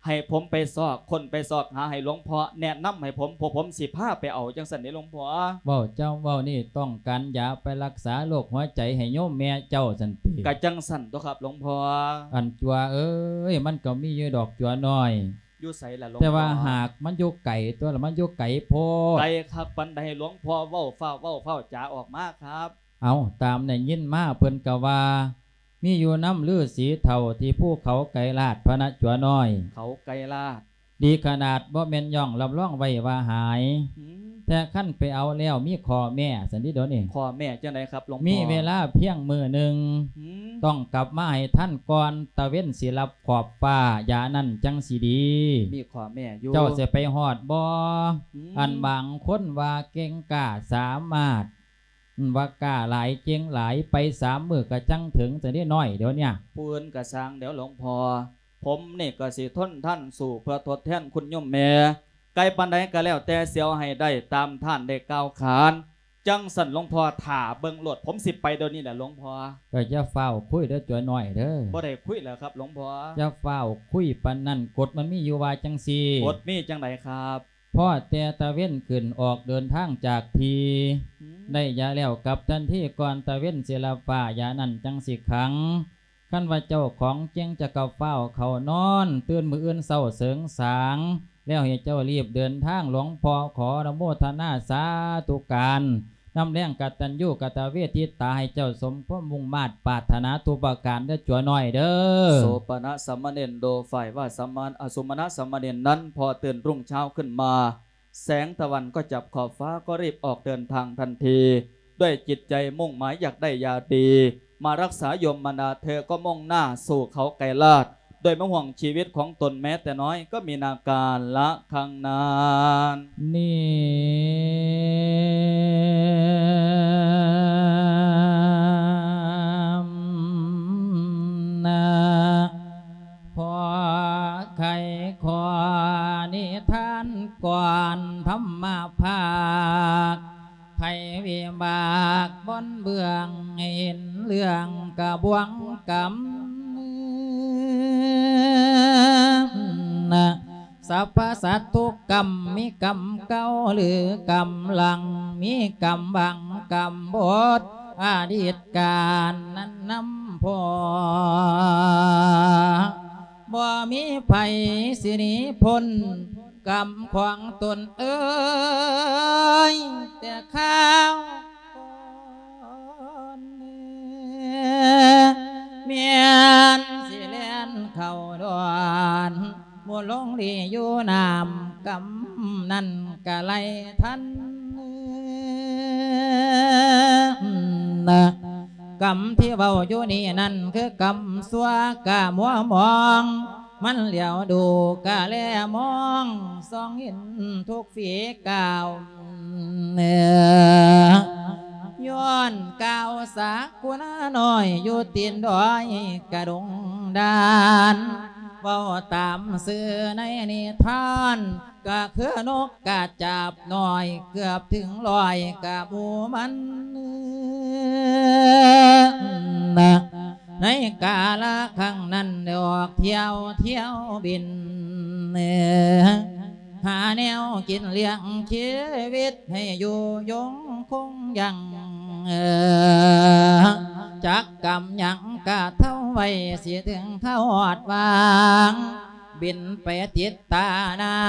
ໃຫ້ຜົມໄປຊອກຄົ້ນໄປຊອກຫາ ໃຫ້ຫຼວງພໍ່ແນະນຳໃຫ້ຜົມ ພວກຜົມຊິພາໄປເອົາຈັ່ງຊັ້ນເດ້ຫຼວງພໍ່. ເວົ້າເຈົ້າເວົ້ານີ້ ຕ້ອງການຢາໄປລັກສາໂລກຫົວໃຈໃຫ້ໂຍມແມ່ເຈົ້າຊັ້ນຕິ? ກະຈັ່ງຊັ້ນຕົວະຄັບຫຼວງພໍ່. ອັນຈົວເອີຍ ມັນກໍມີຢູ່ດອກຈົວນ້ອຍ. ຢູ່ໃສລະຫຼວງພໍ່? ແຕ່ວ່າຫາກມັນຢູ່ໄກຕົວະ ລະມັນຢູ່ໄກໂພດ. ໄກຄັກປານໃດຫຼວງພໍ່ ເວົ້າຟ້າວເວົ້າ ຟ້າວຈາອອກມາຄັບ. ເອົ້າ ຕາມໄດ້ຍິນມາເພິ່ນກໍວ່າ ມີຢູ່ນຳລືສີເຖົ້າທີ່ພູເຂົາໄກລາດພະນະຈົວນ້ອຍ. ເຂົາໄກລາດ? ດີຂະໜາດບໍ່ແມ່ນຍ່ອງ ຮັບຮອງໄວ້ວ່າຫາຍ. ອືມ. ແຕ່ຄັນໄປເອົາແລ້ວມີຂໍ້ແມ້ຊັ້ນເດ ດຽວນີ້ ຂໍ້ແມ້ຈັ່ງໃດຄັບຫຼວງພໍ່? ມີເວລາພຽງມື້ໜຶ່ງ ອືມ ຕ້ອງກັບມາໃຫ້ທັນກ່ອນຕາເວັນຊິລັບຂອບຟ້າ ຢານັ້ນຈັ່ງຊິດີ. ມີຂໍ້ແມ້ຢູ່. ເຈົ້າຊິໄປຮອດບໍ່? ອືມ ອັນບາງຄົນວ່າເກັ່ງກ້າສາມາດ ວ່າກ້າຫຼາຍເກັ່ງຫຼາຍ ໄປສາມມື້ກະຈັ່ງເຖິງຊັ້ນເດນ້ອຍ ດຽວເນີ້ຍ. ຜູ້ອື່ນກະຊ່າງແລ້ວຫຼວງພໍ່ ຜົມນີ້ກະຊິທົນທານສູ້ເພື່ອທົດແທນຄຸນໂຍມແມ່ ໄກປານໃດກະແລ້ວແຕ່ ຊິເອົາໃຫ້ໄດ້ຕາມທ່ານໄດ້ກ່າວຂານ. ຈັ່ງຊັ້ນຫຼວງພໍ່ ຖ້າເບິ່ງໂລດ ຜົມຊິໄປດຽວນີ້ແຫຼະຫຼວງພໍ່. ເອີ ຢ່າຟ້າວຄຸຍເດີ ຕົວະນ້ອຍເດີ. ບໍ່ໄດ້ຄຸຍແລ້ວຄັບຫຼວງພໍ່. ຢ່າຟ້າວຄຸຍປານນັ້ນ ກົດມັນມີຢູ່ວ່າຈັ່ງຊີ້. ກົດມີຈັ່ງໃດຄັບ? ພໍແຕ່ຕາເວັນຂຶ້ນອອກເດີນທາງຈາກທີ່ ອືມ ໄດ້ຢາແລ້ວກັບທັນທີ ກ່ອນຕາເວັນຊິລັບຟ້າ ຢານັ້ນຈັ່ງຊິຂັງ. ຄັນວ່າເຈົ້າຂອງເກັ່ງ ເຈົ້າກະຟ້າວເຂົ້ານອນ ຕື່ນມື້ອື່ນເຊົ້າເສີງສາງ ແລ້ວໃຫ້ເຈົ້າລີບເດີນທາງ. ຫຼວງພໍ່ຂໍອະນຸໂມທະນາສາທຸການ ນຳແຮງກະຕັນຍູກະຕະເວທິຕາ ໃຫ້ເຈົ້າສົມຄວາມມຸ່ງມາດປາດຖະໜາທຸກປະການເດີ ຕົວະນ້ອຍເດີ. ໂສປະນະສາມະເນນໂຕ ຝ່າຍວ່າສາມະ ອະ ໂສມະນະສາມະເນນນັ້ນ ພໍຕື່ນລຸ້ງເຊົ້າຂຶ້ນມາ ແສງຕາວັນກໍຈັບຂອບຟ້າ ກໍຣີບອອກເດີນທາງທັນທີ ດ້ວຍຈິດໃຈມຸ່ງໝາຍຢາກໄດ້ຢາດີ ມາຮັກສາໂຍມມານາ ເທກໍມຸ່ງໜ້າສູ່ເຂົາໄກລາດ ໂດຍມາຫ່ວງຊີວິດຂອງຕົນແມ້ແຕ່ນ້ອຍ ກໍມີນາການລະຄັ້ງນັ້ນ. ນີ້ ນະ ຂໍໄຂຂໍນິທານກ່ອນທຳມະພາກ ໄພວິບາກບົນເບື້ອງ ເຫັນເລື່ອງກະບວງກຳ ນະ ສັບພະສັດທຸກກຳ ມີກຳເກົ່າ ຫຼື ກຳຫຼັງ ມີກຳບັງ ກຳບົດ ອະດີດການນັ້ນນຳພໍ ບໍ່ມີໃຜຊິໜີພົ້ນກຳຂອງຕົນເອີຍ ແຕ່ຄາວກ່ອນ ແມ່ນຊິແລ່ນເຂົ້າດອນ ໝູ່ຫຼົງຫຼີຢູ່ນ້ຳ ກຳນັ້ນກະໄລ່ທັນ ນະ ກຳທີ່ເວົ້າຢູ່ນີ້ນັ້ນ ຄືກຳຊົ່ວກະມົວມອງ ມັນຫຼຽວດູກະແລມອງ ສ່ອງເຫັນທຸກຝີກ້າວ ຍ້ອນກ່າວສາກຸນານ້ອຍ ຢູ່ຕີນດອຍກະດົງດານ ເວົ້າຕາມຊື່ໃນນິທານ ກະຄືນົກກະຈາບນ້ອຍ ເກືອບເຖິງຮ້ອຍກະໝູ່ມັນ ໃນກາລະຄັ້ງນັ້ນ ໄດ້ອອກທ່ຽວ ທ່ຽວບິນ ຫາແນວກິນລ້ຽງຊີວິດ ໃຫ້ຢູ່ຍົງຄົງຍັງ ຈັກກຳຫຍັງກະເທົ່າໄວ ຊິເຖິງຄາວຮອດຫວ່າງ ບິນໄປຕິດຕານາ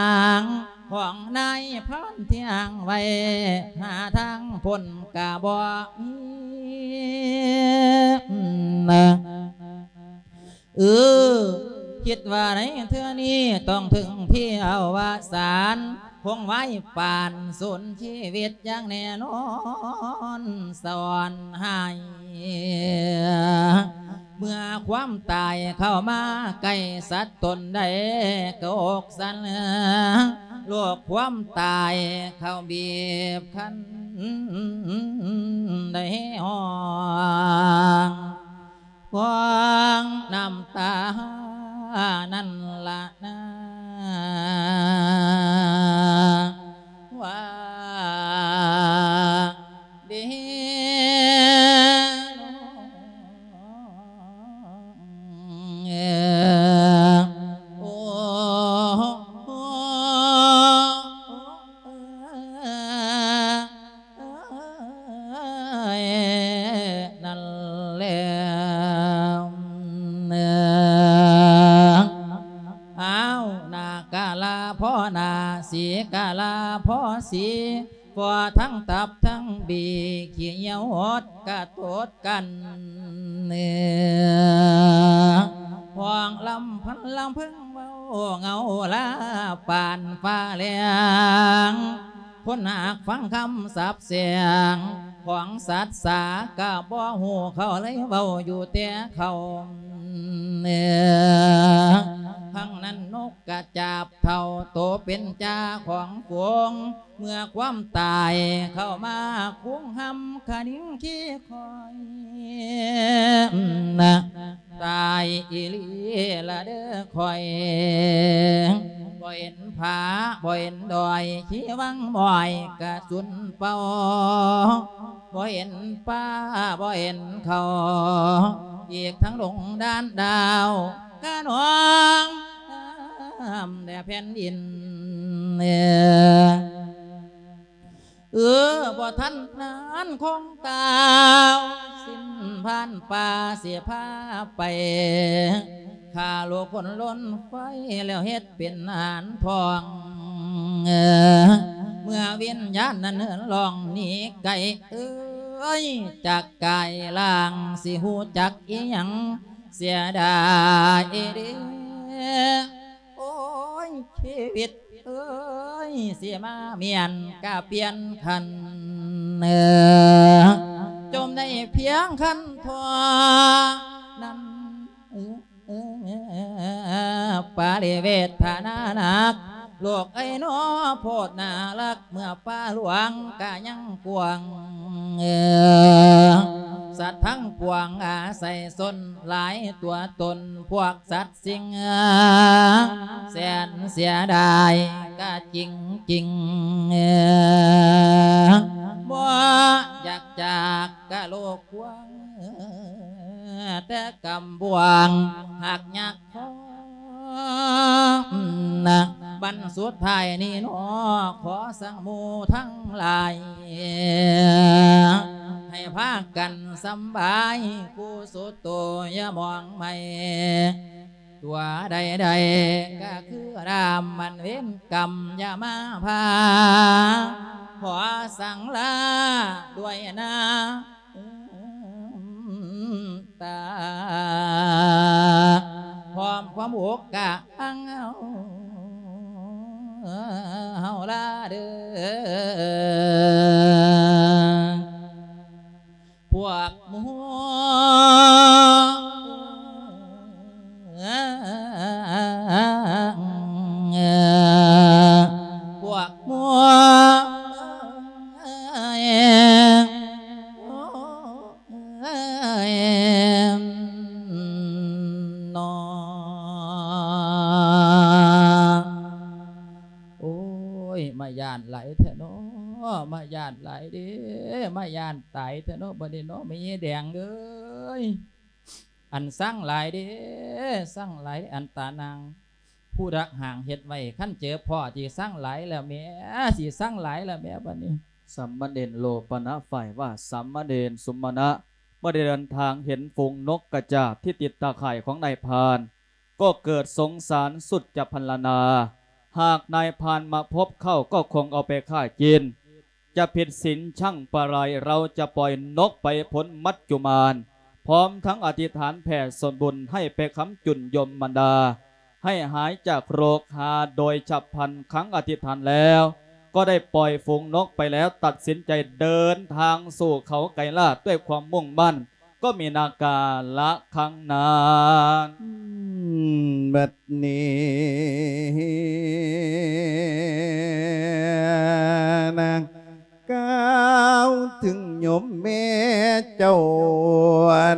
ງ ຂອງນາຍພານທີ່ຫາງໄວ້ ຫາທາງພົ້ນກະບໍ່ມີ ເອີ ຄິດວ່າໃນເທື່ອນີ້ຕ້ອງເຖິງທີ່ອະວະສານ ຄົງໄວ້ປານສູນຊີວິດຢ່າງແນ່ນອນ ສະອອນຫາຍ ເມື່ອຄວາມຕາຍເຂົ້າມາໃກ້ສັດຕົນໃດ ກະອົກສັ່ນ ໂລກຄວາມຕາຍເຂົ້າບີບຄັນ ໄດ້ຮ້ອງ ຂວາງນ້ຳຕານັ້ນລະນາ ວ່າເດໂນ ໂອ້ ເອີຍ ນັ້ນແຫຼະ ອ້າວ ນາກາລາພໍ່ນາ ສີກາລາພໍ່ສີ ພໍທັງຕັບທັງບີ ຂີ້ຫຽວຫົດກະຕົດກັນ ຮ້ອງລຳພັນລຳເພິງ ເວົ້າເງົາລາປານຟ້າແລງ ຄົນຫາກຟັງຄຳສັບແຊ່ງຂອງສັດສາ ກະບໍ່ຮູ້ເຂົາເລີຍເວົ້າຢູ່ແຕ່ເຂົາ. ຄັ້ງນັ້ນນົກກະຈາບເຖົ້າ ໂຕເປັນຈ່າຂອງຝູງ ເມື່ອຄວາມຕາຍເຂົ້າມາຄຸງຫຳ ຂະນິງຄີຄອຍ ຕາຍອີ່ຫຼີລະເດີຂ້ອຍ ບໍ່ເຫັນຜາ ບໍ່ເຫັນດອຍ ຂີ້ວັງໝອຍກະສຸນເປົ່າ ບໍ່ເຫັນປ່າ ບໍ່ເຫັນເຂົາ ອີກທັງດົງດານດາວ ກະໜອງ ນ້ຳແດ່ແຜ່ນດິນ. ເອີ ບໍ່ທັນນານຄົງຕາວ ສິ້ນຜ່ານປ່າຊິພາໄປ ຂ້າລູກຄົນລົ້ນໄຟ ແລ້ວເຮັດເປັນຫານພອງ. ເມື່ອວິນຍານນັ້ນເຫີນລ່ອງໜີໄກ ເອີຍ ຈາກກາຍລ່າງ ຊິຮູ້ຈັກອີ່ຫຍັງ ເສຍດາຍເດ້ ໂອ້ຍ ຊີວິດເອີຍ ຊິມາມ້ຽນກະປ່ຽນຄັນ ຈົມໄດ້ພຽງຄັນທໍ່ນັ້ນ ປາລິເວດຖານະໜັກ ໂລກເອີຍໜໍ ໂພດໜ້າຮັກ ເມື່ອປ່າຫຼວງກະຍັງກວ້າງ ສັດທັງປວງອາໄສຊົນ ຫຼາຍຕົວຕົນພວກສັດ ສິ່ງແສນເສຍດາຍກະຈິງໆ ບໍ່ຢາກຈາກກະໂລກກວ້າງ ແຕ່ກຳບວງຫາກຍາກພໍ ບັດສຸດທ້າຍນີ້ໜໍ ຂໍສັງໝູ່ທັງຫຼາຍ ໃຫ້ພາກັນສຳບາຍ ຄູ່ສຸດໂຕຢ່າມອງໄໝ ຕົວໃດໆກະຄືດາມ ມັນເວນກຳຢ່າມາພາ ຂໍສັງລາດ້ວຍນ້ຳຕາ ພ້ອມຄວາມອົກກະອັງເຮົາ ເຮົາລາເດີ ພວກໝູ່ ພວກໝູ່ເນາະ. ໂອ້ຍ ມາຢ້ານຫຼາຍແທ້ເນາະ ມາຢ້ານຫຼາຍເດ້ ມາຢ້ານຕາຍແທ້ເນາະ ບັດນີ້ເນາະ ແມ່ຍາຍແດງເອີຍ ອັນສັງຫຼາຍເດ້ ສັງຫຼາຍເດ້ ອັນຕານາງ ຜູ້ດັກຫາງເຮັດໄວ້ ຄັນເຈີພໍ່ຊິສັງຫຼາຍແລ້ວແໝ ຊິສັງຫຼາຍແລ້ວແໝ ບັດນີ້. ສາມະເນນໂລປະນະ ຝ່າຍວ່າ ສາມະເນນສຸມະນະ ເມື່ອໄດ້ເດີນທາງເຫັນຝູງນົກກະຈາບທີ່ຕິດຕາຂ່າຍຂອງນາຍພານ ກໍເກີດສົງສານສຸດຈະພັນລະນາ ຫາກນາຍພານມາພົບເຂົ້າກໍຄົງເອົາໄປຂ້າກິນ ຈະຜິດສິນຊັ່ງປະໄລ ເຮົາຈະປ່ອຍນົກໄປພົ້ນມັດຈຸມານ ພ້ອມທັງອະທິຖານແຜ່ສ່ວນບຸນໃຫ້ໄປຄ້ຳຈຸນຍົມບັນດາ ໃຫ້ຫາຍຈາກໂລກຫາໂດຍສັບພັນ ຄັ້ງອະທິຖານແລ້ວ ກໍໄດ້ປ່ອຍຝູງນົກໄປແລ້ວ ຕັດສິນໃຈເດີນທາງສູ່ເຂົາໄກລາດດ້ວຍຄວາມມຸ່ງໝັ້ນ ກໍມີນາກາລະຄັ້ງນັ້ນ. ບັດນີ້ນະ ກ່າວເຖິງໂຍມແມ່ເຈົ້າ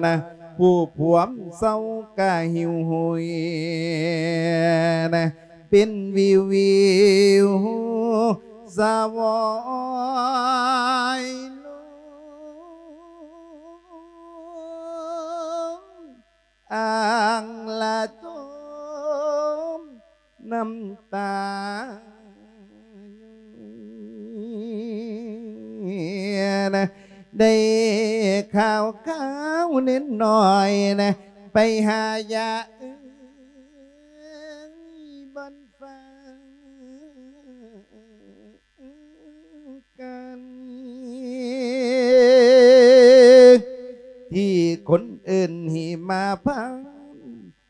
ນະ ຜູ້ພວມເສົ້າກະຫິວຫຸຍນະ ເປັນວິວວິວສະຫວອຍລົງ ອ່າງລະຕົມນ້ຳຕານະ ໄດ້ຂ່າວຄາວເນັ້ນໜ້ອຍນະ ໄປຫາຢາເອີຍບ່ອນຟ້າ ກັນ ທີ່ຄົນເອີ້ນຫິມະພານ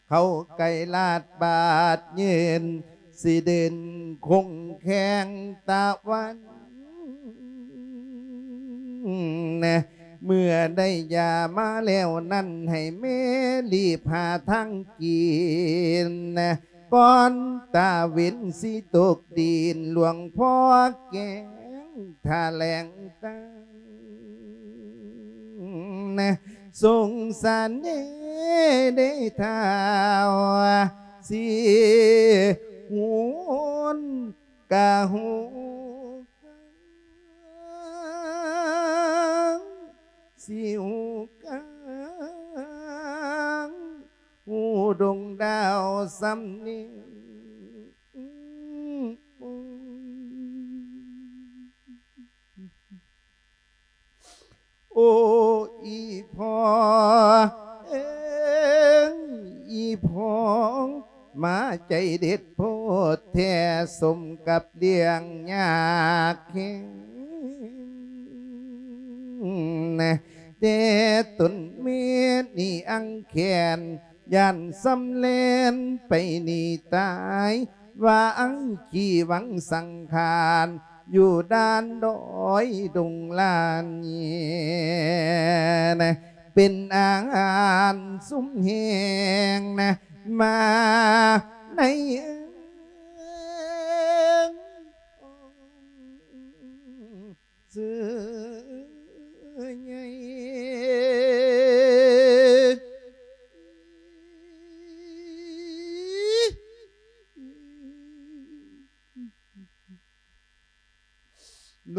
ເຂົາໄກລາດບາດເຫຍີນ ຊິເດີນຄົງແຂງຕາວັນ ເມື່ອໄດ້ຢາມາແລ້ວນັ້ນ ໃຫ້ແມ່ລີບຫາທາງກິນ ກ່ອນຕາເວັນຊິຕົກດິນ. ຫຼວງພໍ່ແກງຖະແຫຼງການ ສົງສານແດ່ເດ້ທ້າວ ຊິຫຸນກະຫູກາງ ຊິຫູກາງ ຫູດົງດາວສຳເນີງ. ໂອ້ ອີພໍ່ເອີຍ ອີພໍ່ ມາໃຈເດັດໂພດແທ້ ສົມກັບລ້ຽງຍາກແຮງ ແຕ່ຕົນແມ່ນີ້ອັງແຂນ ຢ້ານສຳແລນໄປໜີຕາຍ ວ່າອັງຂີ້ວັງສັງຂານ ຢູ່ດ່ານດອຍດົງລານ ເປັນອາຫານຊຸມແຮງ ມາໃນເອີງ ເສືອໃຫຍ່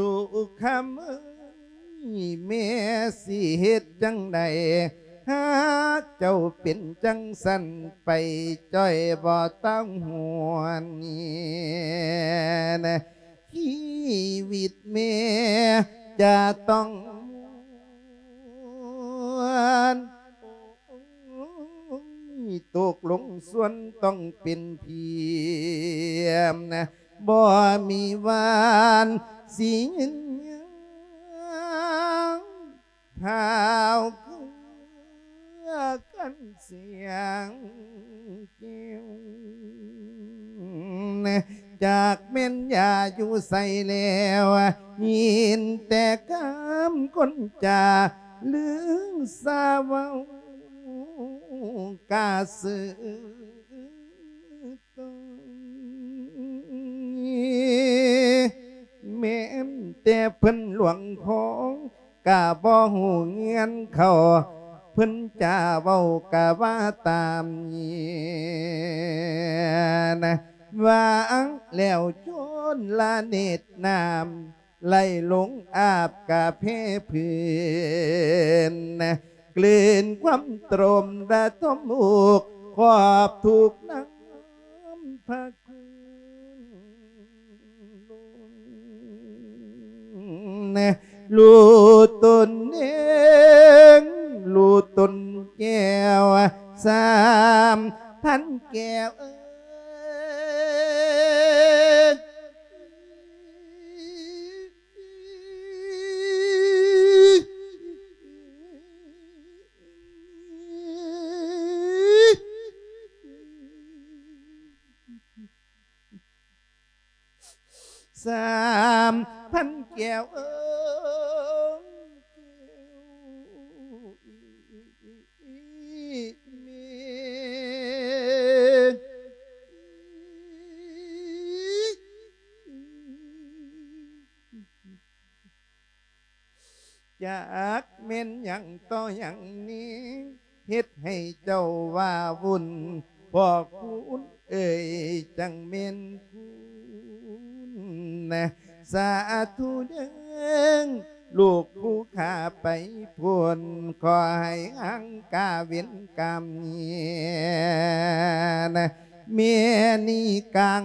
ລູກຄຳເອີຍ ແມ່ຊິເຮັດຈັ່ງໃດ ຫາເຈົ້າເປັນຈັ່ງຊັ້ນ ໄປຈ່ອຍບໍ່ຕ້ອງຫ່ວງ ຊີວິດແມ່ຈະຕ້ອງມ່ວນ ໂອ້ຍ ຕົກລົງສ່ວນຕ້ອງເປັນພຽມ ບໍ່ມີວານຊິຍືນຍາວ ທ້າວເຄືອກັນສຽງແກ້ວ ຈັກແມ່ນຢ່າຢູ່ໃສແລ້ວ ຍິນແຕ່ຄຳຄົນຈາ ລືສາເວົ້າກະຊື່ ແມ່ນແຕ່ເພິ່ນຫຼວງຂອງ ກະບໍ່ຮູ້ເງື່ອນເຂົາ ເພິ່ນຈາເວົ້າກະວ່າຕາມນີ້ນະ ວ່າອັງແລ້ວໂຈນລະເນດນ້ຳ ໄຫຼລົງອາບກະເພພື້ນ ກືນຄວາມຕົມລະທົມອຸກ ຂອບທຸກນຳພະຄຸນ ລູກຕົນເອງ ລູກຕົນແກ້ວ ສາມພັນແກ້ວເອີຍ ສາມພັນແກ້ວເອີຍ ແມ່ ຈັກແມ່ນຫຍັງຕໍ່ຫຍັງນີ້ ເຮັດໃຫ້ເຈົ້າວ່າວຸ່ນ ພໍ່ຄູນເອີຍ ຈັ່ງແມ່ນຄຸນນະ ສາທຸເດີ້ ລູກຜູ້ຂ້າໄປພຸ້ນ ຂໍໃຫ້ຫາງກາເວນກຳ ແມ່ນີ້ກັງ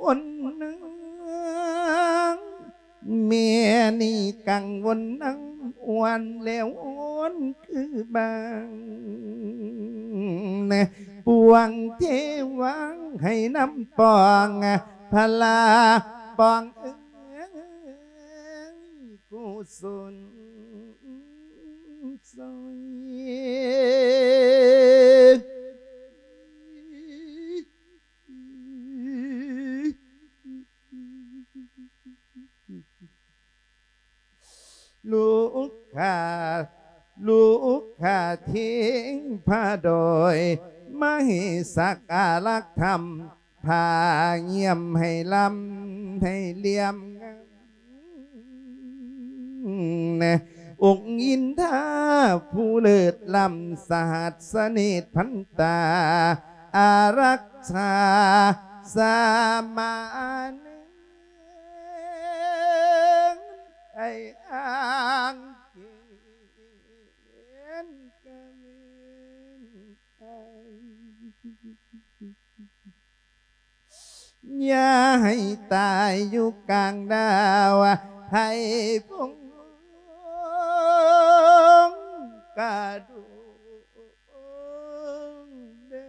ວົນນາງ ແມ່ນີ້ກັງວົນນາງ ອ່ອນແລ້ວອ່ອນຄືບາງ ປວງເທວາງໃຫ້ນຳປອງ ພະລາປອງເອີຍ ກຸສົນຊ່ອຍ. ລູກຂ້າ ລູກຂ້າເທງພະດອຍ ມາໃຫ້ສັກອາລັກທຳ ຜ້າຢ້ຽມໃຫ້ລຳໃຫ້ຫຼຽມງາມ ອົງອິນທາຜູ້ເລີດລ້ຳ ສະຫັດສະເນດພັນຕາ ອາລັກສາສາມານ ໄອ້ອ້າງເກນກະເວັນໄອ ຢ່າໃຫ້ຕາຍຢູ່ກາງດາວ ໃຫ້ພົງກະດົງເດີ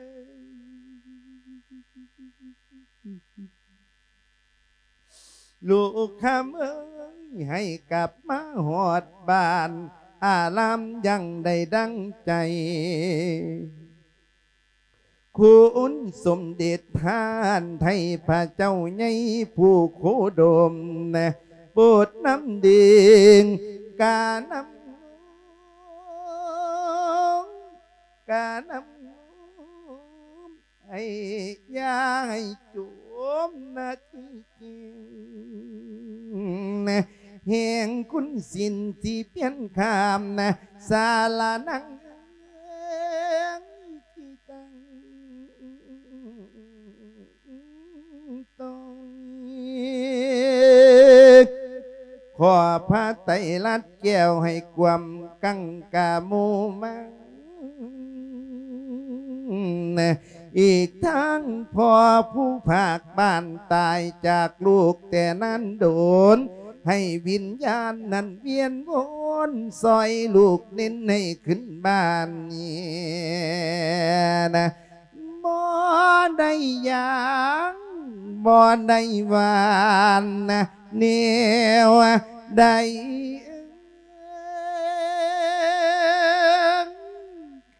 ລູກຄຳເອີຍ ໃຫ້ກັບມາຮອດບ້ານ ອາລາມຍັງໄດ້ດັ່ງໃຈ ຄຸນສົມເດັດທ່ານໄທ ພະເຈົ້າໃຫຍ່ຜູ້ໂຄດົມ ໂປດນຳເດງການຳ ການຳ ໃຫ້ຢ່າໃຫ້ຈົມນາທີຈິງ ແຫ່ງຄຸນສິນທີ່ປ່ຽນຂ້າມ ສາລະນັງ ທີ່ຕັ້ງຕ້ອງ ຂໍພະໄຕລັດແກ້ວໃຫ້ກວມກັງກາໝູ່ມາ ອີກທັງພໍ່ຜູ້ພາກບ້ານຕາຍຈາກລູກແຕ່ນານດົນ ໃຫ້ວິນຍານນັ້ນວຽນວົນຊ່ອຍລູກເນັ້ນໃຫ້ຂຶ້ນບ້ານນີ້ນະ ບໍ່ໄດ້ຫຍັງ ບໍ່ໄດ້ຫວານນະ ແນວໃດ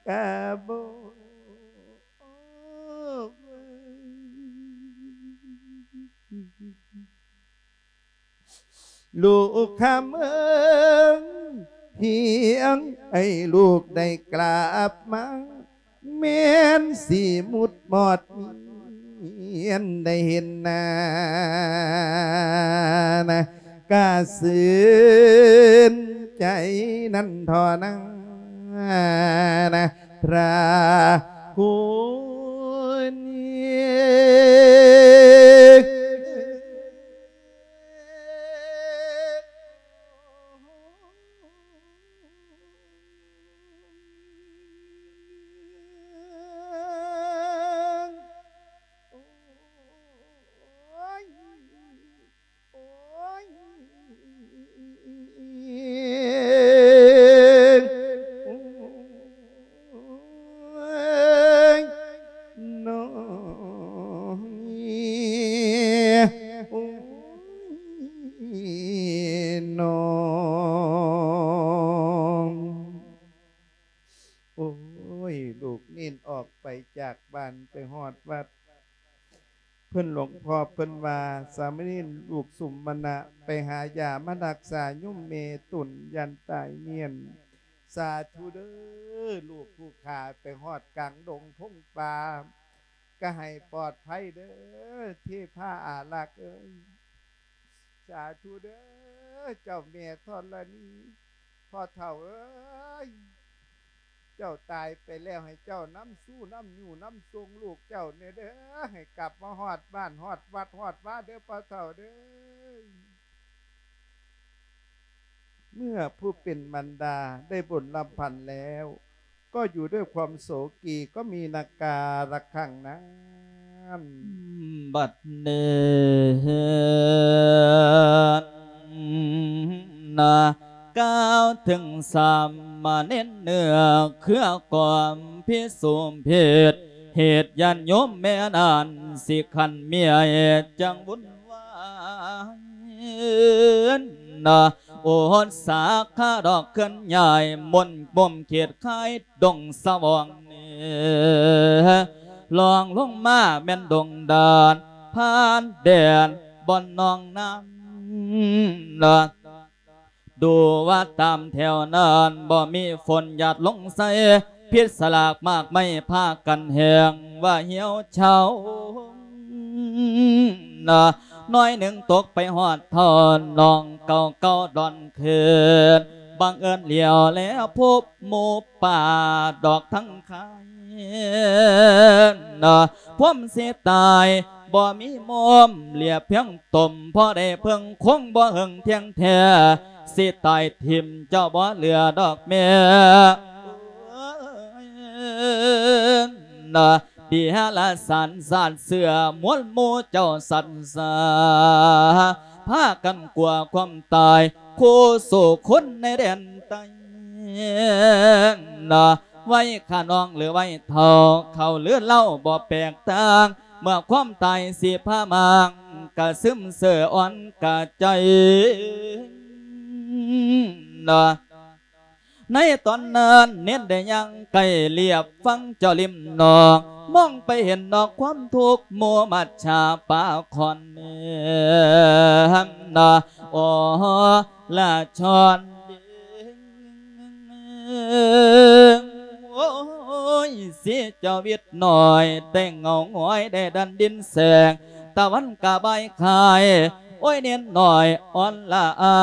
ກະບໍ່ ລູກຄຳເອີຍ ພຽງໃຫ້ລູກໄດ້ກລັບມາ ແມ່ນຊິໝຸດມອດມຽນໄດ້ເຫັນໜ້ານະ ກະຊື່ນໃຈນັ້ນທໍ່ນານະ ພະຄຸນ ໂອ້ຍ ນ້ອງ ໂອ້ຍ ນ້ອງ ໂອ້ຍ ລູກເນນອອກໄປຈາກບ້ານໄປຮອດວັດ ເພິ່ນ ຫຼວງພໍ່ເພິ່ນວ່າ ສາມະເນນລູກສຸມມະນະ ໄປຫາຢາມາຮັກສາໂຍມແມ່ຕົນ ຢ້ານຕາຍເມຍນ. ສາທຸເດີ້ ລູກຜູ້ຂ້າໄປຮອດກາງດົງພົງປ່າ ກະໃຫ້ປອດໄພເດີ້ ເທພາອາລັກເອີຍ. ສາທຸເດີ້ ເຈົ້າແມ່ທໍລະນີ ພໍ່ເຖົ້າເອີຍ ເຈົ້າຕາຍໄປແລ້ວ ໃຫ້ເຈົ້ານຳຊູນຳຍູ້ນຳສົ່ງລູກເຈົ້າແດ່ເດີ້ ໃຫ້ກັບມາຮອດບ້ານຮອດວັດຮອດວາເດີ້ ພໍ່ເຖົ້າເດີ້. ເມື່ອຜູ້ເປັນມານດາໄດ້ບົນລຳພັນແລ້ວ ກໍຢູ່ດ້ວຍຄວາມໂສກີ ກໍມີນາກາລະຄັງນັ້ນ ບັດນີ້ນະ ກ່າວເຖິງສາມະເນນເນື້ອເຄືອກອມພິສົມເພດ ເຫດຍາດໂຍມແມ່ນັ້ນຊິຂັນເມຍເຫດຈັ່ງວຸ່ນວາຍນະ ໂອດສາຂາດອກເຄື່ອນຍ້າຍ ມົນບົ່ມເຂດຄາຍດົງສະຫວ່ອງເໜືອ ລອງລົງມາແມ່ນດົງດານ ຜ່ານແດນບ່ອນໜອງນ້ຳນະ ດູວ່າຕາມແຖວນັ້ນ ບໍ່ມີຝົນຫຍາດລົງໃສ່ ພິດສະຫຼາກໝາກໄມ້ພາກັນແຫ້ງວ່າຫ່ຽວເຊົາ. ໜ້ອຍໜຶ່ງຕົກໄປຮອດທ່ອນ ນ້ອງເກົ່າເກົ່າດອນຄືນ ບັງເອີນຫຼຽວແລພົບໝູປ່າດອກທັງຄາຍ ພວມຊິຕາຍ ບໍ່ມີມຸມ ເຫຼືອພຽງຕົມ ພໍໄດ້ເພິ່ງຄົງ ບໍ່ເຫິງທ່ຽງແທ້ ຊິຕາຍຖິ້ມເຈົ້າ ບໍ່ເຫຼືອດອກແມ່ ເດຮະລະສານຊາດເຊື້ອ ມວນໝູ່ເຈົ້າສັດສາ ພາກັນກົວຄວາມຕາຍ ຄູ່ສູ້ຄົນໃນແດນໃຕ້ ໄວ້ຂ້ານ້ອງຫຼືໄວ້ເຖົ້າ ເຂົາຫຼືເລົ່າບໍ່ແປກຕ່າງ ເມື່ອຄວາມຕາຍຊິພາມາງ ກະຊຶມເຊີອ່ອນກະໃຈ ໃນຕອນນັ້ນ ເນນໄດ້ຍ່າງໃກ້ລຽບຟັງເຈົ້າລິມໜອງ ມອງໄປເຫັນດອກຄວາມທຸກ ໝູ່ມັດສາປາຂອນ ໂອລະຊອນ ໂອ້ຍ ຊິເຈົ້າວິດໜ້ອຍ ແຕ່ເຫງົາຫງອຍ ໄດ້ດັນດິນແສງ ຕາວັນກະບາຍຄາຍ ໂອ້ຍ ເນນໜ້ອຍອ່ອນລະອາ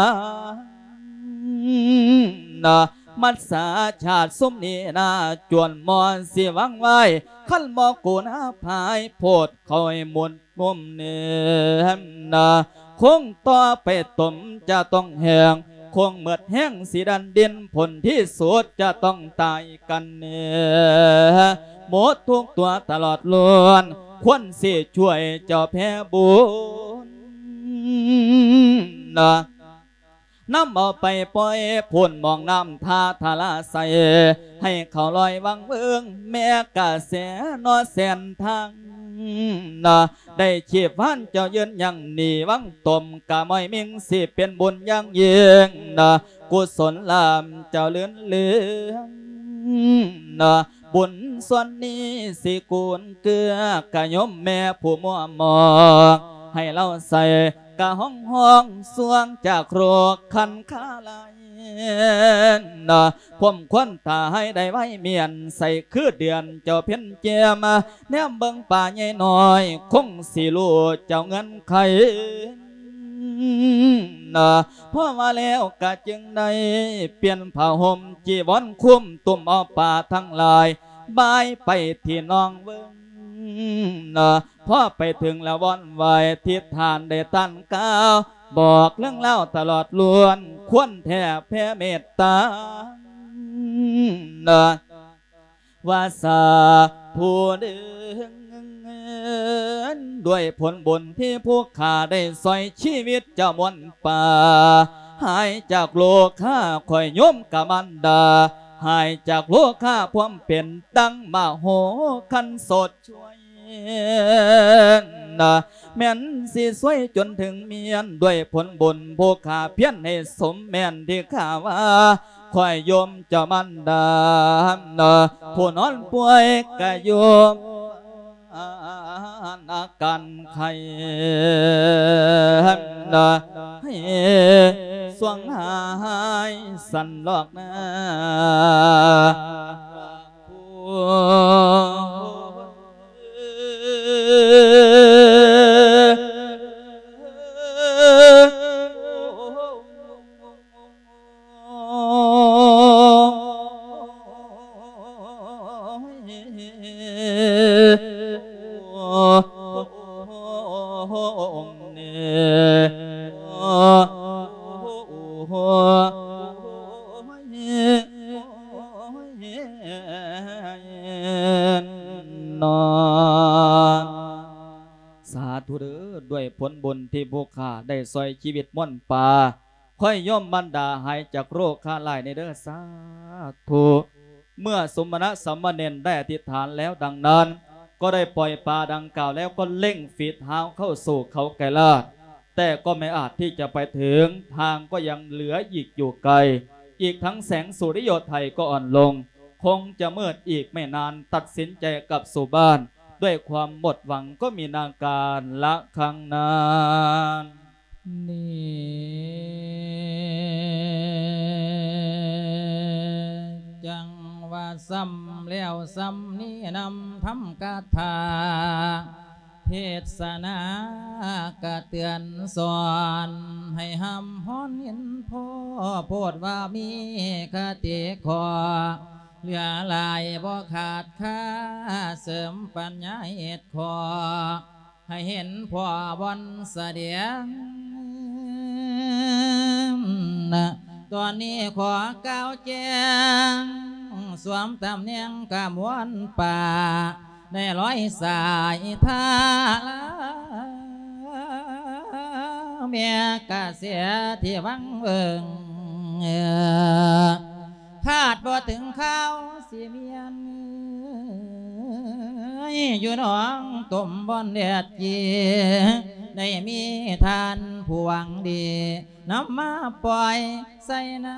ມັດສາຊາດຊຸມນີ້ນາ ຈວນໝໍຊິວັງໄວ້ ຄັນບໍ່ກູນາພາຍ ໂພດເຂົາໃຫ້ໝົດມຸມເນ ຄົງຕໍ່ໄປຕົມຈະຕ້ອງແຫ້ງ ຄົງໝົດແຮງຊິດັນດິນ ຜົນທີ່ສຸດຈະຕ້ອງຕາຍກັນເນ ໝົດທຸກຕົວຕະຫຼອດລ້ວນ ຄວນຊິຊ່ວຍເຈົ້າແຜ່ບຸນ ນຳເອົາໄປປ່ອຍພຸ້ນ ໝອງນ້ຳທ່າທາລາໄຊ ໃຫ້ເຂົາລອຍວັງເວີງ ແມ່ກະແສເນາະແສນທາງ ໄດ້ຊີບວານເຈົ້າຢືນຍັງໜີວັງຕົມ ກະມ້ອຍມິ່ງຊິເປັນບຸນຢ່າງຍິ່ງ ກຸສົນລາເຈົ້າລື່ນເຫຼືອງ ບຸນສ່ວນນີ້ຊິກູນເກືອ ກະໂຍມແມ່ຜູ້ມົວໝອງ ໃຫ້ລາວໃສ່ກະຫ້ອງຫ້ອງ ສ່ວງຈາກໂລກຄັນຄາລາຍ ພວມຄວັນຖ້າໃຫ້ໄດ້ໄວມຽນ ໃສ່ຄືເດືອນເຈົ້າເພັນແຈ່ມ ແນມເບິ່ງປ່າໃຫຍ່ນ້ອຍ ຄົງຊິຮູ້ເຈົ້າເງື່ອນໄຂ ພໍວ່າແລ້ວກະຈຶ່ງໄດ້ປ່ຽນຜ້າຫົ່ມຈີວອນຄຸມ ຕຸ້ມເອົາຜ້າທັງຫຼາຍບາຍໄປທີ່ນ້ອງເບິ່ງ ພໍໄປເຖິງລະວອນໄຫວ້ ທິດຖານໄດ້ຕັ້ນກ່າວ ບອກເລື່ອງລາວຕະຫຼອດລ້ວນ ຄວນແຜ່ແຜ່ເມດຕາ ວ່າສາທຸເດີ ດ້ວຍຜົນບຸນທີ່ຜູ້ຂ້າໄດ້ຊ່ອຍຊີວິດເຈົ້າມ່ວນປ່າ ຫາຍຈາກໂລຄາ ຂ້ອຍໂຍມກະມານດາ ຫາຍຈາກໂລຄາພວມເປັນ ດັ່ງມະໂຫຄັນສົດຊ່ວຍ ແມ່ນຊິຊ່ວຍຈົນເຖິງມຽນ ດ້ວຍຜົນບຸນຜູ້ຂ້າພຽນໃຫ້ສົມແມ່ນທີ່ຂ້າວ່າ ຂ້ອຍໂຍມເຈົ້າມານດາ ຜູ້ນອນປ່ວຍກະຢູ່ອາການໄຂ້ ໃຫ້ສວງຫາຍສັນລອກນາ ສາທຸເດີ ດ້ວຍຜົນບຸນທີ່ຜູ້ຂ້າໄດ້ຊ່ອຍຊີວິດມ່ວນປ່າ ຂ້ອຍໂຍມບັນດາຫາຍຈາກໂລຄາລາຍນີ້ເດີ ສາທຸ. ເມື່ອສົມນະສາມະເນນໄດ້ອະທິຖານແລ້ວດັ່ງນັ້ນ ກໍໄດ້ປ່ອຍປາດັ່ງກ່າວແລ້ວ ກໍເລັ່ງຝີດຫາວເຂົ້າສູ່ເຂົາໄກລາດ ແຕ່ກໍໄມ່ອາດທີ່ຈະໄປເຖິງ ທາງກໍຍັງເຫຼືອອີກຢູ່ໄກ ອີກທັງແສງສຸລິໂຍໄທກໍອ່ອນລົງ ຄົງຈະມືດອີກໄມ່ນານ ຕັດສິນໃຈກັບສູ່ບ້ານ ດ້ວຍຄວາມໝົດຫວັງກໍມີນາການລະຄັ້ງນັ້ນນີ້. ຊ້ຳແລ້ວຊ້ຳນີ້ນຳທຳກະຖາ ເທດສະນາກະເຕືອນສອນ ໃຫ້ຮ່ຳຮ້ອນເຫັນພໍ ໂພດວ່າມີຄະຕິຂໍ ເຫຼືອຫຼາຍບໍ່ຂາດຄ່າ ເສີມປັນຍາເຮັດຂໍ ໃຫ້ເຫັນພໍບ່ອນສະແດງ ຕອນນີ້ຂໍກ່າວແຈ້ງ ສວມຕຳແໜ່ງກະມວນປ່າ ໃນລອຍສາຍທາລາ ແມ່ກະເສຍທີ່ວັງເວີງ ຄາດບໍ່ເຖິງຄາວຊິມຽນ ຢູ່ໜອງຕົມບ່ອນແດດເຢັນ ໄດ້ມີທ່ານຜູ້ຫວັງດີ ນຳມາປ່ອຍໃສ່ນ້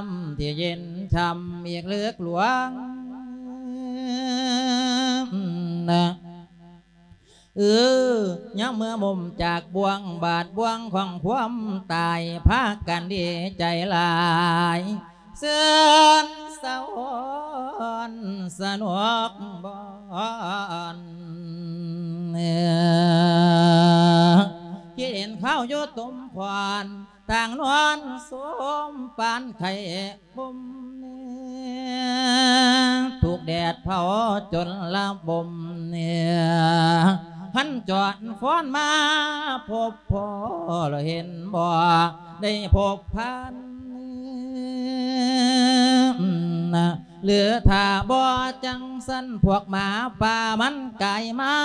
ຳທີ່ເຢັນຊ່ຳອີກເລິກຫຼວງ. ເອີ ຍາມເມື່ອໝົມຈາກບ່ວງບາດບ່ວງຂອງຄວາມຕາຍ ພາກັນດີໃຈຫຼາຍ ເຊີນສະຫວອນສະໜຸກບ່ອນ ຄິດເຫັນຄາວຢູ່ຕົມຂອນ ຕ່າງນອນໂຊມປານໄຂ້ ຫົ່ມແນມ ຖືກແດດເຜົາຈົນລະບົມເນ ຫັນຈອນຟ້ອນມາພົບພໍ້ ລະເຫັນບໍ່ໄດ້ພົບພັນ ຫຼືຖ້າບໍ່ຈັ່ງຊັ້ນ ພວກໝາປ່າມັນກາຍມາ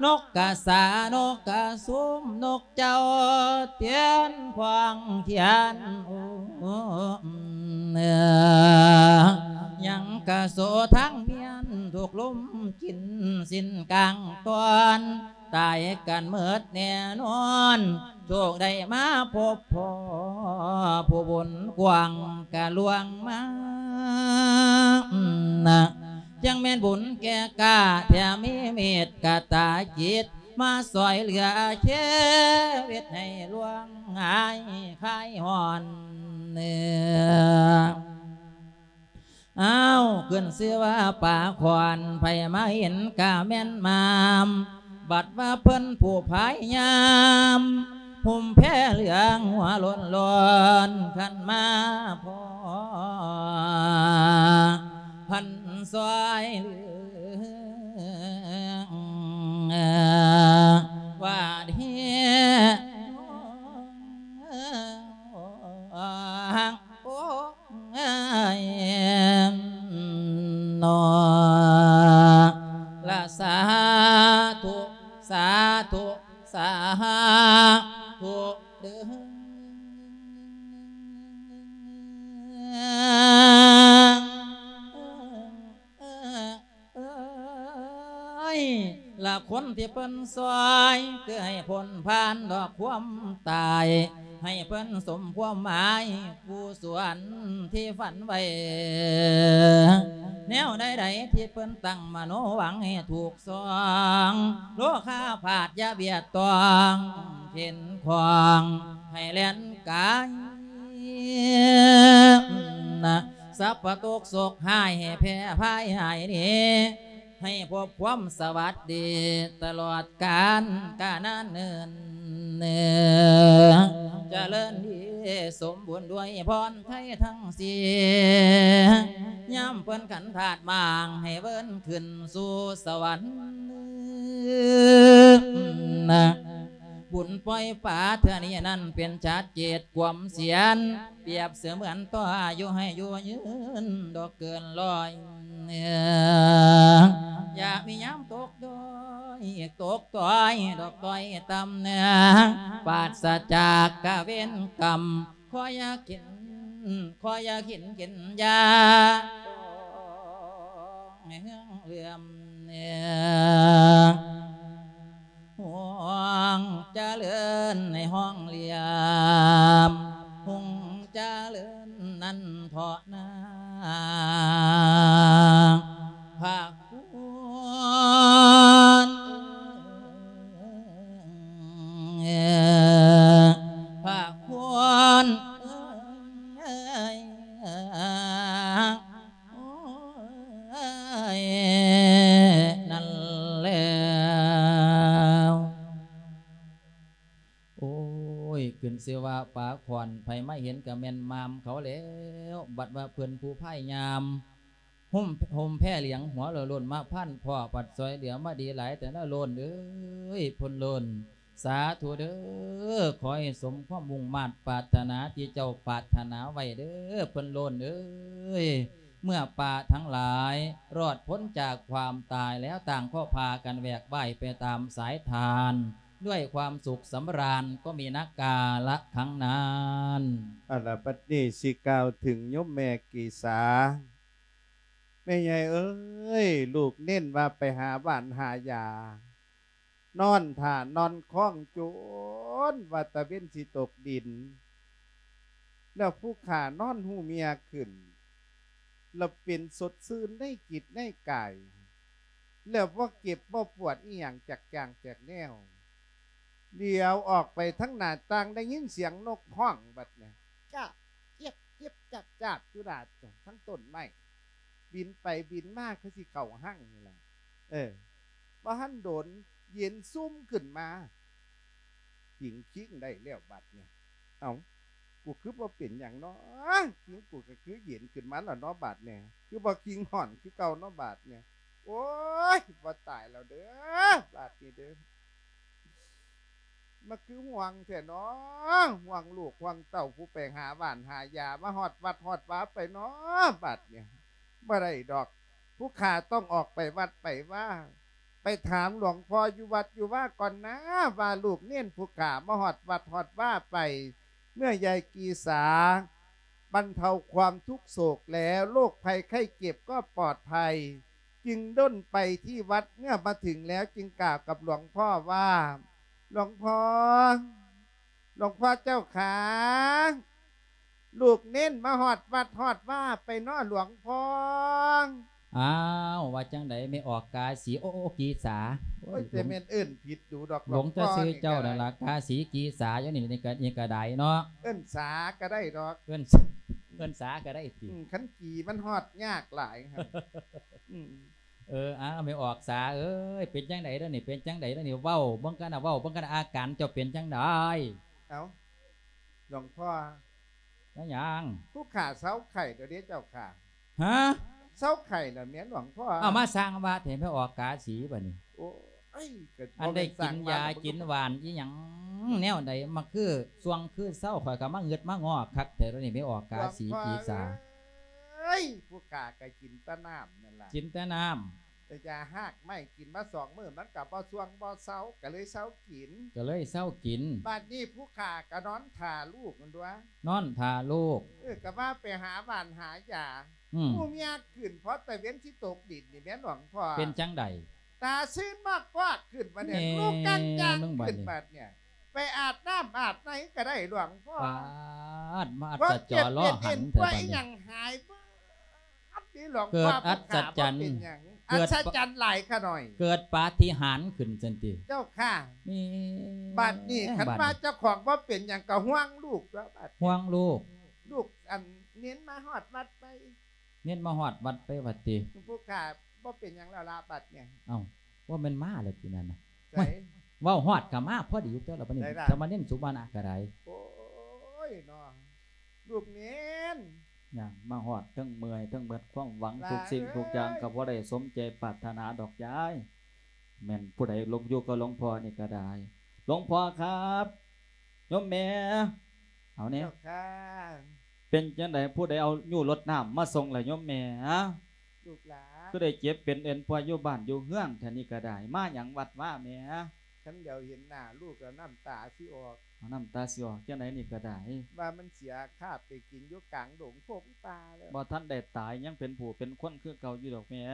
ນົກກະສາ ນົກກະຊຸມ ນົກ ເຈົ້າຕຽນຂວາງຂຽນ ໂອ້ ຍັງກະໂສທາງມຽນ ຖືກລົມກິນສິ້ນກາງຕອນ ຕາຍກັນໝົດແນ່ນອນ ໂຊກໄດ້ມາພົບພໍ້ ຜູ້ບຸນກວ້າງກະລ່ວງມາ ຈັ່ງແມ່ນບຸນແກ່ກ້າ ແຖມມີເມດກະຕາຈິດ ມາຊ່ອຍເຫຼືອເຄວິດໃຫ້ລ່ວງຫາຍຄາຍຮ້ອນເນ ອ້າວ ຂຶ້ນຊື່ວ່າປາຂອນ ໃຜມາເຫັນກະແມ່ນມາມ ບັດວ່າເພິ່ນຜູ້ພາຍຍາມ ຫົ່ມແພເຫຼືອງຫົວໂລ້ນໆ ຄັນມາພໍ້ ພັນຊ່ອຍເຫຼືອ ວ່າເດ ໂອ້ ນອ ລະ ສາທຸ ສາທຸ ສາທຸເດີ. ເອີຍ ລະຄົນທີ່ເພິ່ນຊ່ອຍ ຄືໃຫ້ພົ້ນຜ່ານດອກຄວາມຕາຍ ໃຫ້ເພິ່ນສົມຄວາມໝາຍ ກຸສົນທີ່ຝັນໄວ້ ແນວໃດໆທີ່ເພິ່ນຕັ້ງມະໂນຫວັງ ໃຫ້ຖືກຊ່ອງ ໂລຄາພາດຢ່າບຽດຕ້ອງ ເຂັນຂ້ອງໃຫ້ແລ່ນກາຍ ສັບພະທຸກໂສກຮ້າຍໃຫ້ແຜ່ພາຍຫາຍໜີ ໃຫ້ພົບຄວາມສະຫວັດດີຕະຫຼອດການການນານເນີນ ຈະເລີນດີສົມບູນດ້ວຍພອນໄທທັງສີ່ ຍາມເພິ່ນຂັນທາດໝາງໃຫ້ເວີນຂຶ້ນສູ່ສະຫວັນ. ບຸນປ່ອຍປາເທື່ອນີ້ນັ້ນເປັນຈາດເຈດຄວາມສຽນ ປຽບເສມືອນຕໍ່ອາຍຸໃຫ້ຢູ່ຍືນດອກເກີນຮ້ອຍ ຢ່າມີຍາມຕົກດ້ອຍ ຕົກຕ້ອຍດອກຕ້ອຍຕ່ຳ ປາສະຈາກກະເວນກຳ ຂໍຢ່າກິນ ຂໍຢ່າກິນກິນຢາ ໃຫ້ເຮືອງເຫຼື້ອມ ຮ່ວງຈະເລີນໃນຮ່ອງຫຼຽມ ຮຸ່ງຈະເລີນນັ້ນເທາະນາ ພະຄຸນ ພະຄຸນເອີຍ. ຂຶ້ນຊື່ວ່າປາຂອນ ໃຜມາເຫັນກະແມ່ນໝ່າມເຂົາແລ້ວ. ບັດວ່າເພິ່ນຜູ້ພາຍຍາມ ຫົ່ມ ຫົ່ມແພຫຼຽງຫົວໂລ້ນໆ ມາພັນພໍ້ ພັດຊ່ອຍເຫຼືອມາດີຫຼາຍແຕ່ລະໂລ້ນເອີຍ ເພິ່ນໂລ້ນ. ສາທຸເດີ້ ຂໍໃຫ້ສົມຄວາມມຸ່ງມາດປາດຖະໜາທີ່ເຈົ້າປາດຖະໜາໄວ້ເດີ້ ເພິ່ນໂລ້ນເອີຍ. ເມື່ອປາທັງຫຼາຍລອດພົ້ນຈາກຄວາມຕາຍແລ້ວ ຕ່າງກໍພາກັນແຫວກວ່າຍໄປຕາມສາຍທານ ດ້ວຍຄວາມສຸກສຳລານ ກໍມີນັກກາລະຄັ້ງນັ້ນ. ເອົາລະ ບັດນີ້ຊິກ່າວເຖິງໂຍມແມ່ເກສາ. ແມ່ໃຫຍ່ເອີຍ ລູກເນັ້ນວ່າໄປຫາຫວ່ານຫາຢາ ນອນຖ້ານອນຄອງຈົນວ່າຕາເວັນຊິຕົກດິນ ແລ້ວຜູ້ຂ້ານອນຮູ້ເມຍຂຶ້ນ ແລ້ວເປັນສົດຊື່ນໃນຈິດໃນກາຍ ແລ້ວບໍ່ເຈັບບໍ່ປວດອີ່ຫຍັງຈັກຢ່າງຈັກແນວ. ຫຼຽວອອກໄປທາງໜ້າຕ່າງ ໄດ້ຍິນສຽງນົກຮ້ອງບັດນີ້ ຈາບ ຈຽບ ຈຽບ ຈາບ ຈາບ ຢູ່ໜ້າທາງຕົ້ນໄມ້ ບິນໄປບິນມາຄືຊິເຂົ້າຮັງນີ້ລະ. ເອີ ບໍ່ທັນດົນ ເຢັນຊຸ່ມຂຶ້ນມາ ຜິງຄິງໄດ້ແລ້ວບັດນີ້. ເອົ້າ ກູຄືບໍ່ເປັນຫຍັງເນາະ ຜິງກູກະຄືເຢັນຂຶ້ນມາແລ້ວເນາະບາດນີ້ ຄືບໍ່ຄິງຮ້ອນຄືເກົ່າເນາະບາດນີ້. ໂອ້ຍ ບໍ່ຕາຍແລ້ວເດີ້ ບາດນີ້ເດີ້ ມາຄືຫ່ວງແທ້ເນາະ ຫ່ວງລູກຫ່ວງເຕົ້າ ຜູ້ໄປຫາຫວ່ານຫາຢາ ມາຮອດວັດຮອດວາໄປເນາະບາດນີ້. ບໍ່ໄດ້ດອກ ຜູ້ຂ້າຕ້ອງອອກໄປວັດໄປວາ ໄປຖາມຫຼວງພໍ່ຢູ່ວັດຢູ່ວາກ່ອນນາ ວ່າລູກເນນຜູ້ຂ້າມາຮອດວັດຮອດວາໄປ ເມື່ອຍາຍກີສາບັນເທົາຄວາມທຸກໂສກແລ້ວ ໂລກໄພໄຂ້ເຈັບກໍປອດໄພ ຈຶ່ງດົ້ນໄປທີ່ວັດ ເມື່ອມາເຖິງແລ້ວຈຶ່ງກ່າວກັບຫຼວງພໍ່ວ່າ ຫຼວງພໍ່ ຫຼວງພໍ່ເຈົ້າຂາ ລູກເນນມາຮອດວັດຮອດວາໄປເນາະຫຼວງພໍ່. ອ້າວ ວ່າຈັ່ງໃດແມ່ອອກກາສີ ໂອ ໂອ ກີສາ ໂອ້ຍ ແຕ່ແມ່ນເອີ້ນຜິດດູດອກ ຫຼວງແຕ່ຊື່ເຈົ້ານັ້ນລະ ກາສີກີສາ ຢູ່ນີ້ ນີ້ກະ ນີ້ກະໄດ້ເນາະ ເອີ້ນສາກະໄດ້ດອກ ເອີ້ນ ເອີ້ນສາກະໄດ້ຕິ ອືມ ຄັນກີມັນຮອດຍາກຫຼາຍ ອືມ. ເອີ ອ້າວ ແມ່ອອກສາເອີຍ ເປັນຈັ່ງໃດດຽວນີ້ ເປັນຈັ່ງໃດດຽວນີ້ ເວົ້າເບິ່ງກັນນະ ເວົ້າເບິ່ງກັນນະ ອາການເຈົ້າເປັນຈັ່ງໃດ? ເອົ້າ ຫຼວງພໍ່ ແມ່ນຫຍັງ? ຜູ້ຂ້າເຊົາໄຂ້ແລ້ວເດ້ເຈົ້າຂ້າ. ຮະ? ເຊົາໄຂ້ແລ້ວແມ່ນຫຼວງພໍ່. ເອົາ ມາສ້າງວ່າແທ້ ແມ່ອອກກາສີບາດນີ້. ໂອ້ຍ ກະ ອັນໄດ້ກິນຢາກິນຫວານອີ່ຫຍັງແນວໃດ ມາຄືຊ່ວງຄືເຊົາ ຂ້ອຍກະມາງຶດມາງໍ້ຄັກແທ້ດຽວນີ້ ແມ່ອອກກາສີ ຫຼວງພໍ່ ກີສາ. ເອີຍ ຜູ້ຂ້າກະກິນແຕ່ນ້ຳນັ້ນລະ ກິນແຕ່ນ້ຳ ແຕ່ຢາຮາກໄມ້ກິນມາສອງມື້ ມັນກະບໍ່ຊ່ວງບໍ່ເຊົາ ກະເລີຍເຊົາກິນ ກະເລີຍເຊົາກິນ. ບາດນີ້ຜູ້ຂ້າກະນອນຖ້າລູກນັ້ນຕົວະ ນອນຖ້າລູກ. ເອີ ກະວ່າໄປຫາຫວ່ານຫາຢາ ອືມ ຮູ້ເມຍຂຶ້ນ ພໍຕາເວັນຊິຕົກດິນນີ້ແມ່ນຫຼວງພໍ່ ເປັນຈັ່ງໃດ? ຕາຊືນມາກວາດຂຶ້ນບາດນີ້ ແມ່ ລູກກາງຈາງຂຶ້ນບາດນີ້ ໄປອາບນ້ຳອາບໃນກະໄດ້ຫຼວງພໍ່. ປາດ ມາອັດສະຈໍລໍຫັນແທ້ບາດນີ້ ຫຍັງຫາຍເບິດ ອັດນີ້ຫຼວງພໍ່ ເກີດອັດສະຈັນ ເກີດ ອັດສະຈັນຫຼາຍຂະໜ້ອຍ ເກີດປາຕິຫານຂຶ້ນຊັ້ນຕິ ເຈົ້າຂ້າ. ແມ່ ບາດນີ້ຄັນວ່າເຈົ້າຂອງບໍ່ເປັນຫຍັງກະຫ່ວງລູກຕົວະບາດ ຫ່ວງລູກ ລູກອັນເນນມາຮອດວັດໄປ ເນນມາຮອດວັດໄປວ່າຕິ ຜູ້ຂ້າບໍ່ເປັນຫຍັງແລ້ວລະບາດນີ້. ເອົ້າ ບໍ່ແມ່ນມາແລ້ວຕິນັ້ນນະ ໃສ ເວົ້າຮອດກະມາພໍດີຕົວະລະບາດນີ້ ໃສລະ ສາມະເນນສຸມານະກະໄດ້. ໂອ້ຍເນາະ ລູກເນນ ຍ່າງມາຮອດ ເທິງເມື່ອຍເທິງໝົດຄວາມຫວັງ ຫຼາເອີຍ ທຸກສິ່ງທຸກຢ່າງກະບໍ່ໄດ້ສົມໃຈປາດຖະໜາດອກຍາຍ. ແມ່ນຜູ້ໃດລົງຢູ່ກັບຫຼວງພໍ່ນີ້ກະໄດ້. ຫຼວງພໍ່ຄັບ ໂຍມແມ່ ເອົາແດ່ ເຈົ້າຂ້າ ເປັນຈັ່ງໃດ ຜູ້ໃດເອົາຍູ້ລົດນ້ຳມາສົ່ງລະໂຍມແມ່? ລູກຫຼານ ຄືໄດ້ເຈັບເປັນເອັນປ່ວຍຢູ່ບ້ານຢູ່ເຮືອນແທ້ນີ້ກະໄດ້ ມາຫຍັງວັດວາແມ່? ຄັນດຽວເຫັນໜ້າລູກລະນ້ຳຕາຊິອອກ ນ້ຳຕາຊິອອກຈັ່ງໃດນີ້ກະໄດ້ ວ່າມັນເສຍຄາບໄປກິນຢູ່ກາງດົງພົງປ່າແລ້ວ ບໍ່ທັນໄດ້ຕາຍ ຍັງເປັນຜູ້ເປັນຄົນຄືເກົ່າຢູ່ດອກແມ່.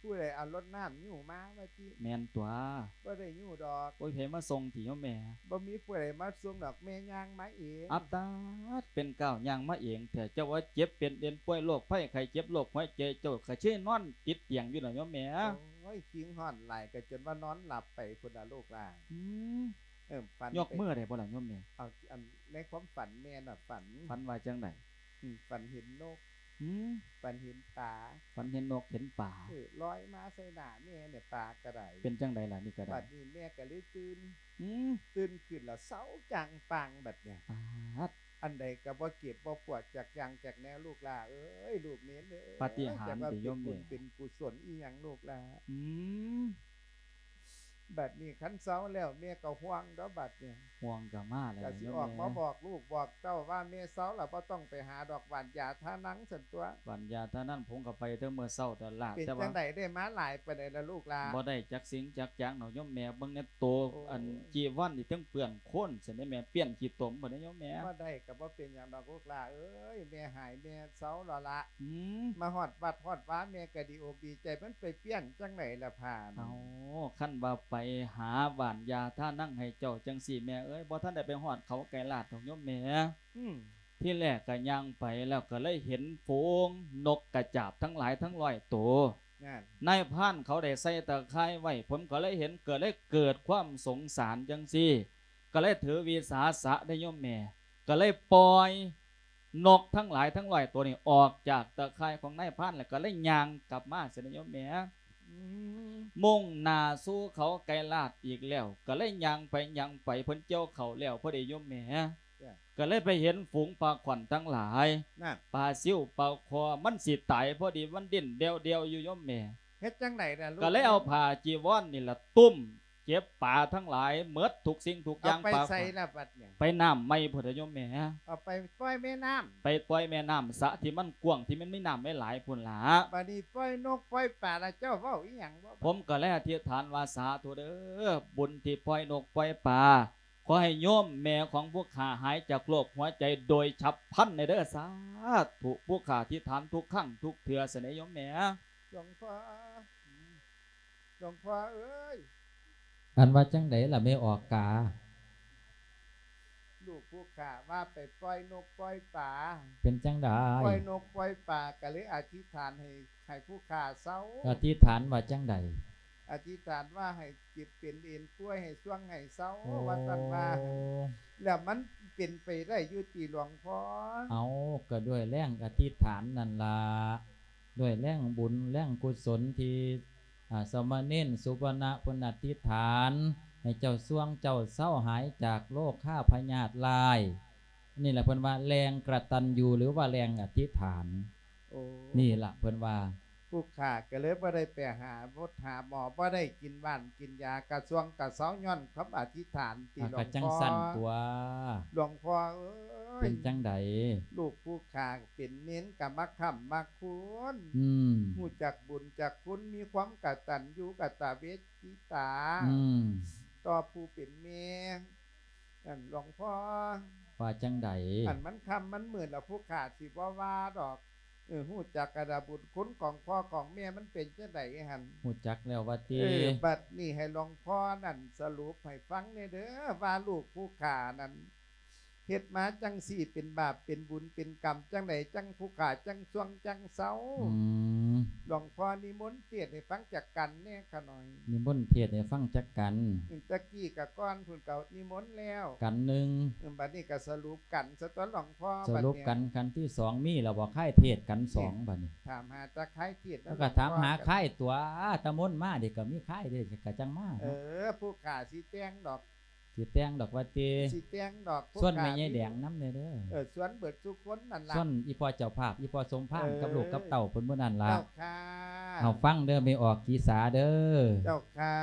ຜູ້ໃດເອົາລົດນ້ຳຍູ້ມາວ່າຕິ? ແມ່ນຕົວະ ບໍ່ໄດ້ຍູ້ດອກ. ໂອ້ຍ ໃຜມາສົ່ງຕິໂຍມແມ່? ບໍ່ມີຜູ້ໃດມາສົ່ງດອກ ແມ່ຍ່າງມາເອງ. ອັດຕາດ ເປັນກ້າວຍ່າງມາເອງແທ້ ເຈົ້າວ່າເຈັບເປັນເອັນປ່ວຍໂລກໄພໄຂ້ເຈັບໂລກຫົວໃຈ ເຈົ້າກະຊິນອນຕິດຕຽງຢູ່ລະໂຍມແມ່. ໂອ້ຍ ຄີງຮ້ອນຫຼາຍກະຈົນວ່ານອນຫຼັບໄປພຸ້ນລະລູກຫຼານ. ອືມ ເອີ ຝັນ ຍົກມືໄດ້ບໍ່ລະໂຍມແມ່? ເອົາ ອັນ ໃນຄວາມຝັນແມ່ນະ ຝັນ ຝັນວ່າຈັ່ງໃດ? ອືມ ຝັນເຫັນນົກ ອືມ ຝັນເຫັນປາ ຝັນເຫັນນົກເຫັນປາ ເອີ ລອຍມາໃສ່ໜ້າແມ່ນີ້ ປາກໍໄດ້ ເປັນຈັ່ງໃດລະນີ້ກໍໄດ້ ບັດນີ້ແມ່ກໍເລີຍຕື່ນ ອືມ ຕື່ນຂຶ້ນແລ້ວເຊົາຈ້າງປ່າງບັດນີ້ ປາດ ອັນໃດກໍບໍ່ເຈັບບໍ່ປວດຈັກຢ່າງຈັກແນວ ລູກຫຼ້າເອີຍ ລູກເນນເອີຍ ປາຕິຫານຕິໂຍມແມ່ ເປັນບຸນເປັນກຸສົນອີ່ຫຍັງລູກຫຼ້າ ອືມ ບັດນີ້ຄັນເຊົາແລ້ວແມ່ກໍຫ່ວງດອກບັດນີ້ ຫ່ວງກໍມາແລ້ວ ກໍຊິອອກມາບອກລູກບອກເຕົ້າວ່າແມ່ເຊົາແລ້ວ ບໍ່ຕ້ອງໄປຫາດອກ ຫວ່ານຢາທານັງຊັ້ນຕົວະ ຫວ່ານຢາທານັງ ຜົມກໍໄປແຕ່ມື້ເຊົ້າຕະຫຼາດ ເປັນ ແຕ່ວ່າ ຈັ່ງໃດ ໄດ້ມາຫຼາຍປານໃດລະລູກຫຼ້າ ບໍ່ໄດ້ຈັກສິ່ງຈັກຢ່າງດອກໂຍມແມ່ ເບິ່ງແດ່ໂຕ ໂອ້ ອັນຈີວອນນີ້ເຖິງເປື້ອນໂຄນຊັ້ນເດ້ແມ່ ປ່ຽນຂີ້ຕົມພຸ້ນເດ້ໂຍມແມ່ ບໍ່ໄດ້ກໍບໍ່ເປັນຫຍັງດອກລູກຫຼ້າເອີຍ ແມ່ຫາຍແມ່ເຊົາແລ້ວລະ ອືມ ມາຮອດວັດຮອດວາແມ່ກໍດີອົກດີໃຈ ມັນໄປປ່ຽນຈັ່ງໃດລະພ້ານ ເອົາ ຄັນວ່າໄປຫາຫວ່ານຢາທານັງໃຫ້ເຈົ້າຈັ່ງຊີ້ແມ່ເອີຍ ບໍ່ທັນໄດ້ໄປຮອດເຂົາໄກລາດດອກໂຍມແມ່ ອືມ ທີແລກກໍຍ່າງໄປແລ້ວກໍເລີຍເຫັນຝູງນົກກະຈາບທັງຫຼາຍທັງຮ້ອຍໂຕ ນັ້ນ ນາຍພານເຂົາໄດ້ໃສ່ຕາຂ່າຍໄວ້ ຜົມກໍເລີຍເຫັນ ກໍເລີຍເກີດຄວາມສົງສານຈັ່ງຊີ້ ກໍເລີຍຖືວິສາສະເດ້ໂຍມແມ່ ກໍເລີຍປ່ອຍນົກທັງຫຼາຍທັງຮ້ອຍໂຕນີ້ອອກຈາກຕາຂ່າຍຂອງນາຍພານ ແລ້ວກໍເລີຍຍ່າງກັບມາຊັ້ນເດ້ໂຍມແມ່ ອືມ ມຸ່ງໜ້າສູ່ເຂົາໄກລາດອີກແລ້ວ ກໍເລີຍຍ່າງໄປຍ່າງໄປ ເພິ່ນກ່ຽວເຂົ້າແລ້ວພໍດີໂຍມແມ່ ຈ້ະ ກໍເລີຍໄປເຫັນຝູງປາຂວັນທັງຫຼາຍ ນັ້ນ ປາຊິວ ປາຄໍ່ ມັນຊິຕາຍພໍດີ ມັນດີ້ນແດວໆຢູ່ໂຍມແມ່ ເຮັດຈັ່ງໃດລະລູກ ກໍເລີຍເອົາຜ້າຈີວອນນີ້ລະຕຸ້ມເກັບປາທັງຫຼາຍໝົດທຸກສິ່ງທຸກຢ່າງ ເອົາໄປໃສລະບັດນີ້ ໄປນ້ຳໃໝ່ພຸ້ນລະໂຍມແມ່ ເອົາໄປປ່ອຍແມ່ນ້ຳ ໄປປ່ອຍແມ່ນ້ຳ ສະທີ່ມັນກວ້າງ ທີ່ມັນມີນ້ຳຫຼາຍໆພຸ້ນລະ ບັດນີ້ປ່ອຍນົກປ່ອຍປາລະ ເຈົ້າເວົ້າອີ່ຫຍັງບໍ່ ຜົມກໍເລີຍອະທິຖານວ່າ ສາທຸເດີ ບຸນທີ່ປ່ອຍນົກປ່ອຍປາ ຂໍໃຫ້ໂຍມແມ່ຂອງຜູ້ຂ້າຫາຍຈາກໂລກຫົວໃຈໂດຍສັບພັນແດ່ເດີ ສາທຸ ຜູ້ຂ້າອະທິຖານທຸກຄັ້ງທຸກເທື່ອຊັ້ນເດ້ໂຍມແມ່ ຫຼວງພໍ່ ຫຼວງພໍ່ເອີຍ ອັນວ່າຈັ່ງໃດລະແມ່ອອກກາ ລູກຜູ້ຂ້າວ່າໄປປ່ອຍນົກປ່ອຍປາ ເປັນຈັ່ງໃດ ປ່ອຍນົກປ່ອຍປາ ກໍເລີຍອະທິຖານໃຫ້ ໃຫ້ຜູ້ຂ້າເຊົາ ອະທິຖານວ່າຈັ່ງໃດ ອະທິຖານວ່າໃຫ້ເຈັບເປັນເອັນປ່ວຍ ໃຫ້ຊ່ວງໃຫ້ເຊົາ ໂອ້ ວ່າຊັ້ນວ່າ ແລ້ວມັນເປັນໄປໄດ້ຢູ່ຕິຫຼວງພໍ່ ເອົາ ກໍດ້ວຍແຮງອະທິຖານນັ້ນລະ ດ້ວຍແຮງບຸນແຮງກຸສົນທີ່ ອາ ສາມະເນນສຸວັນນະເພິ່ນອະທິຖານ ໃຫ້ເຈົ້າຊ່ວງເຈົ້າເຊົາຫາຍຈາກໂລຄາພະຍາດລາຍ ນີ້ລະເພິ່ນວ່າແຮງກະຕັນຍູ ຫຼືວ່າແຮງອະທິຖານ ໂອ້ ນີ້ລະເພິ່ນວ່າ ຜູ້ຂ້າກໍເລີຍບໍ່ໄດ້ໄປຫາໝົດຫາໝໍ ບໍ່ໄດ້ກິນຫວ່ານກິນຢາ ກະຊ່ວງກະເຊົາ ຍ້ອນຄຳອະທິຖານຕິ ອາ ຫຼວງພໍ່ ກະຈັ່ງຊັ້ນຕົວະ ຫຼວງພໍ່ເອີຍ ເປັນຈັ່ງໃດ ລູກຜູ້ຂ້າເປັນເນນກະມາຄ້ຳມາຄູນ ອືມ ຮູ້ຈັກບຸນຈັກຄຸນ ມີຄວາມກະຕັນຍູກະຕະເວທິຕາ ອືມ ຕໍ່ຜູ້ເປັນແມ່ ນັ້ນຫຼວງພໍ່ ວ່າຈັ່ງໃດ ອັນມັນຄ່ຳມັນມືດແລ້ວ ຜູ້ຂ້າຊິບໍ່ວ່າດອກ ເອີ ຮູ້ຈັກກະດາບຸນຄຸນຂອງພໍ່ຂອງແມ່ມັນເປັນຈັ່ງໃດຫັ້ນ ຮູ້ຈັກແລ້ວວ່າຕິ ເອີ ບັດນີ້ໃຫ້ຫຼວງພໍ່ນັ້ນສະຫຼຸບໃຫ້ຟັງແດ່ເດີ ວ່າລູກຜູ້ຂ້ານັ້ນເຮັດມາຈັ່ງຊີ້ ເປັນບາບເປັນບຸນເປັນກຳຈັ່ງໃດ ຈັ່ງຜູ້ຂ້າຈັ່ງຊ່ວງຈັ່ງເຊົາ ອືມ ຫຼວງພໍ່ນິມົນ ເທດໃຫ້ຟັງຈັກກັນແດ່ຂະໜ້ອຍ ນິມົນເທດໃຫ້ຟັງຈັກກັນ ອືມ ຕະກີ້ກະກ່ອນພຸ້ນກໍນິມົນແລ້ວ ກັນໜຶ່ງ ອືມ ບັດນີ້ກໍສະຫຼຸບກັນຊະຕົວະຫຼວງພໍ່ ສະຫຼຸບກັນ ບັດນີ້ ກັນທີສອງ ມີແລ້ວບໍ່ຄາຍເທດກັນສອງ ນີ້ ບັດນີ້ ຖາມຫາແຕ່ຄາຍເທດນະ ແລ້ວກໍຖາມຫາ ຫຼວງພໍ່ ຄາຍຕົວະ ຕາມົນມານີ້ກໍມີຄາຍເດ້ ກໍຈັ່ງມາ ເອີ ເນາະ ຜູ້ຂ້າຊິແຕ່ງດອກ ຊິແຕ່ງດອກວ່າຕິ ຊິແຕ່ງດອກ ຊວນແມ່ໃຫຍ່ແດງນຳແດ່ເດີ ເອີ ຊວນເບິດທຸກຄົນນັ້ນລະ ຊວນອີ່ພໍ່ເຈົ້າພາບ ອີ່ພໍ່ສົມພານ ເອີ ກັບລູກກັບເຕົ້າເພິ່ນມື້ນັ້ນລະ ເຈົ້າຄ່ະ ເອົາຟັງເດີ ແມ່ອອກກີສາເດີ ເຈົ້າຄ່ະ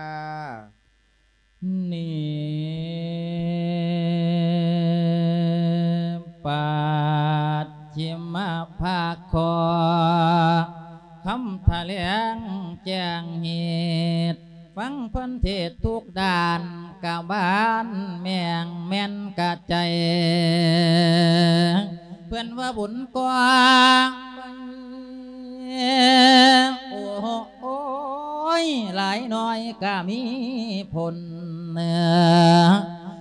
ນິປັດ ຊິມະພາກຂໍ ຄຳຖະແຫຼງແຈ້ງເຫດ ຟັງເພິ່ນເທດທຸກດ້ານ ກະບານແມ່ງແມ່ນກະໃຈ ເພິ່ນວ່າບຸນກອງ ໂອ້ ໂອ້ຍ ຫຼາຍໜ້ອຍກະມີຜົນ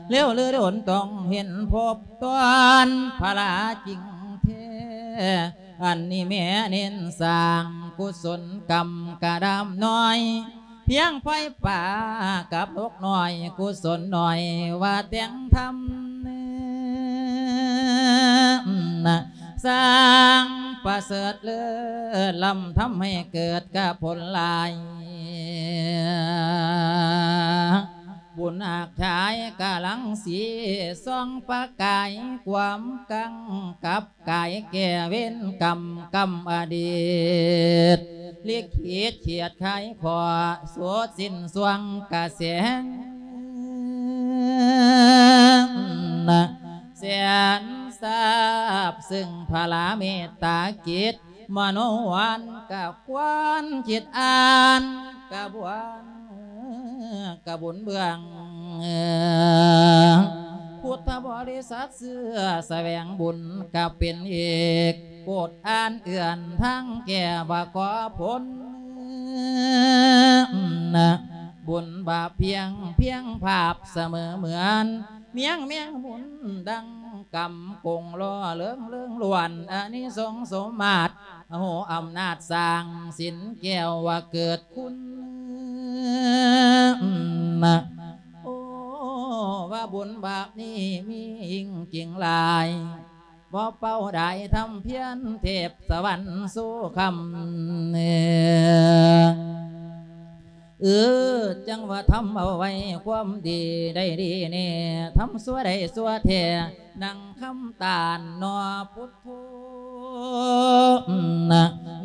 ເຫຼືອດົນຕ້ອງເຫັນພົບຕອນພະລາຈິງແທ້ ອັນນີ້ແມ່ເນັ້ນສ້າງກຸສົນກຳກະດຳນ້ອຍ ພຽງໄຟປ່າກັບນົກນ້ອຍ ກຸສົນໜ້ອຍວ່າແຕ່ງທຳ ສ້າງ ປະເສີດເລີດລ້ຳ ທຳໃຫ້ເກີດກະຜົນຫຼາຍ ບຸນອາກຊາຍກະລັງສີ ສ່ອງປະກາຍຄວາມກັງກັບ ກາຍແກ່ເວນກຳ ກຳອະດີດ ລິຂິດຂຽດຂາຍຂໍ ສວດສິ້ນສວງກະແສງ ແສນຊາບ ຊຶ່ງພະລາເມດຕາກິດ ມະໂນຫວານກະຄວນຄິດອ່ານ ກະບວນ ກະບຸນເບື້ອງ ພຸດທະບໍລິສັດເຊື້ອສະແຫວງບຸນ ກະເປັນເອກ ໂກດອ່ານເອື້ອນທາງແກ່ວ່າຂໍຜົນ ບຸນບາບພຽງ ພຽງພາບສະເໝີເໝືອນ ມຽງແມງບຸນດັ່ງກຳກົງ ຫຼໍ່ເລີງເລີງລ້ວນອານິສົງສົມມາດ ໂຫອຳນາດສ້າງສິນແກ້ວວ່າເກີດຄຸນ ໂອ້ ວ່າບຸນບາບນີ້ມີຍິ່ງຈິງຫຼາຍ ບໍ່ເປົ່າດາຍທຳພຽນເທບສະຫວັນສູ່ຄຳ ເອີ ຈັ່ງວ່າທຳເອົາໄວ້ຄວາມດີໄດ້ດີແນ່ ທຳຊົ່ວໄດ້ຊົ່ວແທ້ ດັ່ງຄຳຕ້ານໜໍ່ພຸດໂທ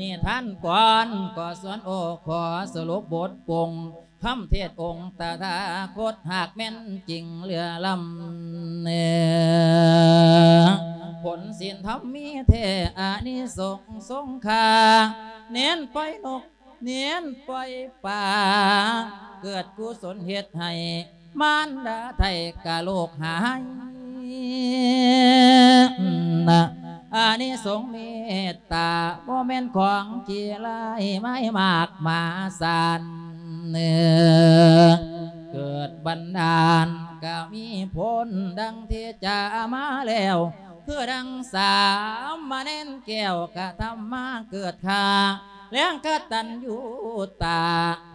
ນິທານກ່ອນກໍສວນໂອ ຂໍສະຫຼຸບບົດປົງ ຄຳເທດອົງຕະຖາຄົດ ຫາກແມ່ນຈິງເຫຼືອລ້ຳ ຜົນສິນທຳມີແທ້ ອານິສົງສົງຄ່າ ແໜນປ່ອຍນົກ ແໜນປ່ອຍປາ ເກີດກຸສົນເຮັດໃຫ້ ມານດາໄທກະໂລກຫາຍ ອານິສົງເມດຕາ ບໍ່ແມ່ນຂອງຂີ້ຮ້າຍ ມາຍມາກມະຫາສານ ເກີດບັນດານກະມີຜົນ ດັ່ງທີ່ຈາມາແລ້ວ ຄືດັ່ງສາມະເນນແກ້ວ ກະທຳມາເກີດຂ້າ ແລງກະຕັນຍູຕາ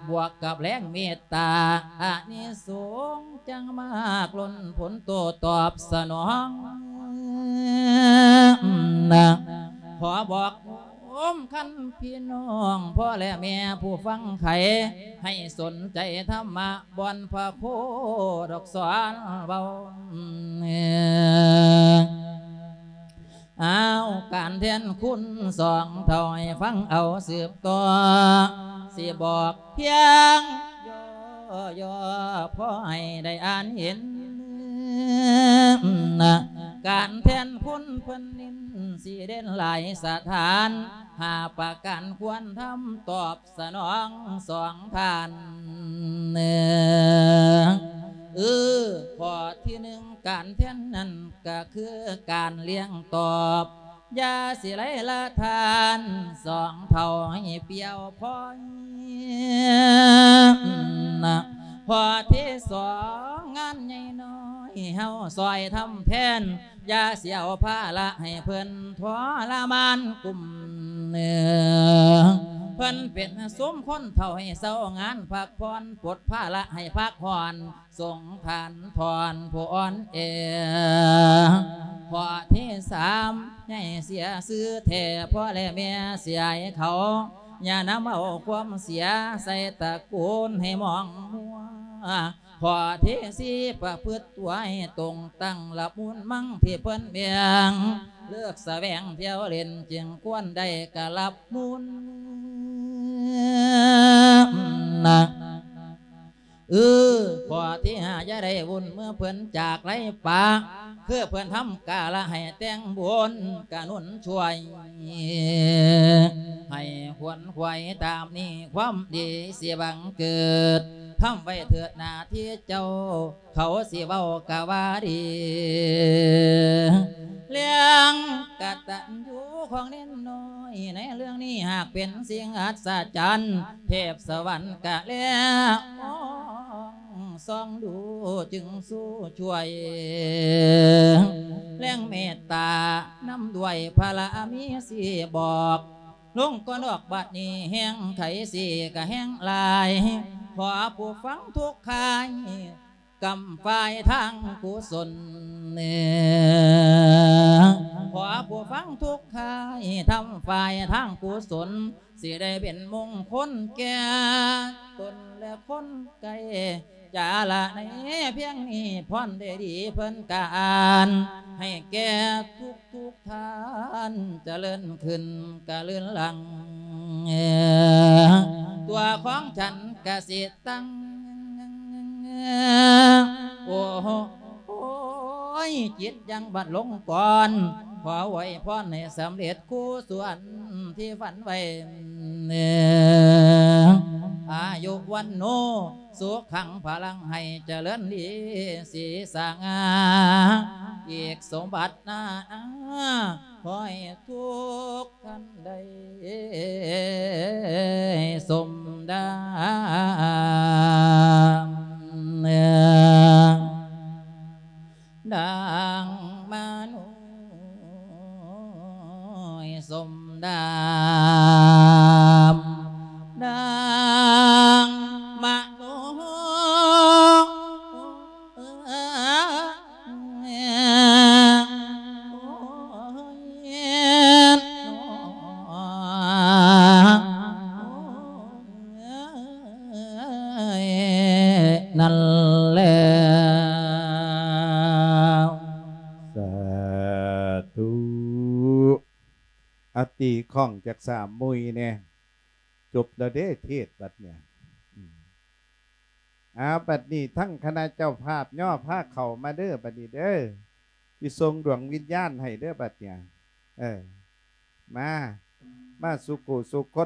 ບວກກັບແລງເມດຕາ ອານິສົງຈັ່ງມາກລົ້ນຜົນໂຕຕອບສະໜອງ ຂໍບອກໂຮມຄັນພີ່ນ້ອງ ພໍ່ແລະແມ່ຜູ້ຟັງໃຄ ໃຫ້ສົນໃຈທຳມະ ບ່ອນພະໂຄດອກສອນເວົ້າ ອ້າວ ການແທນຄຸນສອງເຖົ້າໃຫ້ຟັງເອົາສືບຕໍ່ ຊິບອກພຽງຍໍ່ໆ ພໍໃຫ້ໄດ້ອ່ານເຫັນ ການແທນຄຸນເພິ່ນເນັ້ນຊິເດັ່ນຫຼາຍສະຖານ ຫ້າປະການຄວນທຳຕອບ ສະໜອງສອງທ່ານ ເອີ ຂໍ້ທີໜຶ່ງ ການແທນນັ້ນກະຄືການລ້ຽງຕອບ ຢ່າຊິໄຫຼລະທ່ານ ສອງເຖົ້າໃຫ້ປ່ຽວພ້ອຍ ຂໍ້ທີສອງ ງານໃຫຍ່ນ້ອຍ ເຮົາຊ່ອຍທຳແທນ ຢ່າຊິເອົາພາລະໃຫ້ເພິ່ນທໍລະມານກຸ້ມ ເພິ່ນເປັນຊຸມຄົນເຖົ້າໃຫ້ເຊົາງານພັກຜ່ອນ ປົດພາລະໃຫ້ພັກຮ້ອນ ສົງທ່ານທ່ອນຜູ້ອ່ອນແອ. ຂໍ້ທີສາມ ໃຫຍ່ເສຍຊື່ແທ້ ພໍ່ແລະແມ່ເສຍໃຫ້ເຂົາ ຢ່ານຳເອົາຄວາມເສຍໃສ່ຕະກູນໃຫ້ໝອງມົວ. ຂໍ້ທີສີ່ ປະພຶດຕົວໃຫ້ຕົງຕັ້ງລະມຸນມັງທີ່ເພິ່ນແບ່ງ ເລີກສະແຫວງທ່ຽວຫຼິ້ນ ຈຶ່ງຄວນໄດ້ກະລັບມຸນນະ. ເອີ ຂໍ້ທີຫ້າ ຢ່າໄດ້ວຸ້ນເມື່ອເພິ່ນຈາກໄລປະ ຄືເພິ່ນທຳກາລະໃຫ້ແຕ່ງບຸນກະໜູນຊ່ວຍ ໃຫ້ຂວນຂວາຍຕາມນີ້ ຄວາມດີຊິບັງເກີດ ທຳໄວ້ເທີດໜ້າທີ່ເຈົ້າ ເຂົາຊິເວົ້າກະວ່າດີ. ເລື່ອງກະຕັນຍູຂອງເນນນ້ອຍ ໃນເລື່ອງນີ້ຫາກເປັນສິ່ງອັດສະຈັນ ເທບສະຫວັນກະແລມອງສ່ອງດູຈຶ່ງສູ້ຊ່ວຍ ແລງເມດຕານຳດ້ວຍພະລະມີຊິບອກ ລົງກ່ອນອອກບັດນີ້ແຮງໄຂຊິກະແຮງຫຼາຍ ຂໍຜູ້ຟັງທຸກທ່ານ ກຳຝ່າຍທາງກຸສົນ ຂໍຜູ້ຟັງທຸກທ່ານ ທຳຝ່າຍທາງກຸສົນ ຊິໄດ້ເປັນມົງຄົນແກ່ຕົນ ແລະ ຄົນໃກ້ຈາລະໃນພຽງນີ້ ພອນໄດ້ດີເພິ່ນກະອ່ານ ໃຫ້ແກ່ທຸກໆທ່ານ ຈະເລີນຂຶ້ນກະເລີນຫຼັງ ຕົວຂອງສັນກະຊິຕັ້ງ ໂອ້ໂຫ ໂອ້ຍ ຈິດຍັງບັດລົງກ່ອນ ຂໍອວຍພອນໃຫ້ສຳເລັດຄູ່ສ່ວນທີ່ຝັນໄວ້ ອາຍຸວັນໂນ ສຸຂັງພະລັງ ໃຫ້ຈະເລີນລີສີສະຫງ່າ ອີກສົມບັດໜ້າ ຂໍໃຫ້ທຸກທ່ານໄດ້ສົມດັ່ງ ດັ່ງມະນຸສມດຳ ດັ່ງມະນຸ ນັ້ນແລ້ວ ສາທຸ ອາ ຕີຂ້ອງຈັກສາມມຸ້ຍແດ່ ຈົບແລ້ວເດ້ເທດບັດເນີ້ຍ ອືມ ອາ ບັດນີ້ທັງຄະນະເຈົ້າພາບຍໍພາເຂົ້າມາເດີ ບັດນີ້ເດີ ຊິສົ່ງດວງວິນຍານໃຫ້ເດີບັດເນີ້ຍ ເອີ ມາ ມາສູ່ຄູ່ສູ່ຄົນ.